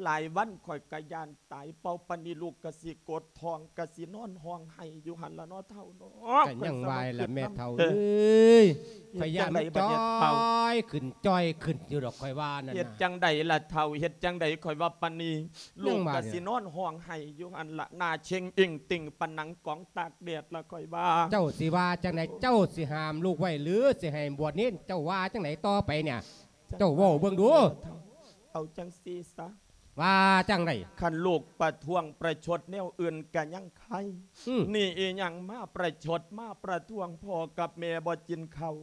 ຫຼາຍວັນ ຂ້ອຍກະຢ້ານຕາຍເປົ່າ ປານນີ້ລູກກະຊິກົດທ້ອງ ກະຊິນອນຮ້ອງໄຫ້ຢູ່ຫັ້ນລະເນາະເຖົ້າເນາະ ກະຍັງວ່າລະແມ່ເຖົ້າເອີຍ ຂ້ອຍຢ້ານມັນຈ່ອຍຂຶ້ນ ຈ່ອຍຂຶ້ນຢູ່ດອກ ຂ້ອຍວ່ານັ້ນນະ ເຮັດຈັ່ງໃດລະເຖົ້າ ເຮັດຈັ່ງໃດ ຂ້ອຍວ່າປານນີ້ ລູກກະຊິນອນຮ້ອງໄຫ້ຢູ່ຫັ້ນລະ ໜ້າເຊັງອິ້ງຕິ່ງປານໜັງກອງຕາກແດດລະ ຂ້ອຍວ່າ ເຈົ້າຊິວ່າຈັ່ງໃດ ເຈົ້າຊິຫ້າມລູກໄວ້ ຫຼື ຊິໃຫ້ບວດເນນ ເຈົ້າວ່າຈັ່ງໃດຕໍ່ໄປເນຍ ເຈົ້າເວົ້າເບິ່ງດູ ເອົາຈັ່ງຊີ້ຊະ ວ່າຈັ່ງໃດ ຄັນລູກປະທ້ວງປະຊົດແນວອື່ນກະຍັງໄຄ ອືມ ນີ້ອີ່ຫຍັງມາປະຊົດມາປະທ້ວງພໍ່ກັບແມ່ບໍ່ກິນເຂົ້າ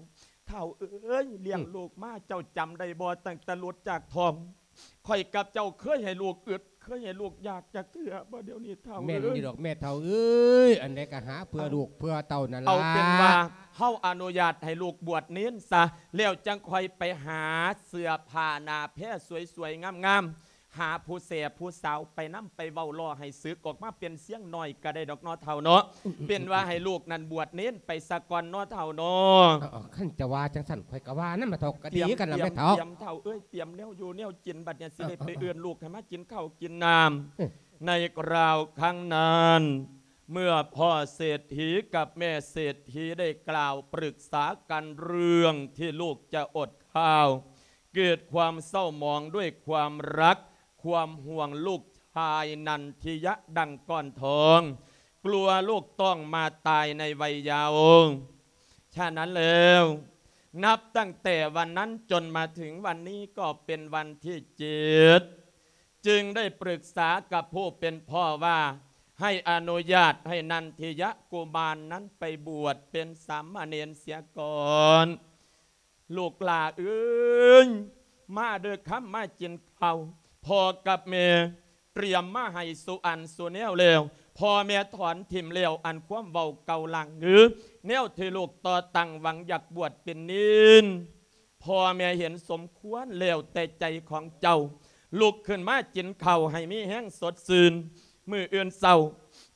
ເຖົ້າເອີຍ ລ້ຽງ ອືມ ລູກມາເຈົ້າຈຳໄດ້ບໍ່ ຕັ້ງແຕ່ຫຼຸດຈາກທ້ອງ ຂ້ອຍກັບເຈົ້າເຄີຍໃຫ້ລູກອຶດ ເຄີຍໃຫ້ລູກຢາກຈັກເທື່ອບໍ່ ດຽວນີ້ເຖົ້າ ແມ່ນຢູ່ດອກແມ່ເຖົ້າເອີຍ ອັນໃດກະຫາເພື່ອລູກເພື່ອເຕົ້ານັ້ນລະ ເອົາເປັນວ່າເຮົາອະນຸຍາດໃຫ້ລູກບວດເນນຊະ ແລ້ວຈັ່ງຄ່ອຍໄປຫາເສື້ອຜ້າໜ້າແພສວຍໆງາມໆ ຫາຜູ້ແສຜູ້ສາວໄປນຳ ໄປເວົ້າລໍ້ໃຫ້ສຶກອອກມາເປັນຊຽງນ້ອຍກະໄດ້ດອກເນາະເຖົ້າເນາະ ເປັນວ່າໃຫ້ລູກນັ້ນບວດເນນໄປສາກ່ອນເນາະເຖົ້າເນາະ ເອີ ຄັນຈະວ່າຈັ່ງຊັ້ນ ຂ້ອຍກະວ່ານຳລະເຖົ້າ ກະດີຄືກັນລະແມ່ເຖົ້າ ຕຽມເຖົ້າເອີຍ ຕຽມແນວຢູ່ແນວກິນ ບັດນີ້ຊິໄດ້ໄປເອີ້ນລູກໃຫ້ມາກິນເຂົ້າກິນນ້ຳ ໃນຄາວຄັ້ງນັ້ນ ເມື່ອພໍ່ເສດຖີກັບແມ່ເສດຖີໄດ້ກ່າວປຶກສາກັນເລື່ອງທີ່ລູກຈະອົດຂ້າວ ເກີດຄວາມເສົ້າໝອງດ້ວຍຄວາມຮັກ ຄວາມຫ່ວງລູກຊາຍນັນທິຍະດັ່ງກ້ອນທອງ ກົວລູກຕ້ອງມາຕາຍໃນໄວເຍົາ ສະນັ້ນແລ້ວ ນັບຕັ້ງແຕ່ວັນນັ້ນຈົນມາເຖິງວັນນີ້ກໍເປັນວັນທີເຈັດ ຈຶ່ງໄດ້ປຶກສາກັບຜູ້ເປັນພໍ່ວ່າ ໃຫ້ອະນຸຍາດໃຫ້ນັນທິຍະກຸມານນັ້ນໄປບວດເປັນສາມະເນນເສຍກ່ອນ ລູກຫຼ້າເອີຍ ມາເດີຄຳ ມາກິນເຂົ້າ ພໍ່ກັບແມ່ຕຽມມາໃຫ້ສູ່ອັນສູ່ແນວແລ້ວ ພໍ່ແມ່ຖອນຖິ້ມແລ້ວ ອັນຄວາມເວົ້າເກົ່າຫຼັງ ແນວທີ່ລູກຕໍ່ຕັ້ງຫວັງຢາກບວດເປັນເນນ ພໍ່ແມ່ເຫັນສົມຄວນແລ້ວແຕ່ໃຈຂອງເຈົ້າ ລຸກຂຶ້ນມາກິນເຂົ້າໃຫ້ມີແຮງສົດຊື່ນ ມື້ອື່ນເຊົ້າ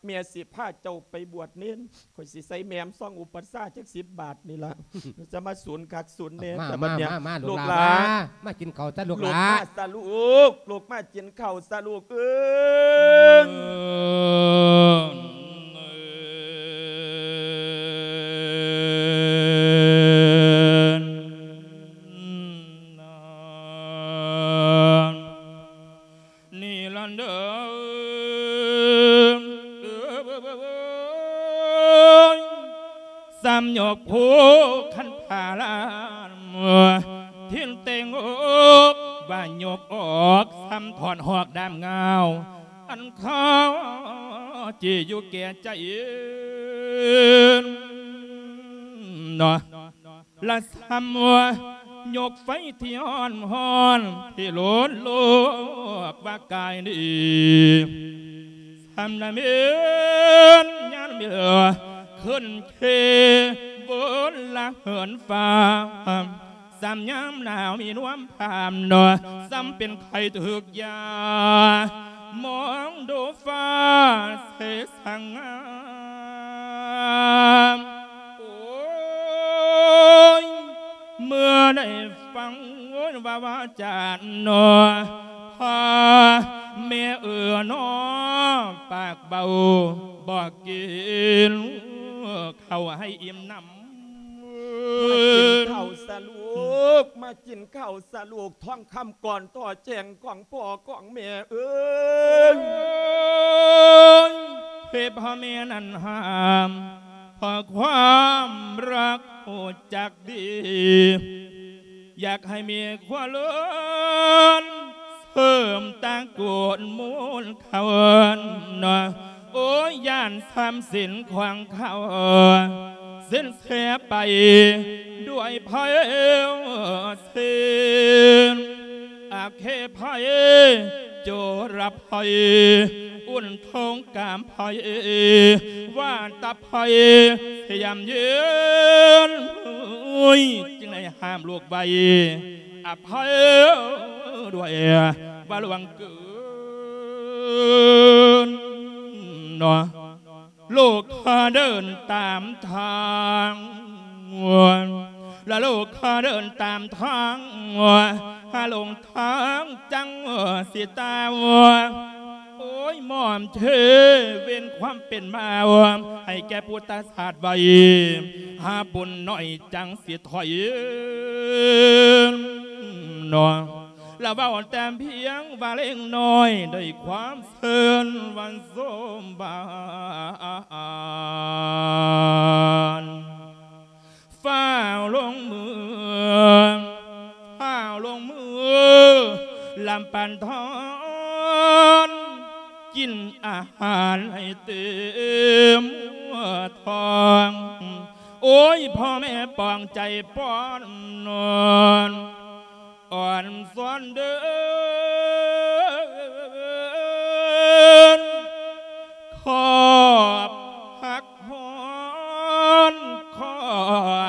ແມ່ຊິພາເຈົ້າໄປບວດເນນ ຂ້ອຍຊິໃສ່ແໝມຊອງອຸປັດຊາຈັກສິບບາດນີ້ລະ ຈະມາສູນຄັກສູນແນ່ ມາ ແຕ່ບັດເນີ້ຍ ມາ ມາ ລູກຫຼານ ລູກຫຼານ ມາ ມາກິນເຂົ້າຊະລູກຫຼານ ມາຊະລູກ ລູກມາກິນເຂົ້າຊະລູກເອີຍ ນີ້ລະເດີ ສ່ຳຍົກພູຄັນຜາລານ ທິນເຕັງອົກວ່າຍົກອອກ ສ່ຳຖອນຫອກດາມງາວ ອັນຄາຈີຢູ່ແກ່ໃຈເນາະ. ລະສ່ຳຍົກໄຟທີ່ຮ້ອນຮ້ອນ ທີ່ໂລນໂລກວ່າກາຍນີ້ ສ່ຳລະເໝັນຍາມເຫຼືອ ຂຶ້ນເຄວນລະເຫີນຟ້າ ສ່ຳຍາມໜາວມີນວມພາມເນາະ ສ່ຳເປັນໄຂ້ຖືກຢາ ມອງດູຟ້າເສສະງາມ ໂອ້ຍ ເມື່ອໄດ້ຟັງວ່າວາຈາເນາະ ພາແມ່ເອີເນາະ ປາກເບົາບໍ່ກິນເຂົ້າໃຫ້ອີ່ມໜຳ ມາກິນເຂົ້າຊະລູກ ມາກິນເຂົ້າຊະລູກ ທອງຄຳກ່ອນຕໍ່ແຈ້ງຂອງພໍ່ຂອງແມ່ເອີຍ ເພພະແມ່ນັ້ນຫ້າມ ເພາະຄວາມຮັກຮູ້ຈັກດີ ຢາກໃຫ້ມີຄວາມເລີນ ເສີມຕາງໂກນມູນເຂົ້າເນາະ ໂອ້ຍ ຢ້ານສາມສິນຂວາງເຂົາ ສິ້ນເສຍໄປດ້ວຍໄພເສນ ອາເຄໄພ ໂຈລະໄພ ອຸນ ໂທງກາມໄພ ວາດຕະໄພ ສະຫຍາມເຢັນ ຈຶ່ງໄດ້ຫ້າມລູກໄວ້ ອະໄພດ້ວຍວ່າຫຼວງເກີນເນາະ ລູກຂ້າເດີນຕາມທາງ ລະລູກຂ້າເດີນຕາມທາງ ຫາຫຼົງທາງຈັງຊິຕາຍ ໂອ້ຍ ໝອມເທເວັນຄວາມເປັນມາ ໃຫ້ແກ່ພຸດທະຊາດໄວ້ ຫາບຸນໜ້ອຍຈັ່ງຊິຖອຍເນາະ ລະເວົ້າແຕ່ພຽງວ່າເລັກນ້ອຍ ດ້ວຍຄວາມເຊີນວ່າສົມບານ ຟ້າວລົງມື ຟ້າວລົງມື ລຳປັນທອນ ກິນອາຫານໃຫ້ເຕັມທ້ອງ ໂອ້ຍ ພໍ່ແມ່ປອງໃຈປ້ອນນອນ ອ່ອນຊອນເດີນ ຂອບຮັກຮ້ອນ ຂອ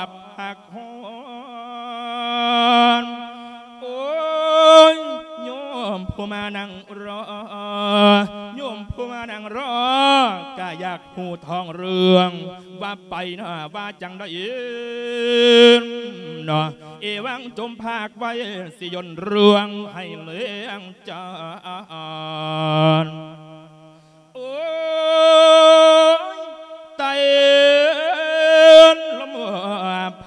ບຮັກຮ້ອນ ໂອ້ຍ ໂຍມຜູ້ມານັ່ງລໍ ໂຍມຜູ້ມານັ່ງລໍ ກະຢາກຮູ້ທ້ອງເລື່ອງ ວ່າໄປໜ້າວ່າຈັ່ງໃດເນາະ ເອວັງຈົ່ມພາກໄວ້ ຊິຍົນເລື່ອງໃຫ້ເລື່ອງຈານ ໂອ້ຍ ໄຕ້ລົມ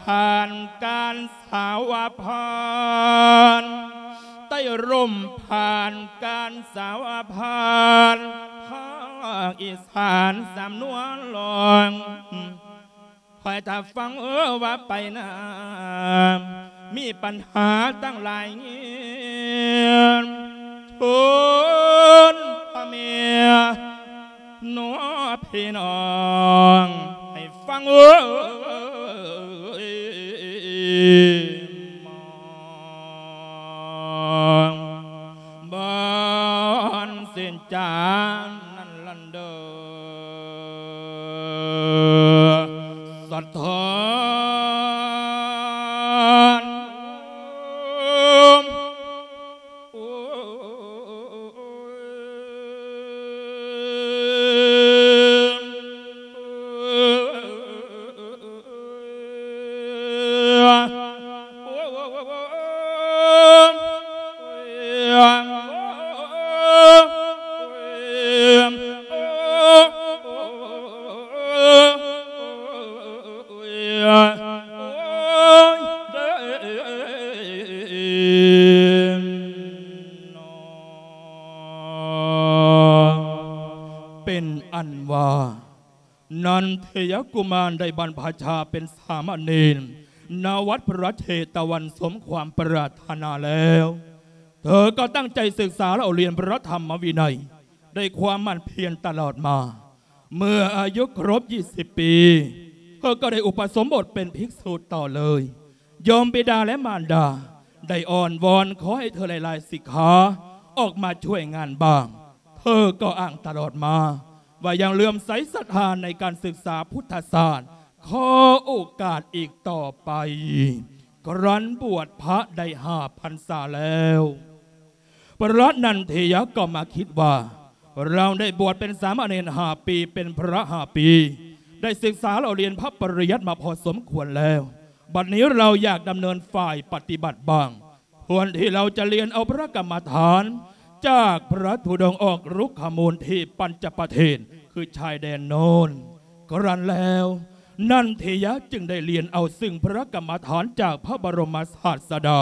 ຜ່ານການສາວະຜ່ານ ໄຕ້ລົມຜ່ານການສາວະຜ່ານ ພາກອີສານສຳນວນລອງ ຄອຍຖ້າຟັງເອີວ່າໄປນາ ມີປັນຫາຕັ້ງຫຼາຍເງືອນ ທູນພະແມ່ໜໍພີ່ນ້ອງ ໃຫ້ຟັງເອີ ບ່ອນເສັ້ນຈານນັ້ນລະເດີ ສະທ້ອນ. ເທຍະກຸມານໄດ້ບັນພະຊາເປັນສາມະເນນ ນະວັດພະເຈຕະວັນສົມຄວາມປາດຖະໜາແລ້ວ ເທີກໍຕັ້ງໃຈສຶກສາເລົ່າລຽນພະທຳມະວິໄນ ດ້ວຍຄວາມໝັ່ນພຽນຕະຫຼອດມາ. ເມື່ອອາຍຸຄົບ ຊາວ ປີ ເທີກໍໄດ້ອຸປະສົມບົດເປັນພິກສຸຕໍ່ເລີຍ. ໂຍມບິດາ ແລະ ມານດາ ໄດ້ອ້ອນວອນຂໍໃຫ້ເທີຫຼາຍໆສິກຂາອອກມາຊ່ວຍງານບ້າງ. ເທີກໍອ້າງຕະຫຼອດມາວ່າຍັງເຫຼື້ອມໃສສັດທາໃນການສຶກສາພຸດທະສາດ, ຂໍໂອກາດອີກຕໍ່ໄປ. ກະລັນບວດພະໄດ້ຫ້າພັນສາແລ້ວ. ພະນັນເທຍະກໍມາຄິດວ່າ ເຮົາໄດ້ບວດເປັນສາມະເນນຫ້າປີ ເປັນພະຫ້າປີ ໄດ້ສຶກສາເລົ່າລຽນພະປະລິຍັດມາພໍສົມຄວນແລ້ວ, ບັດນີ້ເຮົາຢາກດຳເນີນຝ່າຍປະຕິບັດບ້າງ. ຄວນທີ່ເຮົາຈະລຽນເອົາພະກຳມະຖານຈາກພະທຸດົງອອກລຸກຂະມູນທີ່ປັນຈະປະເທດ ຄືຊາຍແດນໂນ້ນ. ກະລັນແລ້ວ ນັນເທຍະຈຶ່ງໄດ້ລຽນເອົາຊຶ່ງພະກຳມະຖານຈາກພະບໍລົມມະສາດສະດາ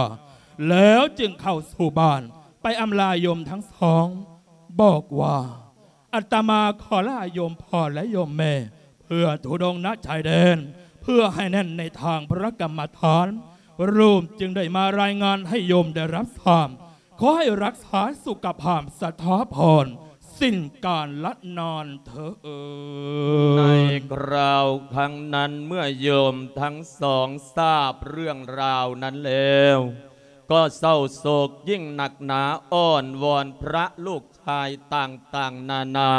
ແລ້ວຈຶ່ງເຂົ້າສູ່ບ້ານ ໄປອຳລາໂຍມທັງສອງ, ບອກວ່າ ອາດຕະມາຂໍລາໂຍມພໍ່ ແລະ ໂຍມແມ່ ເພື່ອທຸດົງນະຊາຍແດນ ເພື່ອໃຫ້ແໜ້ນໃນທາງພະກຳມະຖານ. ລູກຈຶ່ງໄດ້ມາລາຍງານໃຫ້ໂຍມໄດ້ຮັບຊາບ. ຂໍໃຫ້ຮັກສາສຸຂະພາບສະຖາພອນ ສິ້ນການລະນານເທີ້ນ. ໃນຄາວຄັ້ງນັ້ນ ເມື່ອໂຍມທັງສອງຊາບເລື່ອງລາວນັ້ນແລ້ວ ກໍເສົ້າໂສກຍິ່ງໜັກໜາ, ອ້ອນວອນພະລູກຊາຍຕ່າງໆນານາ,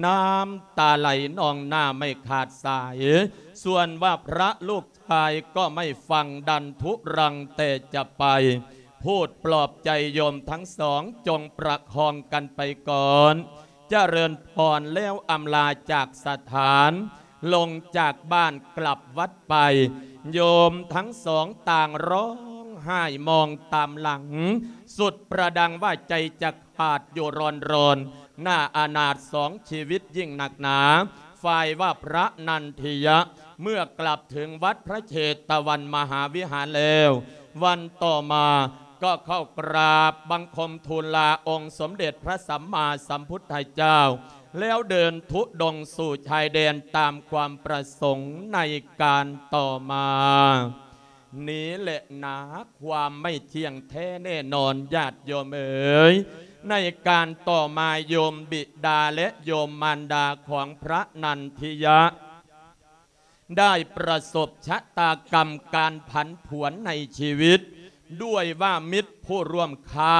ນ້ຳຕາໄຫຼນອງໜ້າໄມ່ຂາດສາຍ. ສ່ວນວ່າພະລູກຊາຍກໍໄມ່ຟັງ, ດັນທຸລັງແຕ່ຈະໄປ. ພູດປອບໃຈໂຍມທັງສອງ ຈົ່ງປະຄອງກັນໄປກ່ອນ. ຈະເລີນພອນແລ້ວອຳລາຈາກສະຖານ, ລົງຈາກບ້ານກລັບວັດໄປ. ໂຍມທັງສອງຕ່າງຮ້ອງໄຫ້ມອງຕາມຫຼັງ, ສຸດປະດັງວ່າໃຈຈະຂາດຢູ່ຣອນໆ. ໜ້າອະນາດສອງຊີວິດຍິ່ງໜັກໜາ. ຝ່າຍວ່າພະນັນທິຍະ ເມື່ອກລັບເຖິງວັດພະເຊຕະວັນມະຫາວິຫານແລ້ວ, ວັນຕໍ່ມາກໍເຂົ້າກາບບັງຄົມທູນລາອົງສົມເດັດພະສຳມາສຳພຸດທະເຈົ້າ, ແລ້ວເດີນທຸດົງສູ່ຊາຍແດນຕາມຄວາມປະສົງໃນການຕໍ່ມາ. ນີ້ແຫຼະນາ ຄວາມໄມ່ທ່ຽງແທ້ແນ່ນອນ ຍາດໂຍມເອີຍ, ໃນການຕໍ່ມາໂຍມບິດາ ແລະ ໂຍມມານດາຂອງພະນັນທິຍະ ໄດ້ປະສົບຊະຕາກຳການຜັນຜວນໃນຊີວິດ, ດ້ວຍວ່າມິດຜູ້ຮ່ວມຄ້າ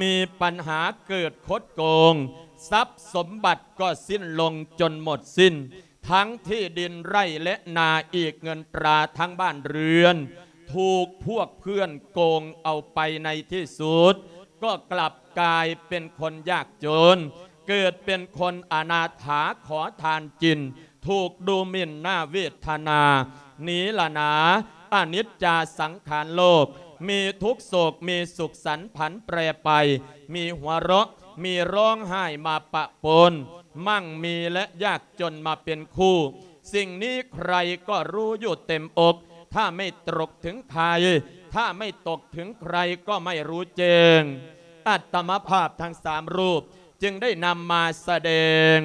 ມີປັນຫາເກີດຄົດໂກງ, ຊັບສົມບັດກໍສິ້ນລົງຈົນໝົດສິ້ນ, ທັງທີ່ດິນໄຮ່ ແລະ ນາອີກ, ເງິນຕາທັງບ້ານເຮືອນ ຖືກພວກເພື່ອນໂກງເອົາໄປ, ໃນທີ່ສຸດກໍກລັບກາຍເປັນຄົນຍາກຈົນ, ເກີດເປັນຄົນອະນາຖາຂໍທານກິນ, ຖືກດູໝິ່ນໜ້າເວດທະນາ. ນີ້ລະນາ ອະນິດຈາສັງຂານໂລກ, ມີທຸກໂສກ ມີສຸກສັນຜັນແປໄປ, ມີຫົວເຣາະ ມີຮ້ອງໄຫ້ມາປະປົນ, ໝັ່ງມີ ແລະ ຍາກຈົນມາເປັນຄູ່. ສິ່ງນີ້ໃຄກໍຮູ້ຢູ່ເຕັມອົກ, ຖ້າໄມ່ຕົກເຖິງໃຄ, ຖ້າໄມ່ຕົກເຖິງໃຄກໍໄມ່ຮູ້ແຈ້ງ. ອາດຕະມະພາບທັງສາມຮູບຈຶ່ງໄດ້ນຳມາສະແດງ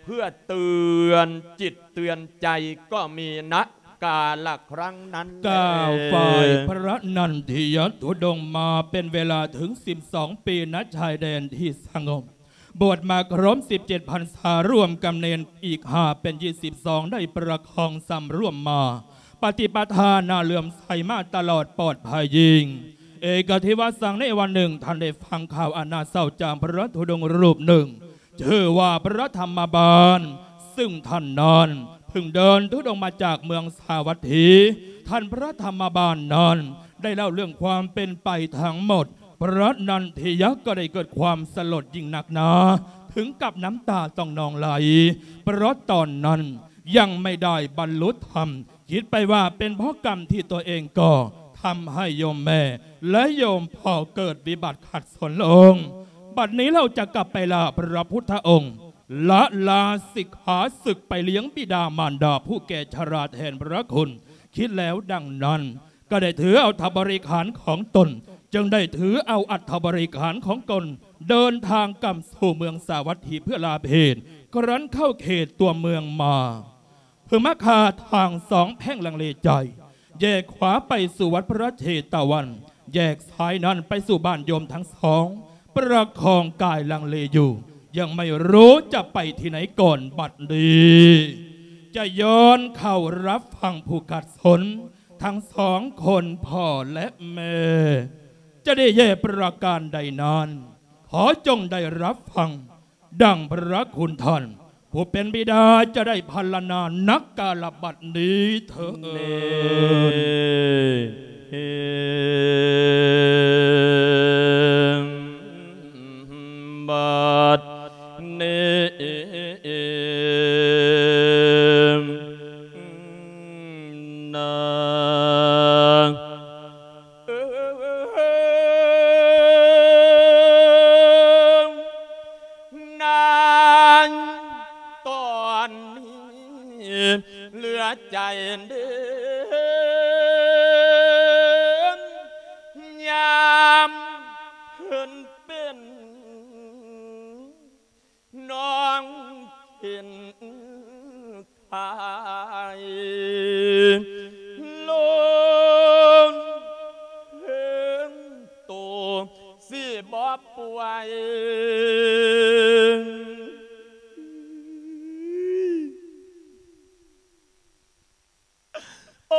ເພື່ອເຕືອນຈິດເຕືອນໃຈກໍມີນະກາລະຄັ້ງນັ້ນແລະ. ກ່າວຝ່າຍພະນັນທິຍະທຸດົງມາເປັນເວລາເຖິງສິບສອງປີ ນະຊາຍແດນທີ່ສະຫງົບ. ບວດມາຄົບສິບເຈັດພັນສາ ລວມກັບເນນອີກຫ້າເປັນຊາວສອງ ໄດ້ປະຄອງສຳລວມມາ ປະຕິປະທາໜ້າເຫຼື້ອມໃສມາຕະຫຼອດປອດໄພຍິ່ງ. ເອກະທິວະສັງ ໃນວັນໜຶ່ງ ທ່ານໄດ້ຟັງຂ່າວອັນໜ້າເສົ້າຈາກພະທຸດົງຮູບໜຶ່ງ ຊື່ວ່າພະທຳມະບານ, ຊຶ່ງທ່ານນັ້ນເພິ່ງເດີນທຸດົງມາຈາກເມືອງສາວັດຖີ. ທ່ານພະທຳມະບານນັ້ນໄດ້ເລົ່າເລື່ອງຄວາມເປັນໄປທັງໝົດ. ພະນັນທິຍະກໍໄດ້ເກີດຄວາມສະຫຼົດຍິ່ງໜັກໜາ ເຖິງກັບນ້ຳຕາຕ້ອງນອງໄຫຼ, ເພາະຕອນນັ້ນຍັງໄມ່ໄດ້ບັນລຸທຳ, ຄິດໄປວ່າເປັນເພາະກຳທີ່ຕົວເອງກໍ່ທຳໃຫ້ໂຍມແມ່ ແລະ ໂຍມພໍ່ເກີດວິບັດຂັດສົນລົງ. ບັດນີ້ເຮົາຈະກັບໄປລາພະພຸດທະອົງ, ລະລາສິກຂາສຶກໄປລ້ຽງບິດາມານດາຜູ້ແກ່ຊະລາແທນພະຄຸນ. ຄິດແລ້ວດັ່ງນັ້ນ ກໍໄດ້ຖືເອົາອັດຖະບໍລິຂານຂອງຕົນ, ຈຶ່ງໄດ້ຖືເອົາອັດຖະບໍລິຂານຂອງຕົນ ເດີນທາງກັບສູ່ເມືອງສາວັດຖີເພື່ອລາເພດ, ກະລັນເຂົ້າເຂດຕົວເມືອງມາ. ເພິ່ງມາຂ້າທາງສອງແພ່ງລັງເລໃຈ, ແຍກຂວາໄປສູ່ວັດພະເຊຕະວັນ, ແຍກຊ້າຍນັ້ນໄປສູ່ບ້ານໂຍມທັງສອງ, ປະຄອງກາຍລັງເລຢູ່, ຍັງໄມ່ຮູ້ຈະໄປທີ່ໄຫນກ່ອນ. ບັດນີ້ຈະຍ້ອນເຂົ້າຮັບຟັງຜູ້ຂັດສົນທັງສອງຄົນ ພໍ່ແລະແມ່ ຈະໄດ້ແຍ່ປະການໃດນັ້ນ, ຂໍຈົ່ງໄດ້ຮັບຟັງ ດັ່ງພະຄຸນທ່ານຜູ້ເປັນບິດາຈະໄດ້ພັນລະນານັກກາລະບັດນີ້ເທີ້ນ. ບັດນີ້ນາ ເອີ ນາງຕອນນີ້ເຫຼືອໃຈເດີ ຍາມເພິ່ນເປັນນ້ອງເຫັນ ໄທລົງເທິງໂຕຊິບໍ່ປ່ວຍ ໂອ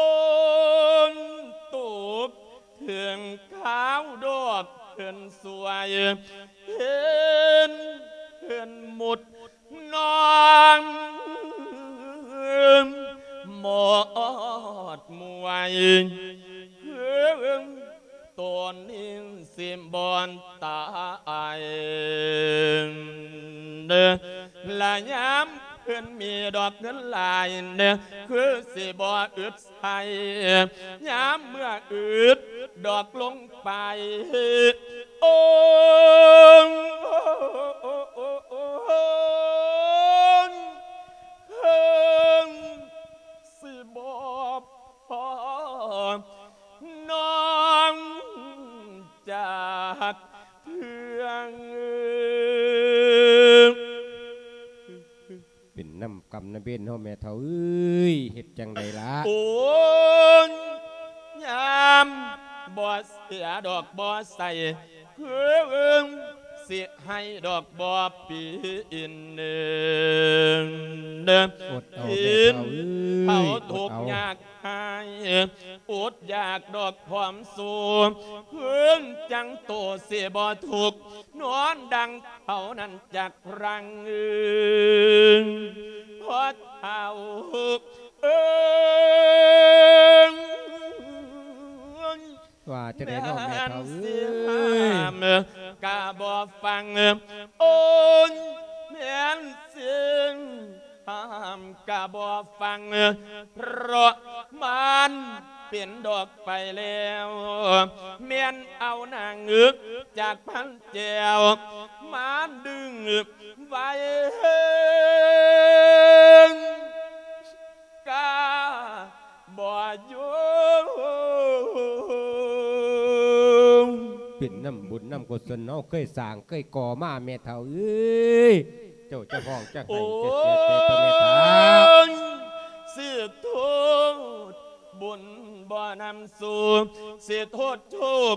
ນໂຕເຖິງຄາວດອກເພິ່ນສວຍ ເຫັນເພິ່ນໝົດ ນ້ອງມອດມວຍ ໂຕນີ້ຊິບໍ່ຕາຍເດີ ລະຍາມເພິ່ນມີດອກເງິນຫຼາຍເດີ ຄືຊິບໍ່ອຶດ ໃສ່ຍາມເມື່ອອຶດດອກລົງໄປ ໂອ້ ເຄິ່ງຊິບໍ່ພໍນ້ອງຈາກເທື່ອ. ເປັນນຳກຳນຳເວນເຮົາແມ່ເຖົ້າເອີຍ ເຮັດຈັ່ງໃດລະ? ໂອ້ຍ ຍາມບໍ່ເສຍດອກບໍ່ໃສ່ ເພິ່ນຊິໃຫ້ດອກບໍ່ປີນເດີ ອດເອົາແມ່ເຖົ້າເອີຍ ເຂົາທຸກຍາກ ໃຫ້ອົດຢາກດອກຄວາມສຸກ ເພິ່ນຈັ່ງໂຕຊິບໍ່ທຸກ ນອນດັ່ງເຂົານັ້ນຈັກຄັ້ງ ພໍ່ເຖົ້າເອີຍ ວ່າຈັ່ງໃດເນາະແມ່ເຖົ້າເອີຍ ແມ່ນຊິຫ້າມກະບໍ່ຟັງ ໂອ້ຍ ແມ່ນຊິ ຫ້າມກະບໍ່ຟັງ ເພາະມັນເປັນດອກໄປແລ້ວ ແມ່ນເອົານາງເງືອກຈາກພັນແກ້ວ ມາດຶງໄວ້ກະບໍ່ຢູ່ ເປັນນຳບຸນນຳກຸສົນເຮົາເຄີຍສ້າງເຄີຍກໍ່ມາແມ່ເຖົ້າເອີຍ. ເຈົ້າຈະຮ້ອງຈະໄຫ້ຈະເສຍໃຈຕໍ່ແມ່ເຖົ້າ ໂອ້ຍ ຊິໂທດບຸນບໍ່ນຳສູ່ ຊິໂທດທຸກ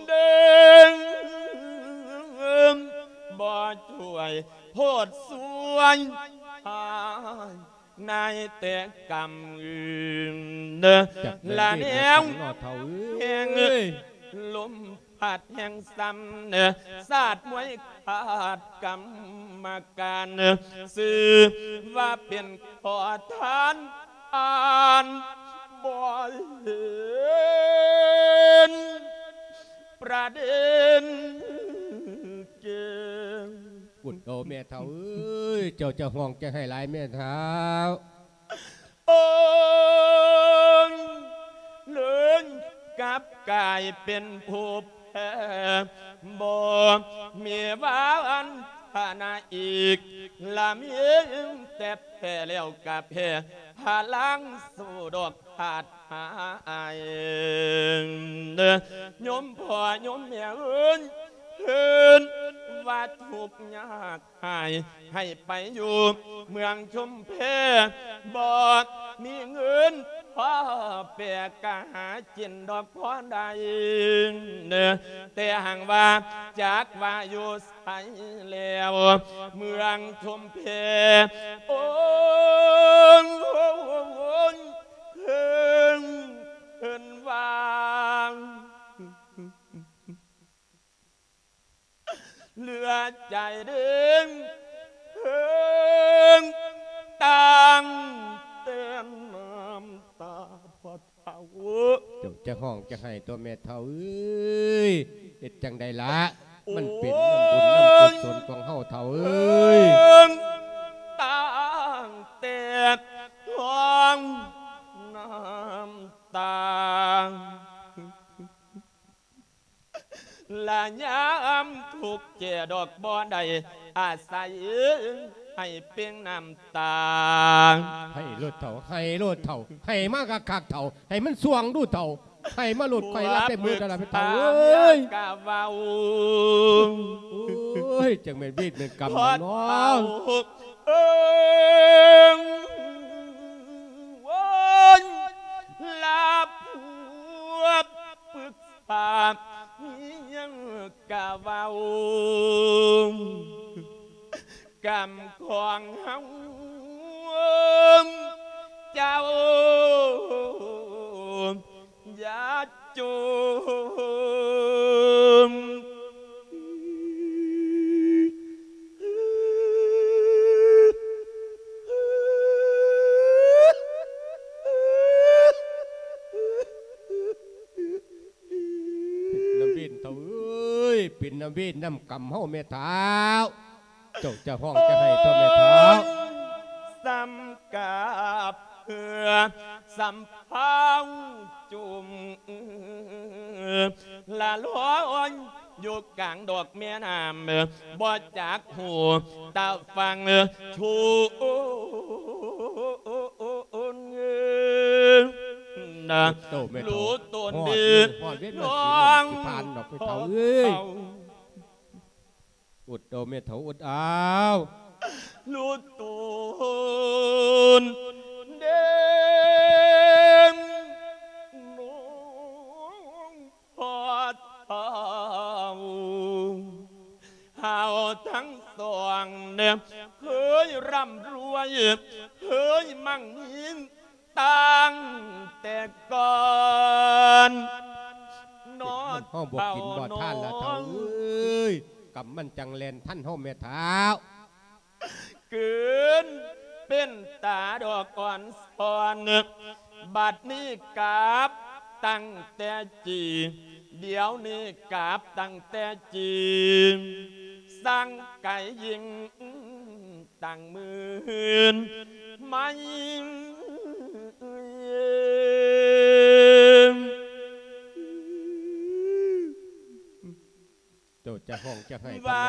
ເດີ ບໍ່ຊ່ວຍໂທດຊ່ວຍໃຫ້ ໃນແຕ່ກຳອື່ນເດີ ລະແນວແຫ່ງລົມພັດແຫ່ງຊ້ຳເດີ ສາດມວຍຂາດກຳມະການເດີ ຊື່ວ່າເປັນຂໍທານ ອ່ານບໍ່ເຫັນປະເດັນເກມ ອຸດເອົາແມ່ເຖົ້າເອີຍ ເຈົ້າຈະຮ້ອງຈະໄຫ້ຫຼາຍແມ່ເຖົ້າ ໂອ້ຍ ເລີຍກັບກາຍເປັນຜູ້ແພ້ ບໍ່ມີວາອັນທະນາອີກ ລະມີແຕ່ແພ້ແລ້ວກະແພ້ ພະລັງສູ້ດອກຂາດຫາຍ ໂຍມພໍ່ໂຍມແມ່ເອີຍ ຄືນວ່າທຸກຍາກ ໃຫ້ ໃຫ້ໄປຢູ່ເມືອງຊຸມແພ ບໍ່ມີເງິນພໍແປກະຫາກິນດອກພໍໄດ້ ແຕ່ຫາກວ່າຈັກວ່າຢູ່ໃສແລ້ວ ເມືອງຊຸມແພ ໂອ້ຍ ເພິ່ນວ່າ ເຫຼືອໃຈເດີ ເພິ່ນຕັ້ງແຕ່ນ້ຳຕາ ພໍ່ເຖົ້າ. ເຈົ້າຈະຮ້ອງຈະໄຫ້ຕົວະແມ່ເຖົ້າເອີຍ ເຮັດຈັ່ງໃດລະ ມັນເປັນນຳບຸນນຳກຸສົນຂອງເຮົາເຖົ້າເອີຍ ເພິ່ນຕັ້ງແຕ່ທ້ອງນ້ຳຕາ. ລະຍາມທຸກແກ່ດອກບໍ່ໄດ້ອາໄສ ໃຫ້ເປັ່ງນ້ຳຕາ ໃຫ້ໂລດເຖົ້າ ໃຫ້ໂລດເຖົ້າ ໃຫ້ມາຄັກໆເຖົ້າ ໃຫ້ມັນສ່ວງດູເຖົ້າ ໃຫ້ມາໂລດ ຂ້ອຍຮັບໄດ້ໝົດແລ້ວລະແມ່ເຖົ້າເອີຍ ກະເວົ້າ ໂອ້ຍ ຈັ່ງແມ່ນເວນແມ່ນກຳ ພໍ່ເຖົ້າເອີຍ ໂອ້ຍ ລາພວກປຶກ ປາກມີຫຍັງກະເວົ້າ ກຳຂອງເຮົາ ເຈົ້າຢ່າຈົ່ມ. ເປັນນຳເວນເຖົ້າເອີຍ ເປັນນຳເວນນຳກຳເຮົາແມ່ເຖົ້າ ເຈົ້າຈະຮ້ອງຈະໄຫ້ຕົວະແມ່ເຖົ້າ ສຳກັບເພື່ອສຳເພົາຈຸ່ມ ລະລອຍຢູ່ກາງດອກແມ່ນ້ຳ ບໍ່ຈັກຮູ້ຕາຝັ່ງ ຊູນນະ ໂອ້ ແມ່ເຖົ້າ ຮູ້ຕົນດີ ຮອດເວນ ຮອດເວນມັນຊິ ນ້ອງ ຊິຜ່ານດອກ ແມ່ເຖົ້າເອີຍ ອົດເອົາແມ່ເຖົ້າ ອົດເອົາ ຮູ້ຕົນເດ້ ນ້ອງພໍ່ເຖົ້າ ເຮົາທັງສອງເນ ເຄີຍຮ່ຳລວຍ ເຄີຍໝັ່ງມີ ຕັ້ງແຕ່ກ່ອນ ເຮົາບໍ່ກິນບໍ່ທານລະເຖົ້າເອີຍ ກຳມັນຈັ່ງແລ່ນທັນເຮົາແມ່ເຖົ້າ ເກີນເປັນຕາດອກອ່ອນຊອນ ບັດນີ້ກັບຕັ້ງແຕ່ຈີ ດຽວນີ້ກັບຕັ້ງແຕ່ຈີ ສັງໄກຍິ່ງ ຕັ້ງໝື່ນໄມ ເຈົ້າຈະຮ້ອງຈະໄຫ້ ວ່າ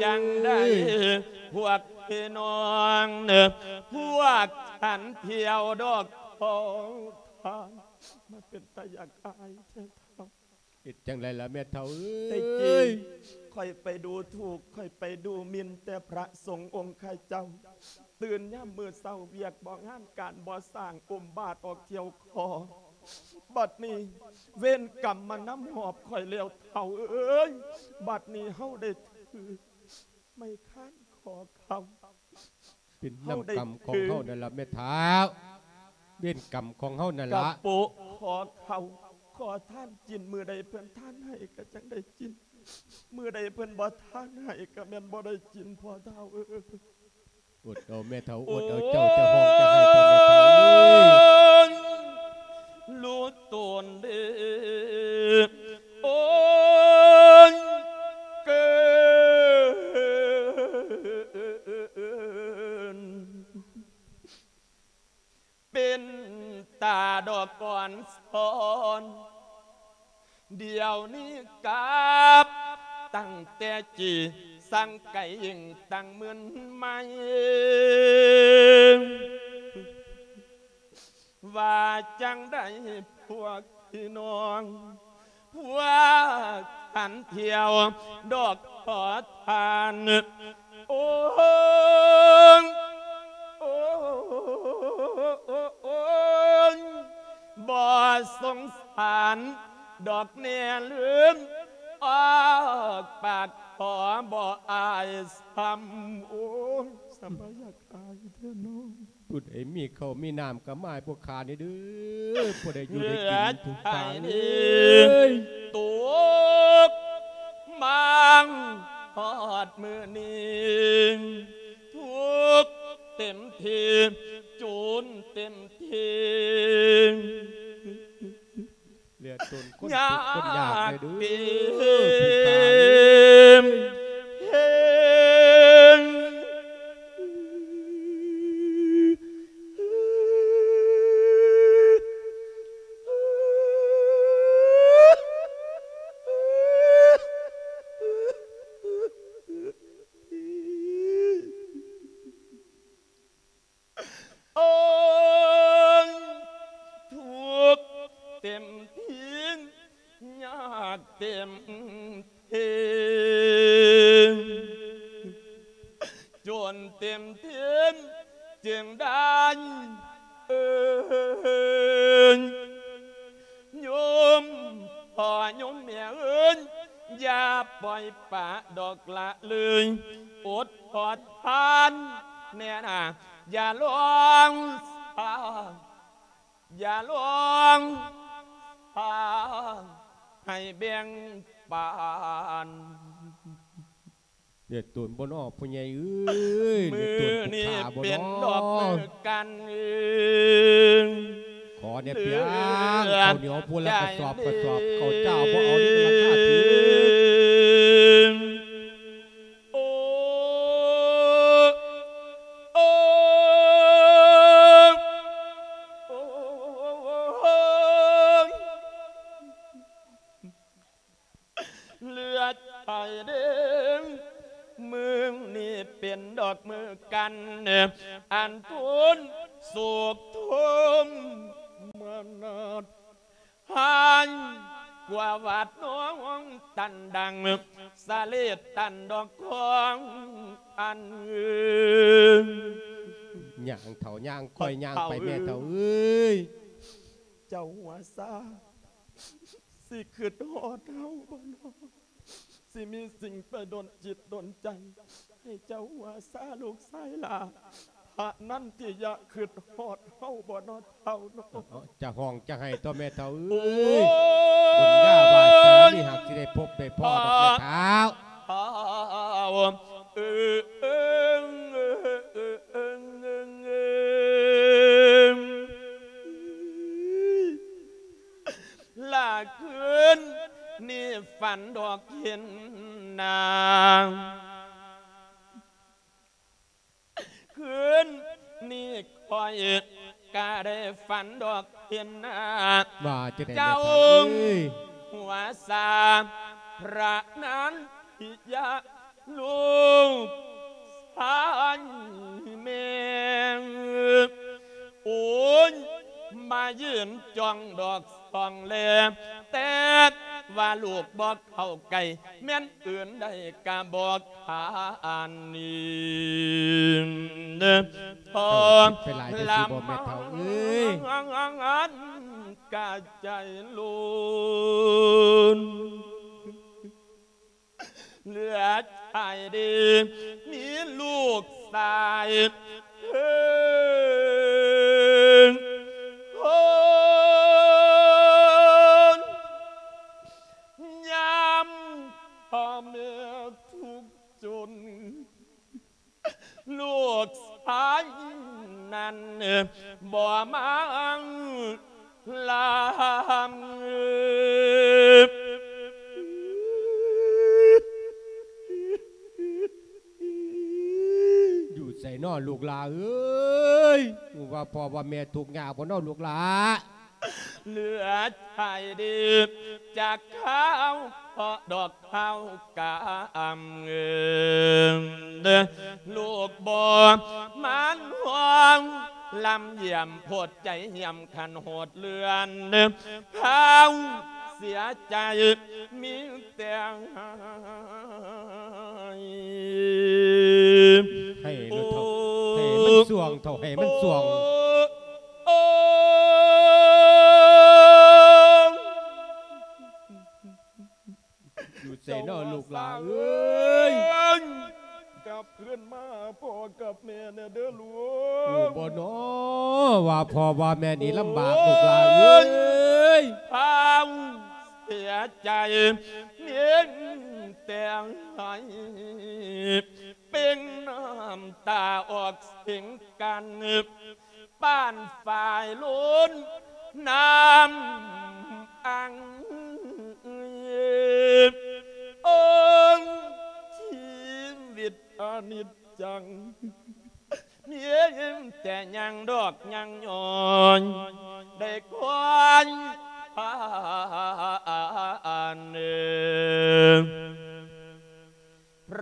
ຈັ່ງໃດ ພວກພີ່ນ້ອງ ພວກທ່ານທ່ຽວດອກຂອງທ່ານ ມັນເປັນຕາຢາກອາຍແທ້ເຖົ້າ. ເຮັດຈັ່ງໃດລະແມ່ເຖົ້າເອີຍ ແຕ່ກີ້ຂ້ອຍໄປດູຖູກ ຂ້ອຍໄປດູໝິ່ນແຕ່ພະສົງອົງຂ້າເຈົ້າ ຕື່ນຍາມມື້ເຊົ້າວຽກບໍ່ງານການບໍ່ສ້າງ ອົມບາດອອກທ່ຽວຂໍ ບັດນີ້ເວນກຳມານຳຫອບຂ້ອຍແລ້ວເຖົ້າເອີຍ ບັດນີ້ເຮົາໄດ້ຖືກໄມ້ຄ້ານຂໍເຂົ້າ ເປັນນຳກຳຂອງເຮົານັ້ນລະແມ່ເຖົ້າ ເວນກຳຂອງເຮົານັ້ນລະ ກະໂປະຂໍເຂົ້າ ຂໍທານກິນ ມື້ໃດເພິ່ນທານໃຫ້ກະຈັ່ງໄດ້ກິນ ມື້ໃດເພິ່ນບໍ່ທານໃຫ້ກະແມ່ນບໍ່ໄດ້ກິນ ພໍ່ເຖົ້າເອີຍ. ອົດເອົາແມ່ເຖົ້າ ອົດເອົາ ເຈົ້າຈະຮ້ອງຈະໄຫ້ເຖົ້າແມ່ເຖົ້າເອີຍ ຮູ້ຕົນເດີ ໂອ້ຍ ເກີນ ເປັນຕາດອກອ່ອນຊອນ ດຽວນີ້ກັບຕັ້ງແຕ່ຈີ ສັງໄກຍິ່ງຕັ້ງມຶນໄມ ວ່າຈັ່ງໃດພວກພີ່ນ້ອງ ພວກທ່ານທ່ຽວດອກຂໍທານ ໂອ້ ໂອ້ ໂອ້ ບໍ່ສົງສານດອກແນ່ລືມ ອອກປາກຂໍບໍ່ອາຍຊ້ຳ ໂອ້ຍ ສະບາຍຢາກອາຍແທ້ເນາະ. ຜູ້ໃດມີເຂົ້າມີນ້ຳກໍມາໃຫ້ພວກຂ້າແດ່ເດີ້ ຜູ້ໃດຢູ່ໄດ້ກິນ ເລືອດໄພນີ້ ເອີຍ ຕົກມາຮອດມື້ນີ້ ທຸກເຕັມທີ່ ຈູນເຕັມທີ່ ເຫຼືອຕົນຄົນທຸກຄົນຍາກແດ່ເດີ້ ຍາກເຕັມເພງ ໂອ້ຍ ທຸກເຕັມທີ່ ຍາກເຕັມເພງ ຈົນເຕັມເພງ ຈຶ່ງໄດ້ເອີ້ນ ໂຍມພໍ່ໂຍມແມ່ເອີຍ ຢ່າປ່ອຍປະດອກລະເລີຍ ອົດທົນທານແນ່ນາ ຢ່າລອງສາ ຢ່າລອງສາໃຫ້ແບ່ງປັນ. ເດືອດຕົນບໍ່ນໍພໍ່ໃຫຍ່ເອີຍ ເດືອດຕົນຜູ້ຂ້າບໍ່ນໍ ມື້ນີ້ເປັນດອກມື້ກັນ ຂໍແດ່ປຽງ ເຂົ້າໜຽວພຸ້ນລະກະສອບກະສອບ ເຂົ້າເຈົ້າບໍ່ເອົານີ້ມັນລາຄາຖືກ ໂອ້ ໂອ້ ໂອ້ ເລືອດໄພເດ້ ມື້ນີ້ເປັນດອກມື້ກັນ ອັນທົນໂສກໂທມມະນາດ ຮ້າຍກວ່າຫວາດນ້ອງຕັນດັງ ສະເລດຕັນດອກຂອງອັນ ຍ່າງເຖົ້າຍ່າງຄ່ອຍຍ່າງໄປແມ່ເຖົ້າເອີຍ ເຈົ້າຫົວຊາ ຊິຄິດຮອດເຮົາບໍ່ນໍ? ຊິມີສິ່ງໄປດົນຈິດດົນໃຈ ໃຫ້ເຈົ້າຫົວຊາລູກຊາຍຫຼ້າ ພະນັນຕິຍະຄິດຮອດເຮົາບໍ່ນໍເຖົ້ານໍ? ເອີ ຈະຮ້ອງຈະໄຫ້ຕົວະແມ່ເຖົ້າເອີຍ ໂອ້ຍ ບຸນຍາວາສະໜາມີຫາກຊິໄດ້ພົບໄດ້ພໍ້ດອກແມ່ເຖົ້າ ເອີ ເອີ ເອີ ເອີ ເອີ ເອີ ລະຄືນນີ້ຝັນດອກເຫັນນາງ ຄືນນີ້ຂ້ອຍກະໄດ້ຝັນດອກເຫັນນາງ ວ່າຈັ່ງໃດແມ່ເຖົ້າເອີຍ ເຈົ້າຫົວຊາພະນັນຕິຍະ ລູກຊາຍແມ່ ໂອ້ຍ ມາຢືນຈ້ອງດອກສ່ອງແລ ແຕ່ວ່າລູກບໍ່ເຂົ້າໃກ້ ແມ່ນອື່ນໃດກະບໍ່ຂານນີ້ ທໍ ເຈົ້າຄິດໄປຫຼາຍແຕ່ຊິບໍ່ແມ່ເຖົ້າເອີຍ ລະມານກະໃຈລຸນ ເຫຼືອຊາຍດີ ມີລູກຊາຍເພິ່ນຄົນ ຍາມພໍ່ແມ່ທຸກຈົນ ລູກຊາຍນັ້ນບໍ່ມາລຳ ຢູ່ໃສນໍລູກຫຼ້າເອີຍ ຮູ້ວ່າພໍ່ວ່າແມ່ທຸກຍາກບໍ່ນໍລູກຫຼ້າ? ເຫຼືອຊາຍດີຈາກເຂົາເພາະດອກເຮົາກຳເງິນ ລູກບໍ່ມານຫ່ວງ ລຳຢ້ຽມໂພດໃຈຢ້ຽມຂັນໂຫດເລື່ອນ ເຮົາ ເສຍໃຈມີແຕ່ ໃຫ້ໂລດເຖົ້າ ໃຫ້ມັນສ່ວງເຖົ້າ ໃຫ້ມັນສ່ວງ. ໂອ້ ຢູ່ໃສນໍລູກຫຼາເອີຍ? ກັບຄືນມາຫາພໍ່ກັບແມ່ແດ່ເດີລູກ. ຮູ້ບໍ່ນໍວ່າພໍ່ວ່າແມ່ນີ້ລຳບາກລູກຫຼາເອີຍ? ພາວເສຍໃຈເປັນແຕ່ໄຫ້ ເປັ່ງນ້ຳຕາອອກເສັງກັນ ປານຝາຍລົ້ນນ້ຳອັ່ງ. ໂອ້ ຊີວິດອະນິດຈັງ ມີແຕ່ຍ່າງດອກຍ່າງຍ່ອຍ ໄດ້ຄວາຍຜ່ານ ພ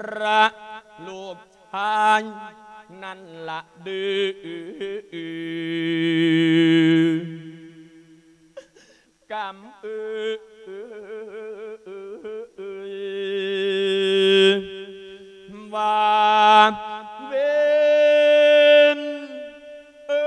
ະລູກຊາຍນັ້ນລະດື້ ກຳເອີຍ ວ່າເວັນເອີ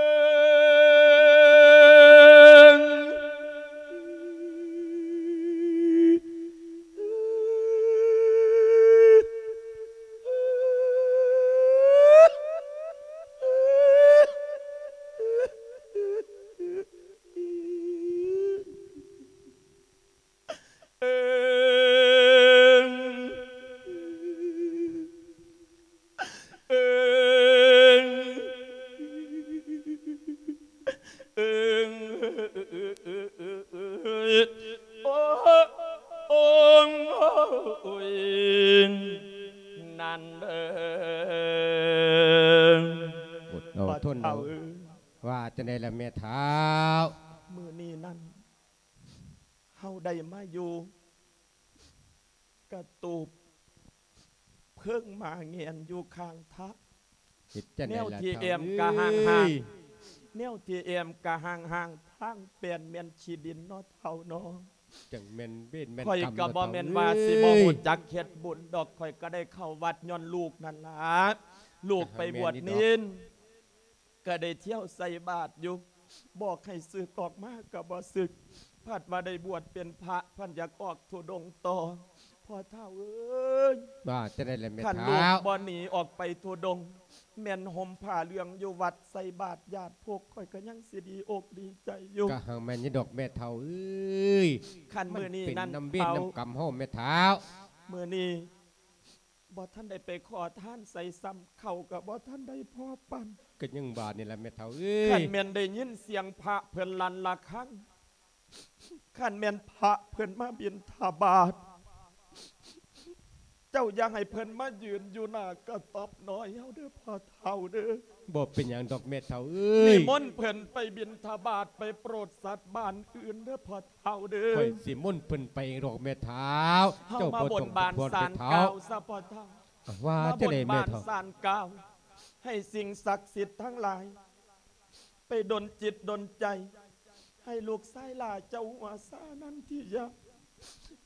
ຍ. ນັ້ນເດີ ອົດເອົາ ພໍ່ເຖົ້າ ທົນເອົາ ເອີຍ ວ່າຈັ່ງໃດລະແມ່ເຖົ້າ? ມື້ນີ້ນັ້ນ ເຮົາໄດ້ມາຢູ່ກະຕູບເພິ່ງໝາແງນຢູ່ຂ້າງທາງ ເຮັດຈັ່ງໃດລະ ແນວທີ່ແອ້ມກະຫ່າງໆ ເອີຍ ແນວທີ່ແອ້ມກະຫ່າງໆ ທາງແປນແມ່ນຂີ້ດິນເນາະເຖົ້າເນາະ. ຈັ່ງແມ່ນເວນແມ່ນ ຂ້ອຍກຳ ກະບໍ່ແມ່ນວ່າ ເນາະເຖົ້າເອີຍ ຊິບໍ່ຮູ້ຈັກເຮັດບຸນດອກ ຂ້ອຍກະໄດ້ເຂົ້າວັດຍ້ອນລູກນັ້ນລະ ລູກໄປບວດເນນ ກະໄດ້ທ່ຽວໃສ່ບາດຢູ່ ບອກໃຫ້ສຶກອອກມາກະບໍ່ສຶກ ພັດວ່າໄດ້ບວດເປັນພະ ພັດຢາກອອກທຸດົງຕໍ່. ພໍ່ເຖົ້າເອີຍ ວ່າຈັ່ງໃດລະແມ່ເຖົ້າ? ຄັນລູກບໍ່ໜີອອກໄປທຸດົງ ແມ່ນຫົ່ມຜ້າເຫຼືອງຢູ່ວັດໃສ່ບາດຍາດພົກ ຂ້ອຍກະຍັງຊິດີອົກດີໃຈຢູ່. ກະຮັ່ງແມ່ນຢູ່ດອກແມ່ເຖົ້າເອີຍ ຄັນມື້ນີ້ນັ້ນ ມັນເປັນນຳເວນນຳກຳເຮົາແມ່ເຖົ້າ. ມື້ນີ້ ບໍ່ທັນໄດ້ໄປຂໍທານໃສຊ້ຳ ເຂົ້າກະບໍ່ທັນໄດ້ພໍປັນ. ກະຍັງວ່ານີ້ລະແມ່ເຖົ້າເອີຍ ຄັນແມ່ນໄດ້ຍິນສຽງພະເພິ່ນລັ່ນລະຄັງ ຄັນແມ່ນພະເພິ່ນມາບິນທະບາດ ເຈົ້າຢ່າໃຫ້ເພິ່ນມາຢືນຢູ່ໜ້າກະຕ໊ອບນ້ອຍເຮົາເດີພໍ່ເຖົ້າເດີ. ບໍ່ເປັນຫຍັງດອກແມ່ເຖົ້າເອີຍ ນິມົນເພິ່ນໄປບິນທະບາດ ໄປໂປດສັດບ້ານອື່ນເດີພໍ່ເຖົ້າເດີ. ຂ້ອຍຊິມົນເພິ່ນໄປເອງດອກແມ່ເຖົ້າ. ເຮົາມາບົນບານສານກ່າວຊະພໍ່ເຖົ້າ ວ່າຈັ່ງໃດແມ່ເຖົ້າ? ມາບົນບານສານກ່າວ ໃຫ້ສິ່ງສັກສິດທັງຫຼາຍ ໄປດົນຈິດດົນໃຈ ໃຫ້ລູກຊາຍຫຼ້າເຈົ້າຫົວຊານັນທິຍາ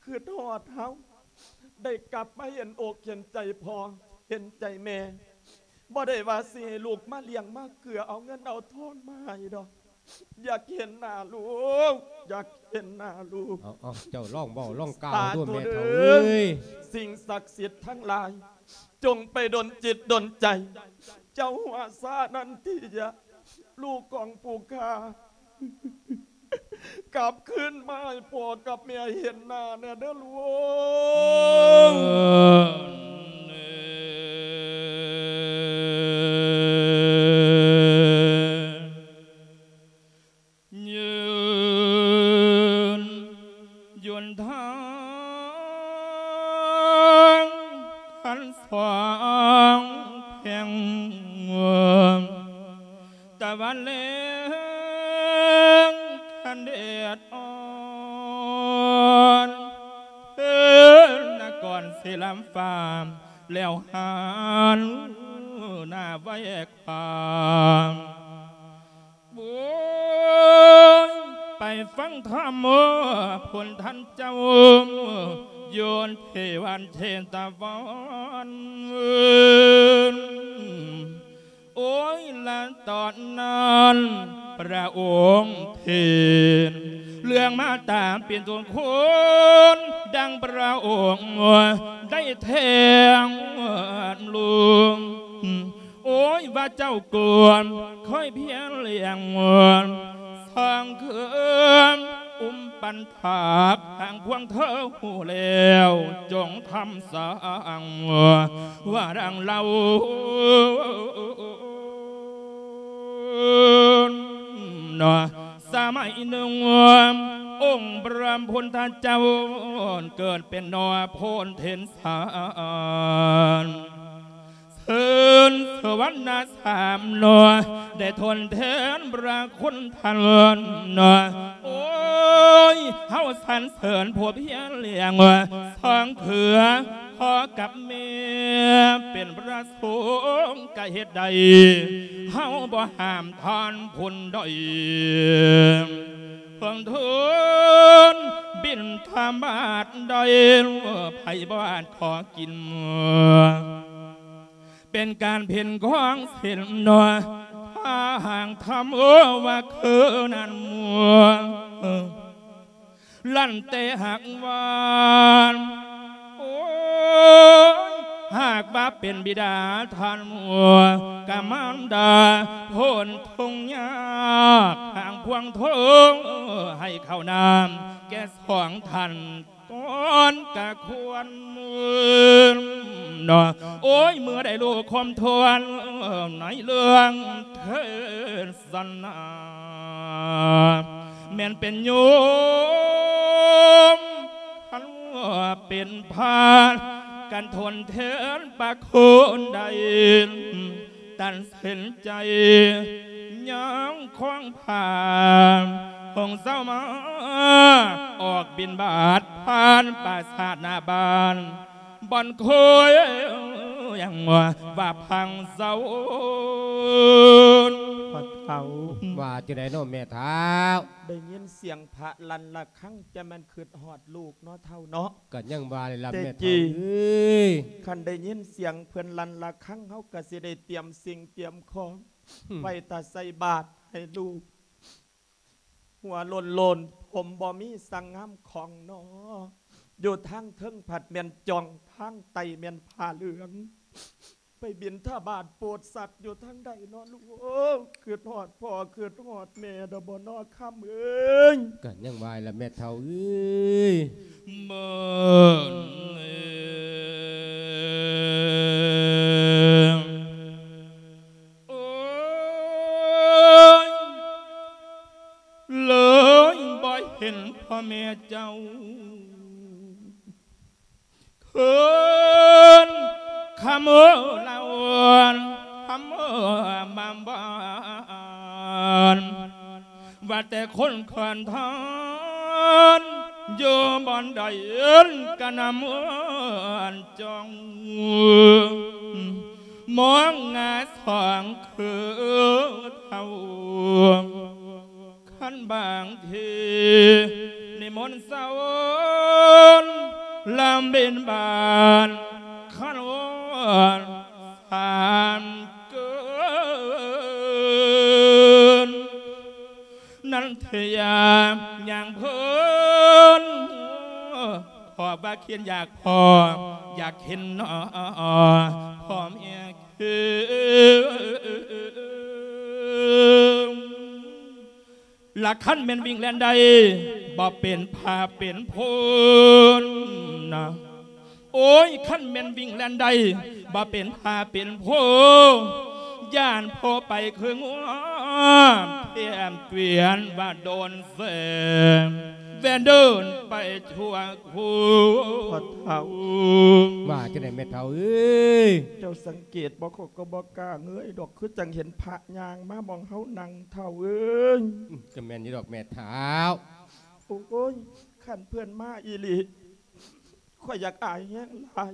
ຄຶດຮອດເຮົາ ໄດ້ກັບມາເຫັນອົກເຫັນໃຈພໍ່ເຫັນໃຈແມ່. ບໍ່ໄດ້ວ່າຊິໃຫ້ລູກມາລ້ຽງມາເກືອ ເອົາເງິນເອົາທອງມາໃຫ້ດອກ. ຢາກເຫັນໜ້າລູກ ຢາກເຫັນໜ້າລູກ. ເອົາ ເອົາ ເຈົ້າລອງເວົ້າລອງກ່າວດູແມ່ເຖົ້າເອີຍ. ສິ່ງສັກສິດທັງຫຼາຍ ຈົ່ງໄປດົນຈິດດົນໃຈ ເຈົ້າຫົວຊານັນທິຍາ ລູກຂອງຜູ້ຂ້າ ກັບຄືນມາໃຫ້ພໍ່ກັບແມ່ເຫັນໜ້າແດ່ເດີລູກ. ຍືນຍົນທາງຄັນສອງແພງ ຕາວັນແລງຄັນແດດອ່ອນ ເພິ່ນນະກອນຊິລຳຟ້າ ແລ້ວຫັນໜ້າໄຫວ້ຄວາມ ໂອ້ຍ ໄປ ໄດ້ຟັງທຳໂມ ພຸດທັນເຈົ້າ ຢູ່ທີ່ວັດເຊຕະວັນ. ໂອ້ຍ ລະຕອນນັ້ນ ພະອົງເທດເລື່ອງມາຕາເປັນຕົ້ນຄຸນ ດັ່ງພະອົງໄດ້ແທ້ງລຸງ. ໂອ້ຍ ວ່າເຈົ້າກວນ ຄ່ອຍພຽນລ້ຽງ ສ້າງເຂື່ອນ ອຸ້ມປັນທາບ ທາງພວງເທີຮູ້ແລ້ວ ຈົ່ງທຳສ້າງ ວ່າດັ່ງເລົ່າເນາະ. ສະໄໝໜຶ່ງ ອົງພະພຸດທະເຈົ້າ ເກີດເປັນໜໍ່ໂພນເທັນສານ ເຊີນສະຫວັນນະສາມໜໍ່ ໄດ້ທົນແທນພະຄຸນທ່ານເນາະ. ໂອ້ຍ ເຮົາສັນເສີນຜູ້ພຽນລ້ຽງ ສ້າງເຂື່ອນພໍ່ກັບແມ່ ເປັນພະສົງກະເຮັດໄດ້ ເຮົາບໍ່ຫ້າມທ່ານຜູ້ໃດ ເພິ່ນເທີນບິນທະບາດໄດ້ ໃຜບໍ່ອາດຂໍກິນ ເປັນການເພັນຂອງສິນເນາະ ຖ້າຫາກທຳວ່າຄືນັ້ນ ລັນແຕ່ຫາກວ່າ ໂອ້ຍ ຫາກວ່າເປັນບິດາທ່ານ ກະມານດາ ໂພນທຸກຍາກ ທາງພວງໂທ ໃຫ້ເຂົ້ານ້ຳແກ່ສອງທ່ານ ກ່ອນກະຄວນເນາະ. ໂອ້ຍ ເມື່ອໄດ້ຮູ້ຄວາມທວນ ໃນເລື່ອງເທດສະໜາ ແມ່ນເປັນໂຍມ ຄັນວ່າເປັນພານ ກັນທົນແທນປະໂຄນໃດ ຕັດສິນໃຈຍ່າງຄວາງຜ່ານ ຫົງເຊົາມາ ອອກບິນບາດຜ່ານປາສາດໜ້າບ້ານ ບ່ອນໂຄຍ ຫຍັງວ່າ ວ່າພັງເຊົາ. ພໍ່ເຖົ້າ ວ່າຈັ່ງໃດເນາະແມ່ເຖົ້າ? ໄດ້ຍິນສຽງພະລັ່ນລະຄັງ ຈະແມ່ນຄຶດຮອດລູກເນາະເຖົ້າເນາະ. ກໍຍັງວ່ານີ້ລະແມ່ເຖົ້າເອີຍ ຄັນໄດ້ຍິນສຽງເພິ່ນລັ່ນລະຄັງ ເຮົາກໍຊິໄດ້ຕຽມສິ່ງຕຽມຂອງ ໄວ້ຖ້າໃສ່ບາດໃຫ້ລູກ. ຫົວໂລ້ນໆ ຜົມບໍ່ມີສັງງາມຂອງໜໍ່ ຢູ່ທາງເທິງພັດແມ່ນຈ່ອງ ທາງໃຕ້ແມ່ນຜ້າເຫຼືອງ ໄປບິນທະບາດໂປດສັດຢູ່ທາງໃດເນາະລູກເອີຍ. ຄຶດຮອດພໍ່ຄຶດຮອດແມ່ດອກບໍ່ນໍຄຳເອີຍ. ກໍຍັງວ່າລະແມ່ເຖົ້າເອີຍ ເມີນເອີຍ ໂອ້ຍ ເລີຍບໍ່ເຫັນພໍ່ແມ່ເຈົ້າ ຄືນຄຳລາວນ ຄຳມາບ້ານ ວ່າແຕ່ຄົນຂອນທອນ ຢູ່ບ່ອນໃດກະນຳຈອງ ມອງໜ້າສອງຄືເທົ່າ ຄັນບາງທີນິມົນສະຫວັນ ລຳບິນບານ ຄັນວອນສາມເກີນ ນັນທະຍາຍ່າງເພີນ ຂໍວ່າຄິດຢາກພໍ ຢາກເຫັນໜໍ່ ພໍ່ແມ່ຄື ລະຄັນແມ່ນວິ່ງແລ່ນໄດ້ ບໍ່ເປັນພາເປັນໂພນນະ ໂອ້ຍ ຄັນແມ່ນວິ່ງແລ່ນໄດ້ ບໍ່ເປັນພາເປັນໂພ ຢ້ານໂພໄປຄືງົວ ແຖມກວຽນວ່າໂດນແສ ແວ່ນເດີນໄປທົ່ວ ໂອ້ ພໍ່ເຖົ້າ ວ່າຈັ່ງໃດແມ່ເຖົ້າເອີຍ? ເຈົ້າສັງເກດບໍ່? ຂ້ອຍກໍບໍ່ກ້າເງີຍດອກ ຄືຈັ່ງເຫັນພະຍ່າງມາໝ່ອງເຮົານັ່ງ ເຖົ້າເອີຍ. ອືມ ກໍແມ່ນຢູ່ດອກແມ່ເຖົ້າ. ໂອ້ຍ ຄັນເພິ່ນມາອີ່ຫຼີ ຂ້ອຍຢາກອາຍແຮງຫຼາຍ.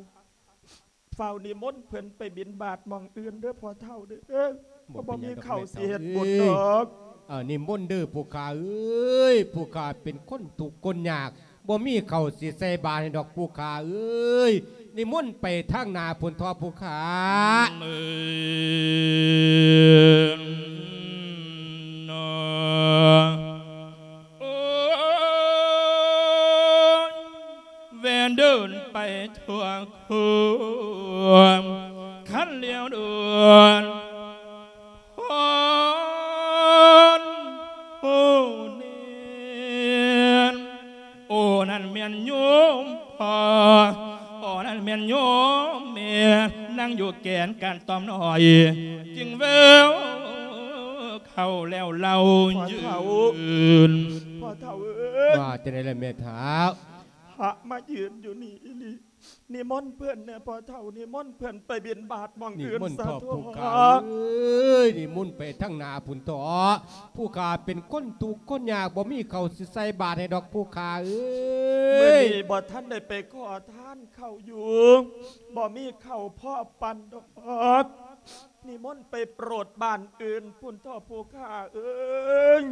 ຟ້າວນິມົນເພິ່ນໄປບິນບາດໝ່ອງອື່ນເດີພໍ່ເຖົ້າເດີ. ບໍ່ເປັນຫຍັງດອກ ເພາະບໍ່ມີເຂົ້າ ແມ່ເຖົ້າ ຊິເຮັດບຸນດອກ. ເອີ ນິມົນເດີຜູ້ຂ້າເອີຍ ຜູ້ຂ້າເປັນຄົນທຸກຄົນຍາກ ບໍ່ມີເຂົ້າຊິໃສ່ບາດໃຫ້ດອກຜູ້ຂ້າເອີຍ ນິມົນໄປທາງໜ້າພຸ້ນເຖາະຜູ້ຂ້າ. ເອີ ໂອ້ຍ ແວ່ນເດີນໄປທົ່ວຄົວ ຄັນລຽວເດີນ ຮອນໂຮເນນ ໂອ ນັ້ນແມ່ນໂຍມພໍ່ ໂອ ນັ້ນແມ່ນໂຍມແມ່ ນັ່ງຢູ່ແກ່ນການຕ່ອມນ້ອຍ ຈຶ່ງແວ່ວເຂົ້າແລ້ວເລົ່າ ພໍ່ເຖົ້າ ຍືນ ພໍ່ເຖົ້າເອີຍ ວ່າຈັ່ງໃດລະແມ່ເຖົ້າ? ພະມາຢືນຢູ່ນີ້ອີ່ຫຼີ ນິມົນເພິ່ນແດ່ພໍ່ເຖົ້າ ນິມົນເພິ່ນໄປບິນບາດໝ່ອງອື່ນຊະເຖາະ ຜູ້ຂ້າເອີຍ ນິມົນໄປທາງໜ້າພຸ້ນເຖາະ ຜູ້ຂ້າເປັນຄົນທຸກຄົນຍາກ ບໍ່ມີເຂົ້າຊິໃສ່ບາດໃຫ້ດອກຜູ້ຂ້າເອີຍ ມື້ນີ້ບໍ່ທັນໄດ້ໄປຂໍທານເຂົ້າຢູ່ ບໍ່ມີເຂົ້າພໍປັນດອກ ນິມົນໄປໂປດບ້ານອື່ນພຸ້ນເຖາະຜູ້ຂ້າເອີຍ.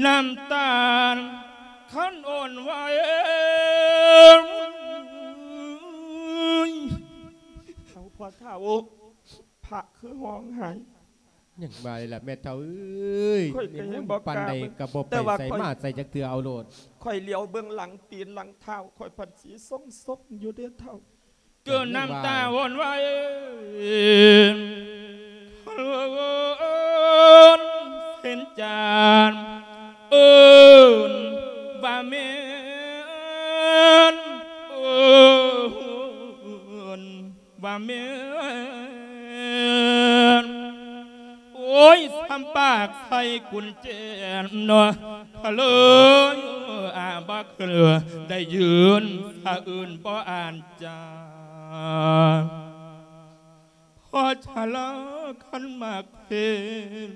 ນ້ຳຕານຄັນອ່ອນໄຫວ ເອົາພໍ່ເຖົ້າ ພະຄືຮ້ອງໄຫ້ ຍັງວ່າລະແມ່ເຖົ້າເອີຍ ຂ້ອຍກໍຍັງບໍ່ກ້າ ປານໃດກໍບໍ່ໄປໃສມາໃສຈັກເທື່ອ ເອົາໂລດ ຂ້ອຍຫຼຽວເບິ່ງຫຼັງຕີນຫຼັງເທົ້າ ຂ້ອຍພັດສີຊົງໆຢູ່ເດ້ເຖົ້າ ເກີດນ້ຳຕາອ່ອນໄຫວ ເອີ້ນເຊັ່ນຈານ ເອີ້ນວ່າແມ່ນ ເອີ້ນ ວ່າແມ່ນ ໂອ້ຍ ຊຳປາກໃສ່ກຸນແຈເນາະ ກະເລີຍອາບໍ່ຄືໄດ້ຢືນສະອື່ນບໍ່ອ່ານຈາ ພໍຊະລາຄັນມາເຄນ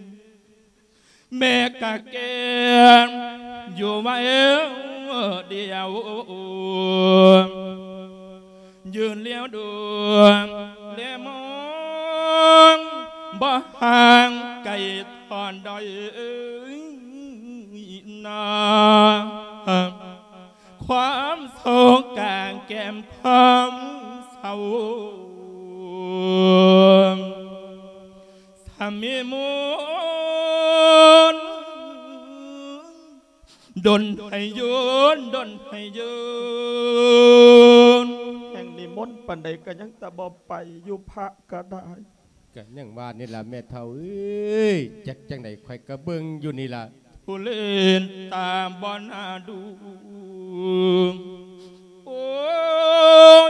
ແມ່ກະແກ່ນຢູ່ໄວດຽວ ຢືນລຽວດູແລມອງ ບໍ່ຫ່າງໄກທ່ອນໃດນາ ຄວາມໂສກກາງແກ້ມຄວາມເສົ້າ ສາມີມົນ ດົນໃຫ້ຍືນ ດົນໃຫ້ຍືນ ແຮ່ງນິມົນປານໃດກໍຍັງແຕ່ບໍ່ໄປ ຢູ່ພະກໍໄດ້ ກໍຍັງວ່ານີ້ລະແມ່ເຖົ້າເອີຍ ຈັກຈັ່ງໃດຂ້ອຍກໍເບິ່ງຢູ່ນີ້ລະ ຜູ້ເລນຕາບໍ່ໜ້າດູ ໂອ້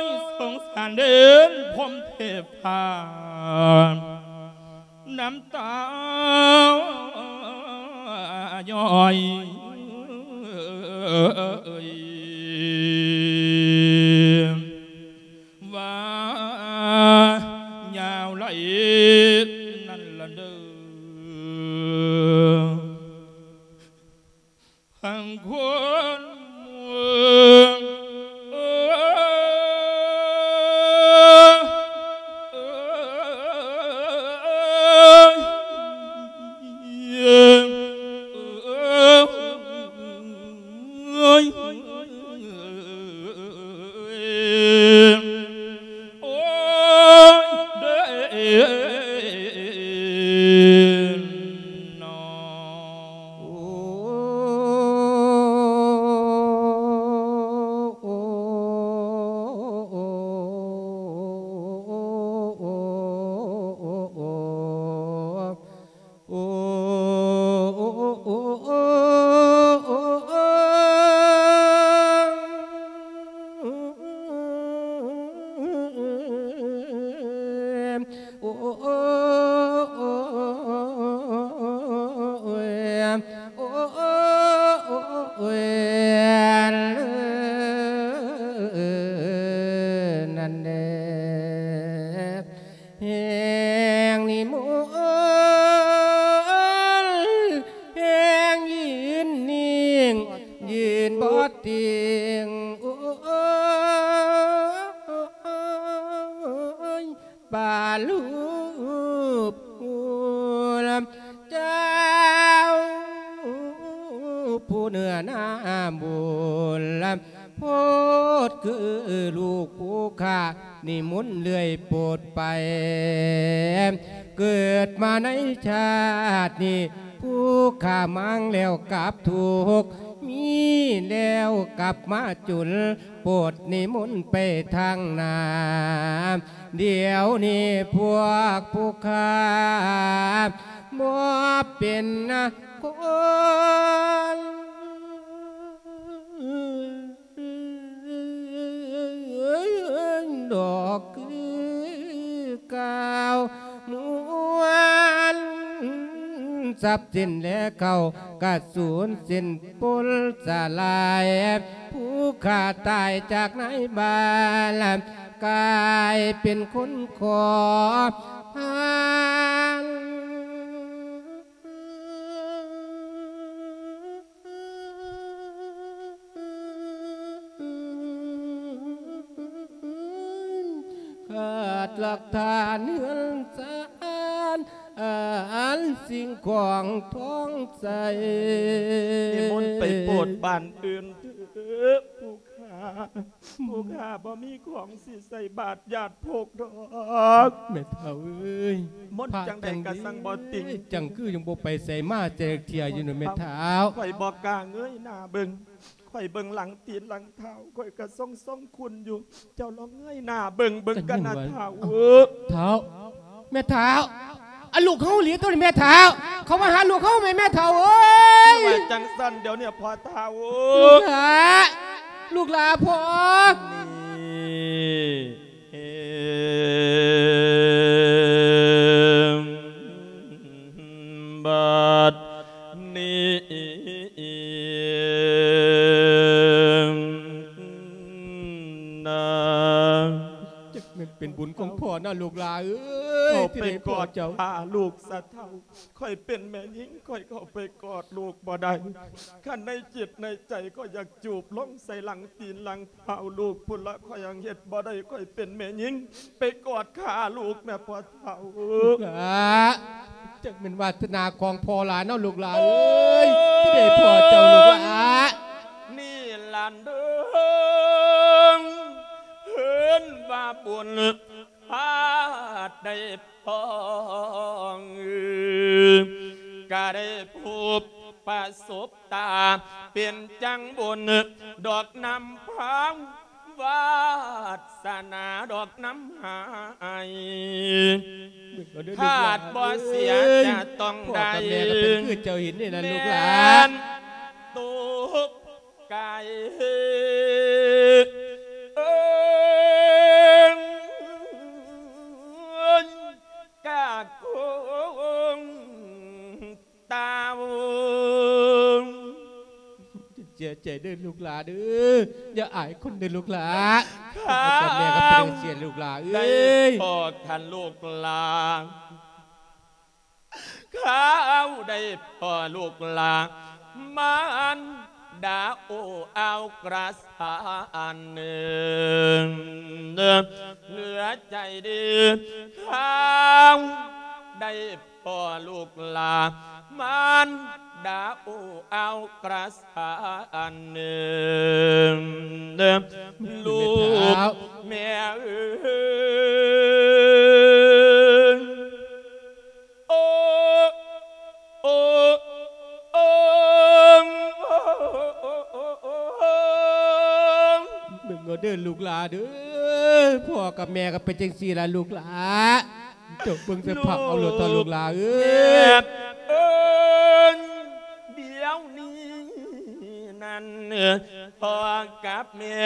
ຍ ສົງສານເດີນພົມເທພາ ນ້ຳຕາຍ້ອຍ ວ່າຍາວໄຫຼນັ້ນລະເດີ ພັງຄົນເມືອງ ເອີຍ ເອີຍ ໂອ້ຍ ເດີ ເນາະ ໂອ້ ໂອ້ ໂອ້ ໂອ້ ໂອ້ ໂອ້ ໂອ້ ນັ້ນແດ່ ແຮ່ງນິມົນ ແຮ່ງຢືນນິ່ງ ຢືນບໍ່ຕິງ ໂອ້ຍ ປາ ເຈົ້າ ຜູ້ເນື້ອນາບຸນ ໂພດຄືລູກຜູ້ຂ້າ ນິມົນເລື້ອຍໂປດໄປ ເກີດມາໃນຊາດນີ້ ຜູ້ຂ້າມາງແລ້ວກັບທຸກ ມີແລ້ວກັບມາຈົນ ໂປດນິມົນໄປທາງໜ້າ ດຽວນີ້ພວກຜູ້ຂ້າ ບໍ່ເປັນຄົນດອກຄືກ່າວ ມວນຊັບສິນແລເຂົ້າກະສູນສິ້ນປົນສະຫຼາຍ ຜູ້ຂ້າຕາຍຈາກນາຍບ້ານ ກາຍເປັນຄົນຂໍທານ ຂາດຫຼັກຖານເຮືອນຊານ ອັນສິ່ງຂອງທອງໃສ ນິມົນໄປໂປດບ້ານອື່ນເທີ ຜູ້ຂ້າ ຜູ້ຂ້າບໍ່ມີຂອງຊິໃສ່ບາດຍາດໂພກດອກ ແມ່ເຖົ້າເອີຍ ມົນຈັງໃດກະສັ່ງບໍ່ຕິງ ຈັ່ງຄືຍັງບໍ່ໄປໃສມາແຈກເທື່ອຢູ່ນະແມ່ເຖົ້າ ຂ້ອຍບໍ່ກ້າເງີຍໜ້າເບິ່ງ ຂ້ອຍເບິ່ງຫຼັງຕີນຫຼັງເທົ້າ ຂ້ອຍກະຊົງຊົງຄຸນຢູ່ ເຈົ້າລອງເງີຍໜ້າເບິ່ງ ເບິ່ງກັນນະເຖົ້າ ເຖົ້າ ແມ່ເຖົ້າ ອັນລູກເຮົາອີ່ຫຼີຕົວນີ້ແມ່ເຖົ້າ ເຂົາມາຫາລູກເຮົາແມ່ ແມ່ເຖົ້າເອີຍ ວ່າຈັ່ງຊັ້ນດຽວນີ້ພໍ່ເຖົ້າ ລູກຫຼ້າ ລູກຫຼ້າພໍ່ ນີ້ ເອີ ບາດນີ້ນາ ຈັກແມ່ນເປັນບຸນຂອງພໍ່ນະລູກຫຼ້າເອີຍ ທີ່ໄດ້ພໍ້ເຈົ້າ ຂ້າລູກສະເຖົ້າ ຂ້ອຍເປັນແມ່ຍິງ ຂ້ອຍເຂົ້າໄປກອດລູກບໍ່ໄດ້ ຄັນໃນຈິດໃນໃຈຂ້ອຍຢາກຈູບລົງໃສ່ຫຼັງຕີນຫຼັງເທົ້າລູກພຸ້ນລະ ຂ້ອຍຍັງເຮັດບໍ່ໄດ້ ຂ້ອຍເປັນແມ່ຍິງ ໄປກອດຂາລູກແດ່ພໍ່ເຖົ້າ ລູກຫຼ້າ ຈັກແມ່ນວາສະໜາຂອງພໍ່ຫຼ້າເນາະລູກຫຼ້າເອີຍ ທີ່ໄດ້ພໍ້ເຈົ້າລູກຫຼ້າ ນີ້ລະເດີ ເອີ້ນວ່າບຸນ ພາດໄດ້ພໍ້ ກະໄດ້ພົບປະສົບຕາ ເປັນຈັ່ງບຸນດອກນຳພາ ວາສະໜາດອກນຳໃຫ້ ທາດບໍ່ເສຍຈະຕ້ອງໄດ້ ແມ່ນຕົກ ກາຍ ເອີ ກະຄົງຕາວ ເສຍໃຈເດີລູກຫຼ້າເດີ ຢ່າອາຍຄົນເດີລູກຫຼ້າ ຂ້າກັບແມ່ກໍເປັນຈັ່ງຊີ້ລູກຫຼ້າເອີຍ ພໍ່ຄັນລູກຫຼ້າ ຂ້າໄດ້ພໍ້ລູກຫຼ້າ ມານດາໂອ້ອາວກຣາສານເໜືອ ເໜືອໃຈດີ ຂ້າໄດ້ພໍ້ລູກຫຼ້າ ມານດາໂອ້ອາວກຣາສານເໜືອ ລູກແມ່ເອີຍ ໂອ້ ໂອ້ ໂອ້ ເບິ່ງເອົາເດີລູກຫຼ້າເດີ ພໍ່ກັບແມ່ກໍເປັນຈັ່ງຊີ້ລະລູກຫຼ້າ ເຈົ້າເບິ່ງສະພາບເອົາໂລດເຖາະລູກຫຼ້າເອີຍ ເອີຍ ດຽວນີ້ນັ້ນ ພໍ່ກັບແມ່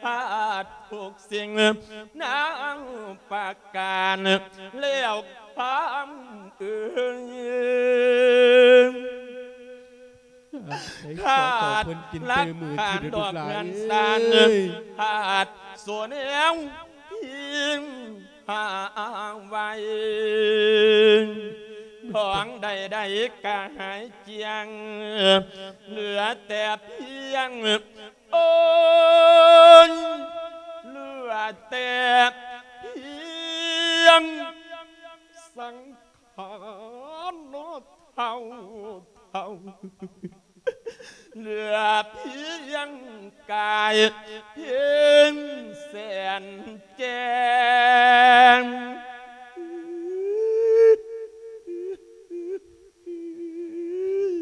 ພາດທຸກສິ່ງນາງປະການແລ້ວຄຳເອີຍ ຂາດຫຼັກຖານດອກເຮືອນຊານ ຂາດໂສແນວທີ່ຫາໄວ້ ຂອງໃດໆກະຫາຍຈຽງ ເຫຼືອແຕ່ພຽງ ໂອ້ຍ ເຫຼືອແຕ່ພຽງສັງ ນອດເທົ່າເທົ່າ ເຫຼືອພຽງກາຍພຽງແສນແຈ້ງ.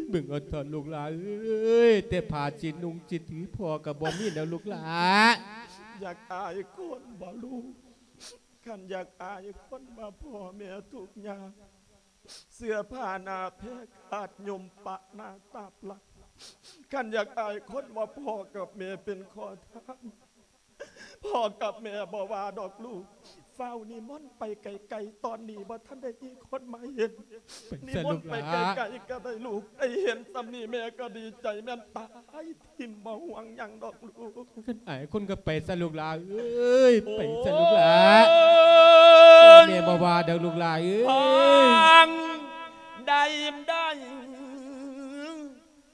ເບິ່ງເອົາເຖາະລູກຫຼາເອີຍ ແຕ່ຜ້າຊິນຸ່ງຊິຖືພໍ່ກໍບໍ່ມີແລ້ວລູກຫຼາ. ຢາກອາຍຄົນບໍ່ລູກ? ຄັນຢາກອາຍຄົນວ່າພໍ່ແມ່ທຸກຍາກ ເສື້ອຜ້າໜ້າແພກຂາດຫຍຸ່ມປະໜ້າຕາບຫຼັງ. ຄັນຢາກອາຍຄົນວ່າພໍ່ກັບແມ່ເປັນຂໍທານ ພໍ່ກັບແມ່ບໍ່ວ່າດອກລູກ ຟ້າວນິມົນໄປໄກໆ ຕອນນີ້ບໍ່ທັນໄດ້ມີຄົນມາເຫັນ. ນິມົນໄປໄກໆກໍໄດ້ລູກ ໄດ້ເຫັນສ່ຳນີ້ແມ່ກໍດີໃຈ ແມ່ນຕາຍ ທິ່ມບໍ່ຫ່ວງຫຍັງດອກລູກ. ຄັນອາຍຄົນກໍໄປຊະລູກຫຼາເອີຍ ໄປຊະລູກຫຼາ. ໂອ້ຍ ແມ່ບໍ່ວ່າດອກລູກຫຼາເອີຍ ຟັງໄດ້ ໄດ້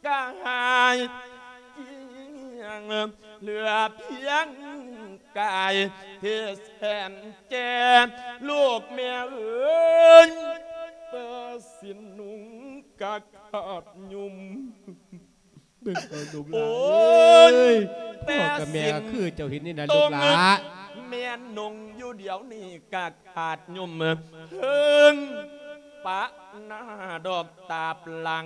ກະຫາຍຈຽງ ເຫຼືອພຽງກາຍເທດແສນແຈ ລູກແມ່ເອີຍ ເປີສິນນຸ່ງກະຂາດຫຍຸ່ມ. ເບິ່ງເອົາລູກຫຼາເອີຍ ພໍ່ກັບແມ່ຄືເຈົ້າເຫັນນີ້ນະລູກຫຼາ ແມ່ນນຸ່ງຢູ່ດຽວນີ້ກະຂາດຫຍຸ່ມ ເທິງປະໜ້າດອກຕາບຫຼັງ.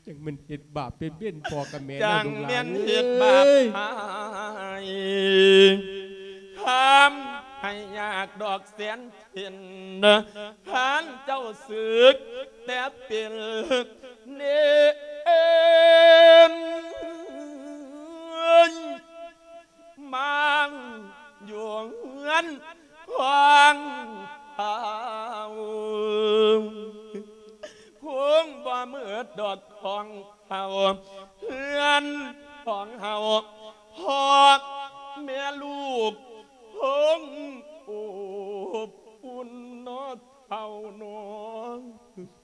ຈັ່ງແມ່ນເຮັດບາບເປັນເວນພໍ່ກັບແມ່ເນາະລູກຫຼາເອີຍ ຈັ່ງແມ່ນເຮັດບາບຫາຍ ທຳໃຫ້ຍາກດອກແສນ ເຫັນທ່ານເຈົ້າສຶກແຕ່ເປັນເນນ ມາຢູ່ເຮືອນຂອງເຮົາ ຄົງບໍ່ເໝິດດອກຂອງເຮົາ ເຮືອນຂອງເຮົາ ພໍ່ແມ່ລູກຄົງອົບອຸ່ນເນາະ ເຖົ້ານ້ອງ.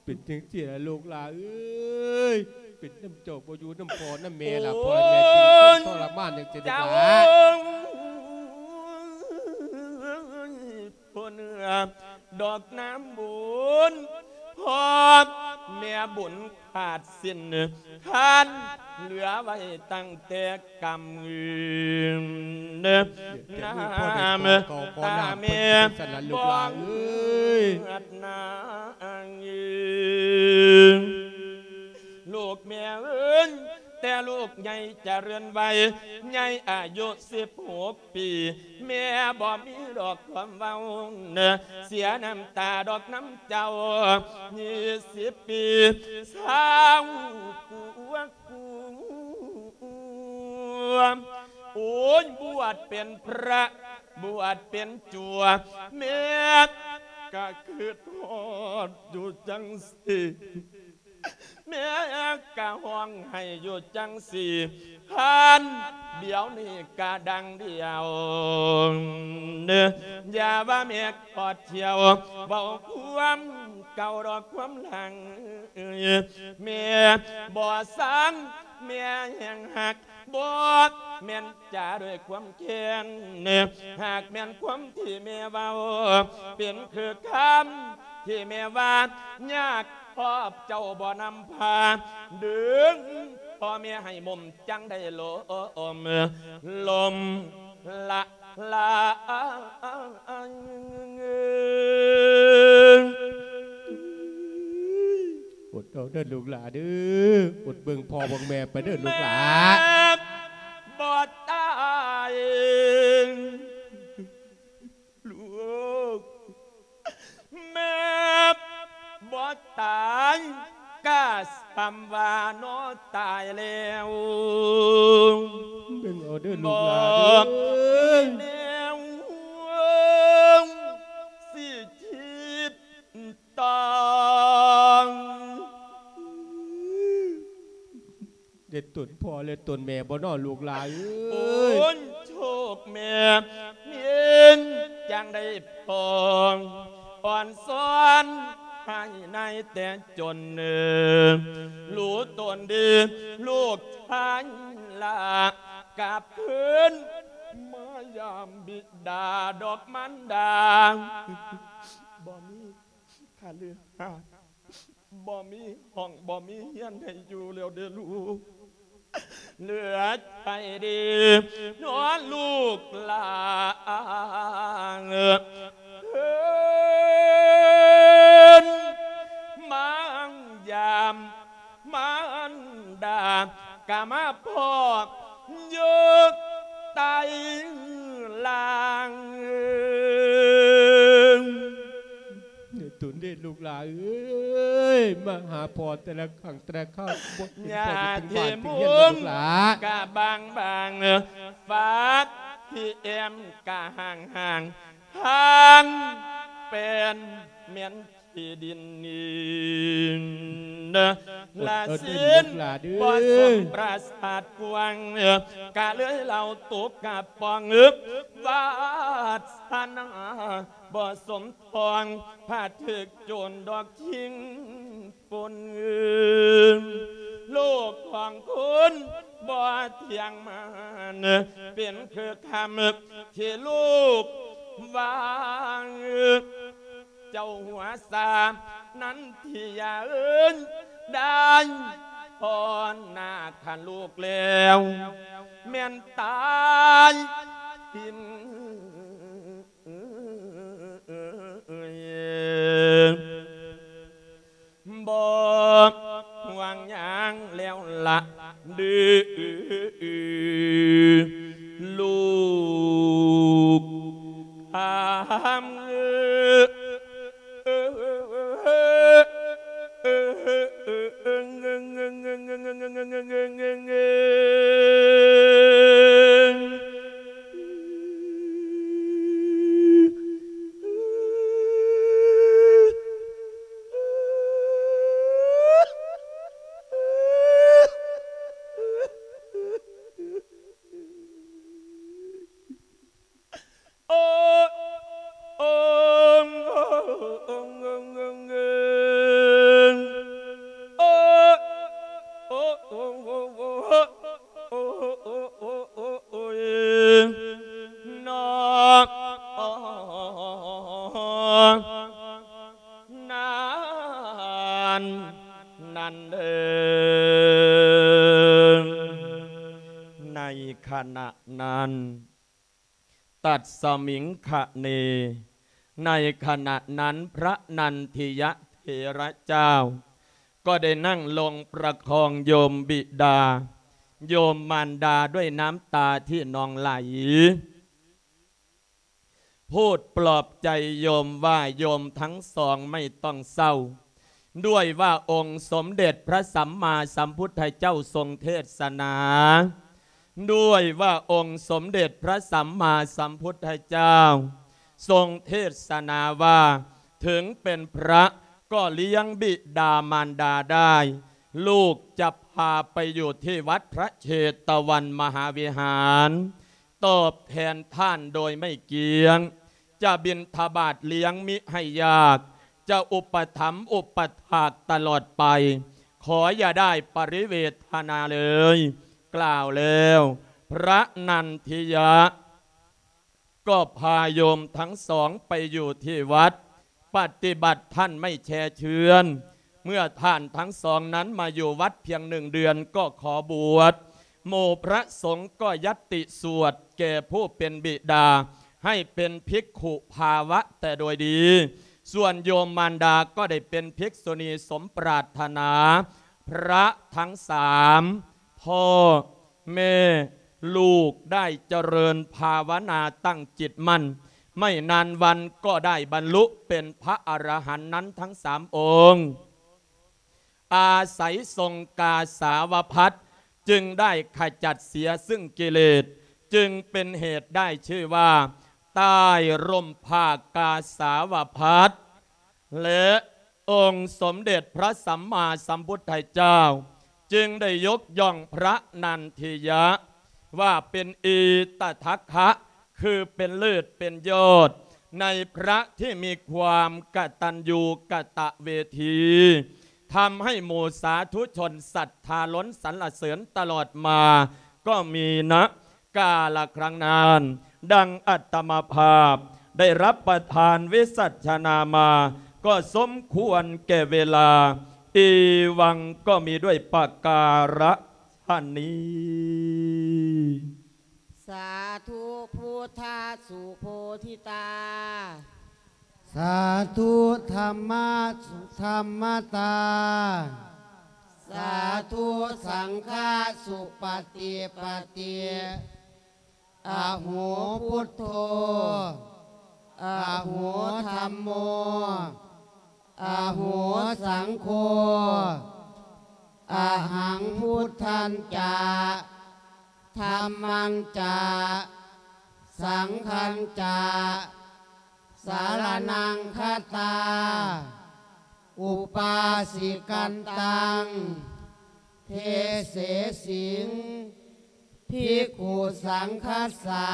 ເປັນຈັ່ງຊີ້ລະລູກຫຼາເອີຍ ເປັນນຳເຈົ້າບໍ່ຢູ່ນຳພໍ່ນຳແມ່ລະ ໂອ້ຍ ພໍ່ແມ່ຈຶ່ງທົນທໍລະມານຈັ່ງຊີ້ລູກຫຼາ. ເຈົ້າຜູ້ເໜືອດອກນ້ຳບຸນ ພໍ່ແມ່ບຸນຂາດສິ້ນ ທ່ານເຫຼືອໄວ້ຕັ້ງແຕ່ ກຳເງິນນ້ຳຕາແມ່ບໍ່ເໝືອດນາງເອີຍ ລູກແມ່ເອີຍ ແຕ່ລູກໃຫຍ່ຈະເລື່ອນໄວ ໃຫຍ່ອາຍຸສິບຫົກປີ ແມ່ບໍ່ມີດອກຄວາມເວົ້າ ເສຍນ້ຳຕາດອກນຳເຈົ້າ ຊາວກວ່າ ໂອ້ຍ ບວດເປັນພະ ບວດເປັນຈົວ ແມ່ກະຄຶດຮອດຢູ່ຈັ່ງຊີ້ ແມ່ກະຮ້ອງໄຫ້ຢູ່ຈັ່ງຊີ້ ທ່ານດຽວນີ້ກະດັງດຽວ ຢ່າວ່າແມ່ ກອດທ່ຽວ ເວົ້າຄວາມເກົ່າດອກຄວາມຫຼັງ ແມ່ບໍ່ສັງ ແມ່ແຮງຮັກ ບໍ່ແມ່ນຈາດ້ວຍຄວາມແຄ້ນ ຫາກແມ່ນຄວາມທີ່ແມ່ເວົ້າ ເປັນຄືຄຳທີ່ແມ່ວ່າ ຍາກ ຂອບເຈົ້າບໍ່ນຳພາ ດຶງພໍ່ແມ່ໃຫ້ໝົມ ຈັ່ງໄດ້ລົມ ລົມລະລາຍ. ອົດເອົາເດີລູກຫຼາເດີ ອົດເບິ່ງພໍ່ເບິ່ງແມ່ໄປເດີລູກຫຼາ ແມ່ບໍ່ຕາຍ ລູກ ແມ່ບໍ່ຕາຍ ກະສ່ຳວ່າເນາະຕາຍແລ້ວ ເບິ່ງເອົາເດີລູກຫຼາເດີ ບໍ່ມີແນວຊິຄິດ ຕ້ອງ ເດັດຕົນພໍ່ ແລະ ຕົນແມ່ບໍ່ນໍລູກຫຼາເອີຍ? ໂອ້ຍ ໂຊກແມ່ເປັນຈັ່ງໃດພໍ່ ອ່ອນສອນໃຫ້ນາຍແຕ່ຈົນ ເອີ ຮູ້ຕົນດີ ລູກຊາຍຫຼ້າ ກັບຄືນມາຢາມບິດາດອກມານດາ. ບໍ່ມີຄະລືຫາດ ບໍ່ມີຫ້ອງ ບໍ່ມີເຮືອນໃຫ້ຢູ່ແລ້ວເດີ້ລູກ. ເຫຼືອໃຈເດ້ເນາະລູກຫຼານ ເພິ່ນມາຢາມມານດາ ກະມາພໍ້ຢູ່ໃຕ້ລ່າງ. ຕຸນເດດລູກຫຼາເອີຍ ມາຫາພໍ່ແຕ່ລະຄັ້ງແຕ່ລະຄາວ ບໍ່ເຫັນພໍ່ຢູ່ເທິງບ້ານເທິງເຮືອນເລີຍລູກຫຼາ. ກະບາງບາງ ຝາກທີ່ແອ້ມກະຫ່າງຫ່າງ ທາງແປນແມ່ນທີ່ດິນນີ້ ລະສິນບໍ່ສົມປາສາດກວ້າງ ກະເລີຍເລົ່າຕົກກະປ່ອງ ວາສະນາບໍ່ສົມ ຂອງພະຖືກໂຈນດອກຈິງປົນ ລູກຂອງຄົນບໍ່ທ່ຽງມານ ເປັນຄືຄຳທີ່ລູກວ່າ ເຈົ້າຫົວສາ ນັນທິຍາເອີຍ ໄດ້ພໍນໜ້າຄັນລູກແລ້ວ ແມ່ນຕາຍຖິ້ມ ບໍ່ຫວັງຫຍັງແລ້ວລະເດີ້ ລູກຄຳ. ນັ້ນ ນັ້ນເດີ ໃນຂະນະນັ້ນ ຕັດສະມິງຄະເນ ໃນຂະນະນັ້ນ ພະນັນທິຍະເຖລະເຈົ້າ ກໍໄດ້ນັ່ງລົງປະຄອງໂຍມບິດາ ໂຍມມານດາດ້ວຍນ້ຳຕາທີ່ນອງໄຫຼ ພູດປອບໃຈໂຍມວ່າ ໂຍມທັງສອງໄມ່ຕ້ອງເສົ້າ ດ້ວຍວ່າອົງສົມເດັດພະສຳມາສຳພຸດທະເຈົ້າຊົງເທດສະໜາ ດ້ວຍວ່າອົງສົມເດັດພະສຳມາສຳພຸດທະເຈົ້າຊົງເທດສະໜາວ່າ ເຖິງເປັນພະກໍລ້ຽງບິດາມານດາໄດ້ ລູກຈະພາໄປຢູ່ທີ່ວັດພະເຊຕະວັນມະຫາວິຫານ ຕອບແທນທ່ານໂດຍໄມ່ກຽງ ຈະບິນທະບາດລ້ຽງມິໃຫ້ຍາກ ຈະອຸປະຖຳອຸປະຖາກຕະຫຼອດໄປ ຂໍຢ່າໄດ້ປະລິເວທະນາເລີຍ. ກ່າວແລ້ວ ພະນັນທິຍະກໍພາໂຍມທັງສອງໄປຢູ່ທີ່ວັດ ປະຕິບັດທ່ານໄມ່ແຊ່ເຊືອນ. ເມື່ອທ່ານທັງສອງນັ້ນມາຢູ່ວັດພຽງໜຶ່ງເດືອນກໍຂໍບວດ ໝູ່ພະສົງກໍຍັດຕິສວດແກ່ຜູ້ເປັນບິດາ ໃຫ້ເປັນພິກຂຸພາວະແຕ່ໂດຍດີ. ສ່ວນໂຍມມານດາກໍໄດ້ເປັນພິກສຸນີສົມປາດຖະໜາ. ພະທັງສາມ ພໍ່ ແມ່ ລູກໄດ້ຈະເລີນພາວະນາຕັ້ງຈິດໝັ້ນ ໄມ່ນານວັນກໍໄດ້ບັນລຸເປັນພະອະລະຫັນນັ້ນທັງສາມອົງ. ອາໄສສົງກາສາວະພັດ ຈຶ່ງໄດ້ຂະຈັດເສຍຊຶ່ງກິເລດ ຈຶ່ງເປັນເຫດໄດ້ຊື່ວ່າ ໃຕ້ຮົ່ມຜ້າກາສາວະພັດ ແລະ ອົງສົມເດັດພະສຳມາສຳພຸດທະເຈົ້າ ຈຶ່ງໄດ້ຍົກຍ້ອງພະນັນທິຍະວ່າເປັນອີຕະທັກຄະ ຄືເປັນເລີດເປັນຍອດ ໃນພະທີ່ມີຄວາມກະຕັນຍູກະຕະເວທີ ທຳໃຫ້ໝູ່ສາທຸຊົນສັດທາລົ້ນສັນລະເສີນຕະຫຼອດມາ ກໍມີນະກາລະຄັ້ງນັ້ນ ດັ່ງອາດຕະມາພາບ ได้รับประทานวิสัชนามา ก็สมควรแก่เวลา อีวังก็มีด้วยประการฉะนี้ สาธุพุทธสุโพธิตา สาธุธรรมะสุธรรมตา สาธุสังฆสุปฏิปติ อโหพุทโธ อโหธัมโม อโหสังโฆ อหังพุทธัญจะ ธัมมัญจะ สังฆัญจะ สารณังคัตตา อุปาสิกันตัง เทเสสิง ภิกขุสังคัสสะ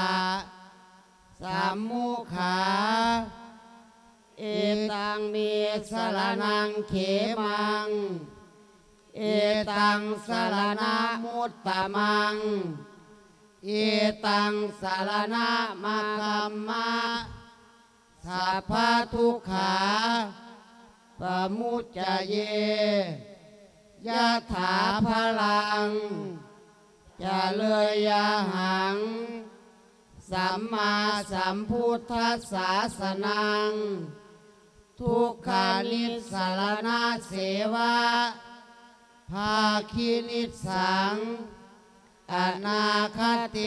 สัมมุขา เอตังเมสรณังเขมัง เอตังสรณมุตตมัง เอตังสรณมคัมมะ สัพพทุกขาปมุจจเย ยะถาพลัง จะเลยยะหัง สัมมาสัมพุทธัสสาสนัง ทุกขานิสสรณะเสวะ ภาคินิสสัง อนาคเต